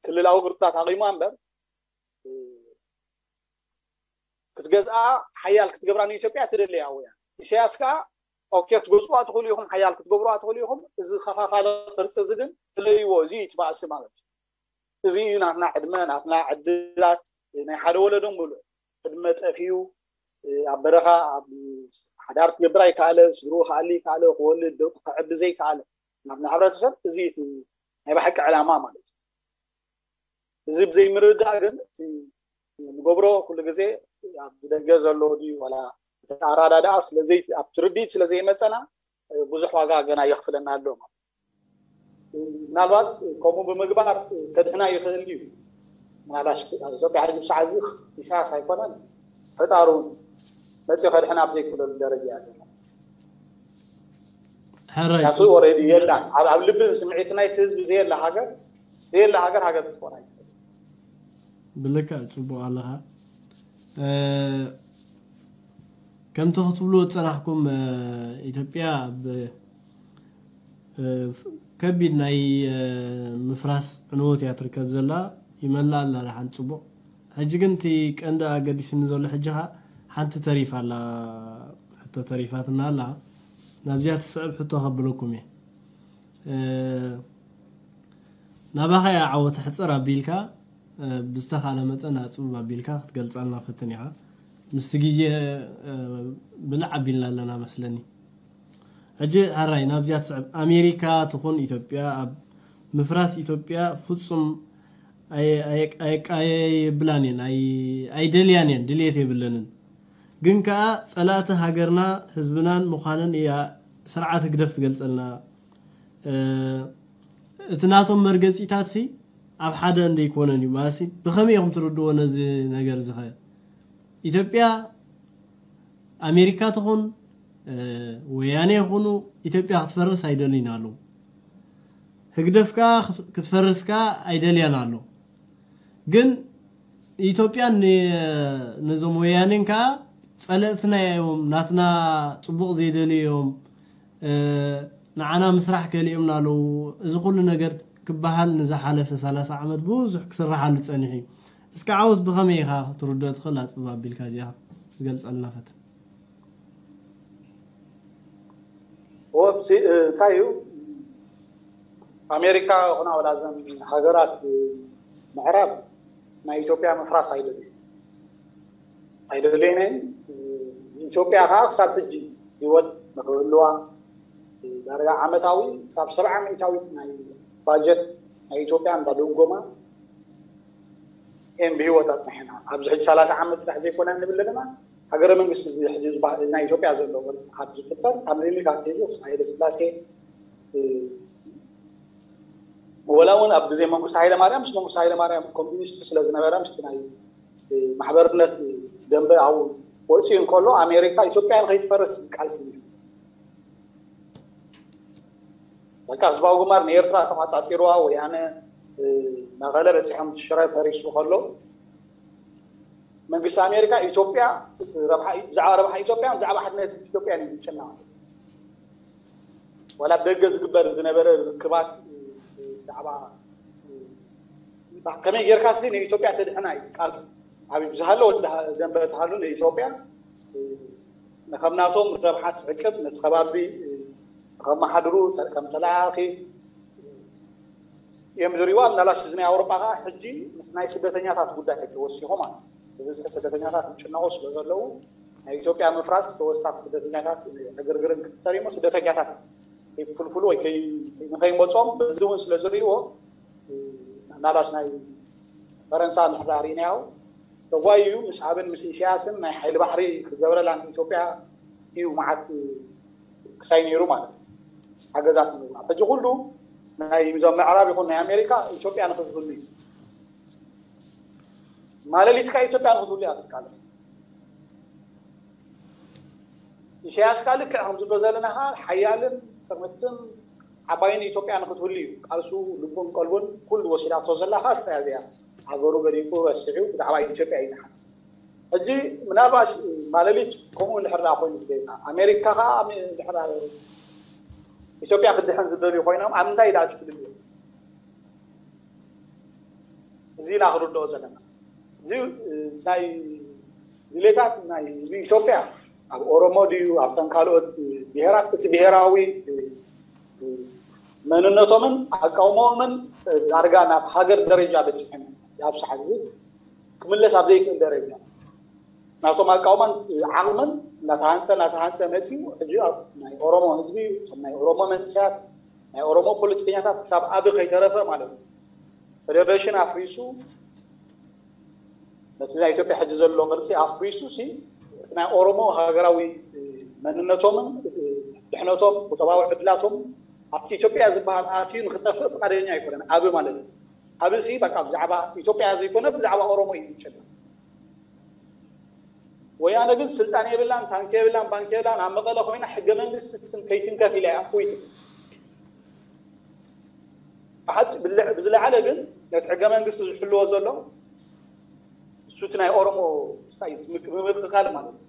ክልላዊ ቅርፅታት ኣቂማ እምበር ክትገዝኣ ሓያል ክትገብራ ንኢትዮጵያ ትደለያ ወያ ኢሳያስ ከዓ ኦኬ ክትገዝዋ ትኽእሉ ኢኹም ሓያል ክትገብሩዋ ትኽእሉ ኢኹም እዚ ከፋፋለ ቅርፂ እዚ ግን ትለይዎ እዚ ትባእሲ ማለት እዩ እዚ እዩ ናትና ዕድመ ናትና ዕድላት ናይ ሓደ ወለዶ ሙሉእ ዕድመ ጠፊኡ ኣብ በረኻ ኣብ ሓዳር ክገብር ኣይከኣለ ስድሩ ክኣሊ ይከኣለ ክወልድ ደቁ ክዕቢ ዘይከኣለ ናትና ሕብረተሰብ እዚ እቲ ናይ ብሓቂ ዕላማ ማለት እዩ እዚ ብዘይምርዳእ ግን እቲ ንገብሮ ኩሉ ግዜ ኣብ ደገ ዘሎ ድዩ ዋላ እቲ ኣራዳድኣ ስለዘይ ኣብ ትርዲት ስለዘይመፀና ብዙሕ ዋጋ ገና የኽፍለና ኣሎ ምናልባት ከምኡ ብምግባር ከድሕና ይኽእል እዩ ምናልባሽ ኢትዮጵያ ሕዚ ብሰዓት እዚ ኢሳያስ ኣይኮነን ፈጣሩ እውን መፅኡ ከድሕና ኣብ ዘይክእለሉ ደረጃ እያ ዘላ ሕራይ ናቱ ወረዲ የላ ኣብ ልቢ ስምዒት ናይቲ ህዝቢ ዘየላ ሃገር ዘየላ ሃገር ሃገር ክትኮን ኣይትኽእል ብልክዕ ፅቡቅ ኣለኻ ከምቲ ክትብሉ ዝፀናሕኩም ኢትዮጵያ ኣብ ከቢድ ናይ ምፍራስ ዕንወት እያ ትርከብ ዘላ ይመላ ኣላ ሓንቲ ፅቡቅ ሕጂ ግን እቲ ቀንዲ ኣገዲስኒ ዘሎ ሕጂ ካ ሓንቲ ተሪፋ ኣላ ሕቶ ተሪፋትና ኣላ ናብዚኣ ትስዕብ ሕቶ ከብለኩም እየ ናባኻ እያ ዓወት ሕፅር ኣቢልካ ብዝተኻለ መጠን ኣፅብብ ኣቢልካ ክትገልፀልና ፈትን ኢኻ ምስቲ ግዜ ብልዕ ኣቢልና ኣለና መስለኒ ሕጂ ሕራይ ናብዚኣ ትስዕብ ኣሜሪካ ትኹን ኢትዮጵያ ኣብ ምፍራስ ኢትዮጵያ ፍፁም ኣየቃየብላን እየን ኣይደልያን እየን ድልየት የብለንን ግን ከዓ ፀላእቲ ሃገርና ህዝብናን ምዃነን እያ ስርዓት ህግደፍ ትገልፀልና እቲ ናቶም መርገፂታት ሲ ኣብ ሓደ እንደይኮነን እዩ ማለት ብከመይ ኢኹም ትርድዎ ነዚ ነገር ዝኸ ኢትዮጵያ ኣሜሪካ ትኹን ወያኔ ይኹኑ ኢትዮጵያ ክትፈርስ ኣይደልዩን ኣለዉ ህግደፍ ከዓ ክትፈርስ ከዓ ኣይደልያን ኣሎ ግን ኢትዮጵያን ነዞም ወያኔን ከዓ ፀለእትና እዮም ናትና ፅቡቅ ዘይደልዩ እዮም ንዓና ምስራሕ ከሊኦምና ኣለዉ እዚ ኩሉ ነገር ክበሃል ንዝሓለፈ ሰላሳ ዓመት ብዙሕ ክስርሓሉ ፀኒሑ እዩ እስኪ ዓወት ብኸመይ ኢኻ ትርድኦ ትኽእል ኣፅብብ ኣቢልካ እዚኣ ክትገልፀልና ፈትን ወብሲ እንታይ እዩ ኣሜሪካ ይኹና ወላ ዘን ሃገራት ምዕራብ ናይ ኢትዮጵያ ምፍራስ ኣይደልዩ ኣይደልየን ኢትዮጵያ ከዓ ክሳብ ሕጂ ህይወት ንክህልዋ ዳርጋ ዓመታዊ ክሳብ ሰብዓ ሚእታዊት ናይ ባጀት ናይ ኢትዮጵያ እንዳደጎማ እን ብህይወት ኣፅኒሕና ኣብዚ ሕጂ ሰላሳ ዓመት ጥራሕ ዘይኮነ ንብል ዘለና ሃገረ መንግስቲ እዚ ሕጂ ናይ ኢትዮጵያ ዘሎ ቅርፂ ካብ ዝፍጠር ካብ ምኒልክ ኣትሒዙ ክሳብ ሃይለ ስላሴ ወላ እውን ኣብ ግዜ መንግስቲ ሃይለ ማርያም ምስ መንግስቲ ሃይለ ማርያም ኮሚኒስት ስለ ዝነበረ ምስቲ ናይ ማሕበርነት ደንበ ኣብኡ ወፂኡ እንከሎ ኣሜሪካ ኢትዮጵያ ንከይትፈርስ ቃልሲ በቃ ህዝባዊ ግንባር ንኤርትራ ተቋፃፂርዋ ወያነ መቐለ በፂሖም ሽረ ፈሪሱ ከሎ መንግስቲ ኣሜሪካ ኢትዮጵያ ብዛዕባ ረብሓ ኢትዮጵያ ብዛዕባ ሓድነት ኢትዮጵያ እዩ ዝጨና ወላ ደገ ዝግበር ዝነበረ ርክባት ብዛዕባ ከመይ ጌርካ ሲ ንኢትዮጵያ ተድሕና እዩ ቃልሲ። ኣብ ብዝሃለወ ደንበ ተሃሉ ንኢትዮጵያ ንከም ናቶም ረብሓ ትዕቅብ፣ ነቲ ከባቢ ከመሓድሩ ከም ተለኣኺ እዮም ዝሪእዋ። ምናልባሽ እዚ ናይ ኣውሮጳ ከዓ ሕጂ ምስ ናይ ስደተኛታት ጉዳይ ተወሲኹ ማለት እዩ። ብብዝሒ ስደተኛታት ይጭነቑ ስለ ዘለዉ ናይ ኢትዮጵያ ምፍራስ ተወሳኺ ስደተኛታት ዕግርግርን ክፍጠር እሞ ስደተኛታት ከይፍልፍሉ ወይ ንኸይመፅኦም በዚ እውን ስለ ዝርእይዎ ናላሽ ናይ ፈረንሳ ምሕዳር ኢናያው ተጓዩ ምስ ኣብን ምስ ኢሳያስን ናይ ሓይሊ ባሕሪ ክገብረላ ንኢትዮጵያ እዩ መዓት ክሳይ ነይሩ ማለት እዩ። ሓገዛት ንብሉ ሕጂ ኩሉ ናይ ዞም ምዕራብ ይኹን ናይ ኣሜሪካ ኢትዮጵያ ንክትህሉ እዩ። ማለሊትካ ኢትዮጵያ ንክትህሉ እያ ትቃለስ። ኢሳያስ ከዓ ልክዕ ከምዝብሎ ዘለና ከዓ ሓያልን ጥርምትን ዓባይን ኢትዮጵያ ንክትህሉ እዩ ቃልሱ። ልቡን ቀልቡን ኩሉ ወሲዳቶ ዘላ ከዓ እሳያ እዚኣ። ሃገሩ ገዲፉ ረሲዑ ብዛዕባ ኢትዮጵያ እዩ ዝሓስብ። ሕጂ ምናልባሽ ማለሊት ከምኡ እንድሕር ደኣ ኮይኑ ዝገይታ ኣሜሪካ ከዓ ድሕር ኢትዮጵያ ክድሕን ዝደልዩ ኮይኖም ኣብ ምንታይ ደኣ ትፍልልዮ? እዚ ኢና ክንርድኦ ዘለና። እዚ ናይ ድሌታት ናይ ህዝቢ ኢትዮጵያ ኣብ ኦሮሞ ድዩ ኣብተን ካልኦት ብሄራት እቲ ብሄራዊ መንነቶምን ኣቃውሞኦምን ዳርጋ ናብ ሃገር ደረጃ በፂሐን ኣብ ሰዓት እዚ ክምለስ ኣብ ዘይክእል ደረጃ ናቶም ኣቃውማን ዓቕምን እናተሃንፀ እናተሃንፀ መፂኡ ሕጂ ኣብ ናይ ኦሮሞ ህዝቢ እቶም ናይ ኦሮሞ መንእሰያት ናይ ኦሮሞ ፖለቲከኛታት ክሳብ ኣብ ከይተረፈ ማለት እዩ ፈደሬሽን ኣፍሪሱ ነቲ ናይ ኢትዮጵያ ሕጂ ዘሎ ቅርፂ ኣፍሪሱ ሲ እቲ ናይ ኦሮሞ ሃገራዊ መንነቶምን ድሕነቶም ቁጠባዊ ዕድላቶም ኣብቲ ኢትዮጵያ ዝበሃል ኣትዩ ንክጠፍእ ፍቃደኛ ኣይኮነን። ኣብ ማለት እዩ ኣብ ሲ በቃ ብዛዕባ ኢትዮጵያ ዘይኮነ ብዛዕባ ኦሮሞ እዩ ዝጨነቕ። ወያነ ግን ስልጣን የብላን፣ ታንክ የብላን፣ ባንክ የብላን። ኣብ መቐለ ኮይና ሕገ መንግስቲ ትትን- ከይትንከፍ ኢላ እያ እፎይ ትብል። ብሓቂ ብልዕ- ብዝለዓለ ግን ነቲ ሕገ መንግስቲ ዝሕልዎ ዘሎ እሱ እቲ ናይ ኦሮሞ ስታይ ብምምቅቃል ማለት እዩ።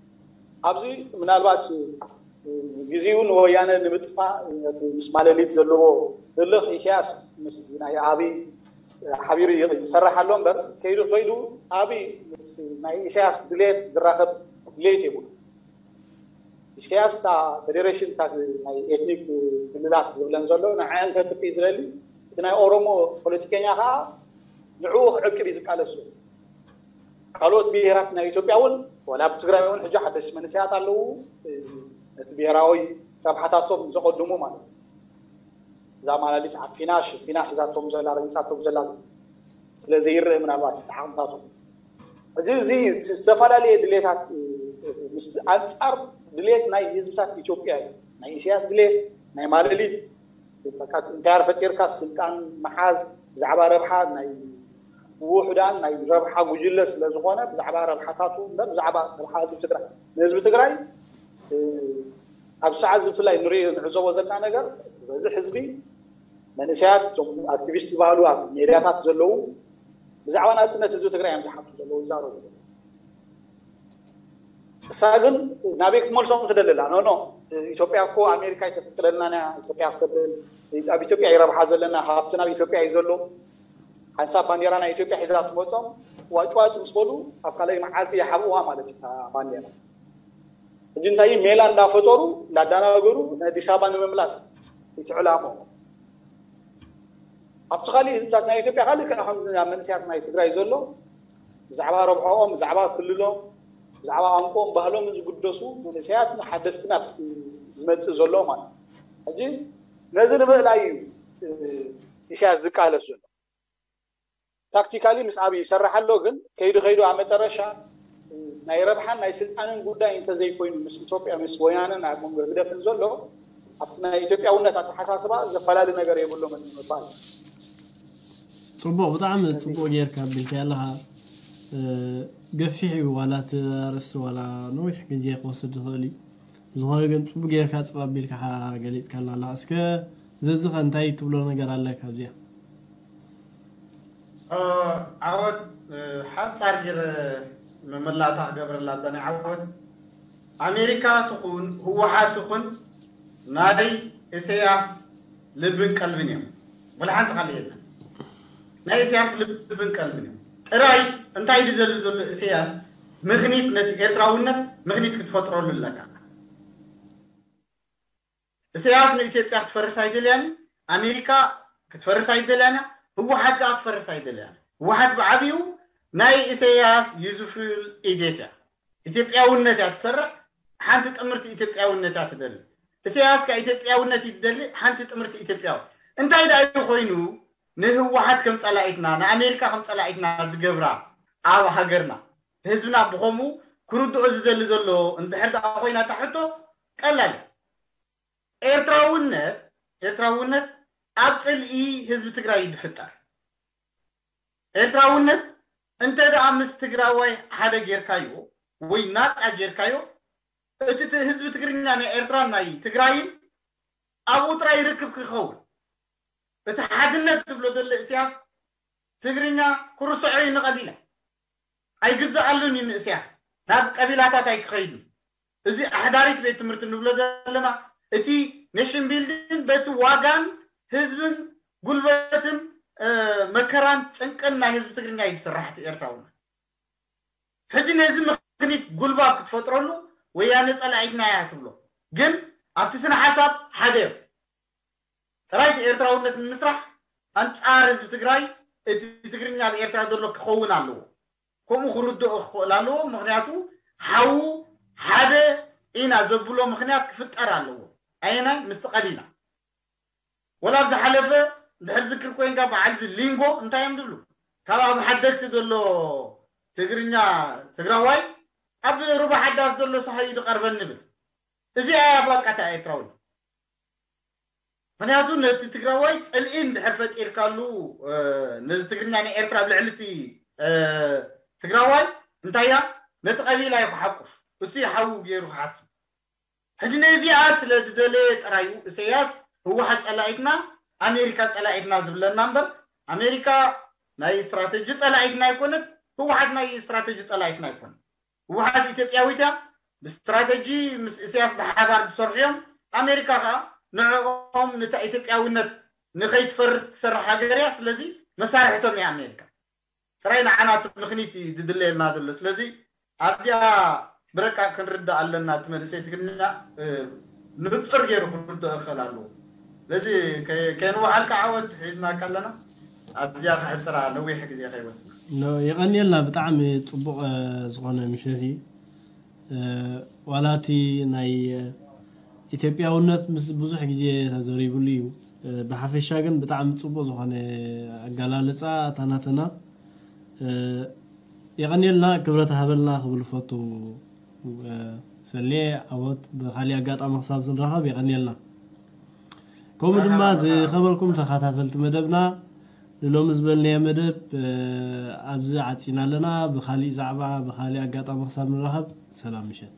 ኣብዚ ምናልባት ግዜኡ ንወያነ ንምጥፋእ ነቲ ምስ ማለሊት ዘለዎ ህልኽ ኢሳያስ ምስ ናይ ኣብይ ሓቢሩ ይሰርሕ ኣሎ እምበር ከይዱ ከይዱ ኣብይ ምስ ናይ ኢሳያስ ድሌት ዝራኸብ ድሌት የብሉ። ኢሳያስ እታ ፌዴሬሽን እታ ናይ ኤትኒክ ክልላት ዝብለን ዘሎ ንዐን ከጥፍእ ዝደሊ እቲ ናይ ኦሮሞ ፖለቲከኛ ከዓ ንዕኡ ክዕቅብ እዩ ዝቃለስ ዘሎ። ካልኦት ብሄራት ናይ ኢትዮጵያ እውን ዋላ ኣብ ትግራይ እውን ሕጂ ሓደስቲ መንእሰያት ኣለዉ ነቲ ብሄራዊ ረብሓታቶም ዘቐድሙ ማለት እዩ። እዛ ማላሊት ዓፊና ሽፊና ሒዛቶም ዘላ ረጊፃቶም ዘላ ስለ ዘይረአ ምናልባት ተዓቕምታቶም ሕጂ እዚ ዝተፈላለየ ድሌታት ምስ ኣንፃር ድሌት ናይ ህዝብታት ኢትዮጵያ እዩ። ናይ ኢሳያስ ድሌት ናይ ማለሊት በቃ እንታይ ፈጢርካ ስልጣን መሓዝ ብዛዕባ ረብሓ ናይ ውሑዳን ናይ ረብሓ ጉጅለ ስለ ዝኾነ ብዛዕባ ረብሓታቱ እምበር ብዛዕባ ረብሓ ህዝቢ ትግራይ ንህዝቢ ትግራይ ኣብ ሰዓት እዚ ብፍላይ ንሪኦ ንዕዘቦ ዘለና ነገር በዚ ህዝቢ መንእሰያት እቶም ኣክቲቪስት ዝበሃሉ ኣብ ሜድያታት ዘለዉ ብዛዕባ ናፅነት ህዝቢ ትግራይ እዮም ዝሓቱ ዘለዉ ይዛረቡ ዘለዉ። እሳ ግን ናበይ ክትመልሶም ትደሊ ኣላ ኖ ኖ ኢትዮጵያ እኮ ኣሜሪካ ኣይተፍቅደልናን እያ ኢትዮጵያ ክትብል ኣብ ኢትዮጵያ ይረብሓ ዘለና ሃብቲ ናብ ኢትዮጵያ እዩ ዘሎ ሓንሳብ ባንዴራ ናይ ኢትዮጵያ ሒዛ ትመፆም ዋጭዋጭ ምስ በሉ ኣብ ካልኣይ መዓልቲ ይሓብእዋ ማለት እዩ ባንዴራ ሕጂ እንታይ ሜላ እንዳፈጠሩ እንዳዳናገሩ ንኣዲስ ኣበባ ንምምላስ እቲ ዕላሞ ኣብቲ ካሊእ ህዝብታት ናይ ኢትዮጵያ ካልእ ከኣ ከምዚ ኣብ መንእሰያት ናይ ትግራይ ዘሎ ብዛዕባ ረብሖኦም ብዛዕባ ክልሎም ብዛዕባ ቋንቋኦም ባህሎም ዝግደሱ መንእሰያት ሓደስቲ ናብቲ ዝመፅእ ዘሎ ማለት ሕጂ ነዚ ንምእላይ እዩ ኢሳያስ ዝቃለስ ዘሎ ታክቲካሊ ምስ ኣብይ ይሰርሕ ኣሎ ግን ከይዱ ከይዱ ኣብ መጠረሻ ናይ ረብሓን ናይ ስልጣንን ጉዳይ እንተዘይኮይኑ ምስ ኢትዮጵያ ምስ ወያነን ኣብ መንጎ ህግደፍን ዘሎ ኣብቲ ናይ ኢትዮጵያውነት ኣተሓሳስባ ዘፈላለ ነገር የብሎምን ንምባል ፅቡቅ ብጣዕሚ ፅቡቅ ጌርካ ኣቢልካ ኣለካ ገፊሕ እዩ ዋላ እቲ ኣርእስቲ ዋላ ነዊሕ ግዜ ክወስድ ዝኽእል እዩ ዝኾነ ግን ፅቡቅ ጌርካ ፅብ ኣቢልካ ገሊፅካልና ኣለካ እስከ ዘዝኸ እንታይ ትብሎ ነገር ኣለካ ኣብዚኣ ዓወት ሓፃር ጌረ መመላእታ ክገብረላ ኣብዛ ናይ ዓወት ኣሜሪካ ትኹን ህወሓት ትኹን ናይ ኢሰያስ ልብን ቀልብን እዮም ወላ ሓንቲ ካልእ የለን ናይ ኢሳያስ ልብን ቀልብን እዩ። ጥራይ እንታይ ድደሊ ዘሎ ኢሳያስ ምኽኒት፣ ነቲ ኤርትራውነት ምኽኒት ክትፈጥረሉ ኣለካ። ኢሳያስ ንኢትዮጵያ ክትፈርስ ኣይደልያን፣ ኣሜሪካ ክትፈርስ ኣይደልያን፣ ህወሓት ከዓ ክትፈርስ ኣይደልያን። ህወሓት ብዓብዩ ናይ ኢሳያስ ዩዝፉል ኢዴት እያ። ኢትዮጵያውነት እያ ትሰርዕ፣ ሓንቲ ጥምርቲ ኢትዮጵያውነት እያ ትደሊ። ኢሳያስ ከዓ ኢትዮጵያውነት እዩ ትደሊ፣ ሓንቲ ጥምርቲ ኢትዮጵያዊ። እንታይ ደኣ እዩ ኮይኑ ንህወሓት ከም ጸላኢትና፣ ንኣሜሪካ ከም ጸላኢትና ዝገብራ ኣብ ሃገርና? ህዝብና ብኸምኡ ክርድኦ ዝደሊ ዘሎ እንድሕር ደኣ ኮይና እታ ሕቶ ቀላል እያ። ኤርትራውነት፣ ኤርትራውነት ኣብ ጽልኢ ህዝቢ ትግራይ እዩ ዝፍጠር። ኤርትራውነት እንተ ደኣ ምስ ትግራዋይ ሓደ ጌርካዮ ወይ ናጻ ጌርካዮ፣ እቲ ት-፣ ህዝቢ ትግርኛ ናይ ኤርትራን ናይ ትግራይን ኣብኡ ጥራይ ርክብ ክኸውን። እቲ ሓድነት ዝብሎ ዘሎ እስያስ ትግርኛ ክርስዖ እዩ ንቐቢላ። ኣይግዝኣሉን እዩ ንእስያስ። ናብ ቀቢላታት ኣይክኸይድን። እዚ ኣሕዳሪት ቤት ትምህርቲ እንብሎ ዘለና፣ እቲ ኔሽን ቢልዲንግ በቲ ዋጋን ህዝብን ጉልበትን፣ እ፣ መከራን ጭንቅን ናይ ህዝቢ ትግርኛ እዩ ዝስራሕ እቲ ኤርትራውነት። ሕጂ ነዚ ምኽኒት ጉልባብ ክትፈጥረሉ ወያነ ጸላኢትና እያ ትብሎ። ግን ኣብቲ ስነ ሓሳብ ሓደ እዮም። ጥራይ እቲ ኤርትራውነት ንምስራሕ ኣንጻር ህዝቢ ትግራይ እቲ ትግርኛ ኣብ ኤርትራ ዘሎ ክኸውን ኣለዎ። ከምኡ ክርድኦ ክኽእል ኣለዎ። ምኽንያቱ ሓዉ ሓደ ኢና ዘብሎ ምኽንያት ክፍጠር ኣለዎ። ኣየናይ? ምስቲ ቀቢላ። ወላ ኣብ ዝሓለፈ እንድሕር ዝክር ኮይንካ በዓል እዚ ሊንጎ እንታይ እዮም ዝብሉ? ካብ ኣብ ሓደግቲ ዘሎ ትግርኛ ትግራዋይ ኣብ ሩባ ሓዳስ ዘሎ ሰሃዩ ዝቐርበኒ ንብል። እዚኣ እያ በቃ እታ ኤርትራዊ። ምኽንያቱ ነቲ ትግራዋይ ጽልኢ እንድሕር ፈጢርካሉ፣ እ፣ ነዚ ትግርኛ ንኤርትራ ኣብ ልዕሊ እቲ፣ እ፣ ትግራዋይ እንታይ እያ? ነቲ ቀቢላ እዩ ክሓቁፍ። እሱ እዩ ሓዉ ገይሩ ክሓስብ። ሕጂ ነዚኣ ስለ ዝደለየ ጥራዩ ኢሳያስ ህወሓት ጸላኢትና፣ ኣሜሪካ ጸላኢትና ዝብለና እምበር፣ ኣሜሪካ ናይ ስትራተጂ ጸላኢትና ኣይኮነት፣ ህወሓት ናይ ስትራተጂ ጸላኢትና ኣይኮነት። ህወሓት ኢትዮጵያዊት እያ፣ ብስትራተጂ ምስ ኢሳያስ ብሓባር ዝሰርሑ እዮም። ኣሜሪካ ከዓ ንዕኦም፣ ነታ ኢትዮጵያዊነት ንኸይትፈርስ ትሰርሕ ሃገር እያ። ስለዚ መሳርሕቶም እያ ኣሜሪካ። ጥራይ ንዓና እቲ ምኽኒት እዩ ዝድለየልና ዘሎ። ስለዚ ኣብዚኣ ብረቃ ክንርዳእ ኣለና። እቲ መንእሰይ ትግርኛ፣ እ፣ ንጹር ገይሩ ክርድኦ ክኽእል ኣለዎ። ስለዚ ከ-፣ ከይንወዓልካ ዓወት ሒዝናካ ኣለና። ኣብዚኣ ክሕጽራ ነዊሕ ግዜ ከይወስድ። ኖ፣ የቐንየልና። ብጣዕሚ ጽቡቕ፣ እ፣ ዝኾነ ምሸት እዩ። እ፣ ዋላ እቲ ናይ፣ እ፣ ኢትዮጵያውነት ምስ ብዙሕ ግዜ ተዘሪብሉ እዩ። እ፣ ብሓፈሻ ግን ብጣዕሚ ጽቡቕ ዝኾነ ኣገላልጻ ኣታናተና። እ፣ የቐንየልና፣ ክብረት ሃበልና ክብል ፈቱ። እ፣ ሰሌ ዓወት፣ ብኻሊእ ኣጋጣሚ ክሳብ ንራኸብ የቐንየልና። ከምኡ ድማ ዝኸበርኩም ተኸታተልቲ መደብና፣ ንሎሚ ዝበልናዮ መደብ፣ እ፣ ኣብዚ ዓጺና ኣለና። ብኻሊእ ዛዕባ፣ ብኻሊእ ኣጋጣሚ ክሳብ ንራኸብ፣ ሰላም ምሸት።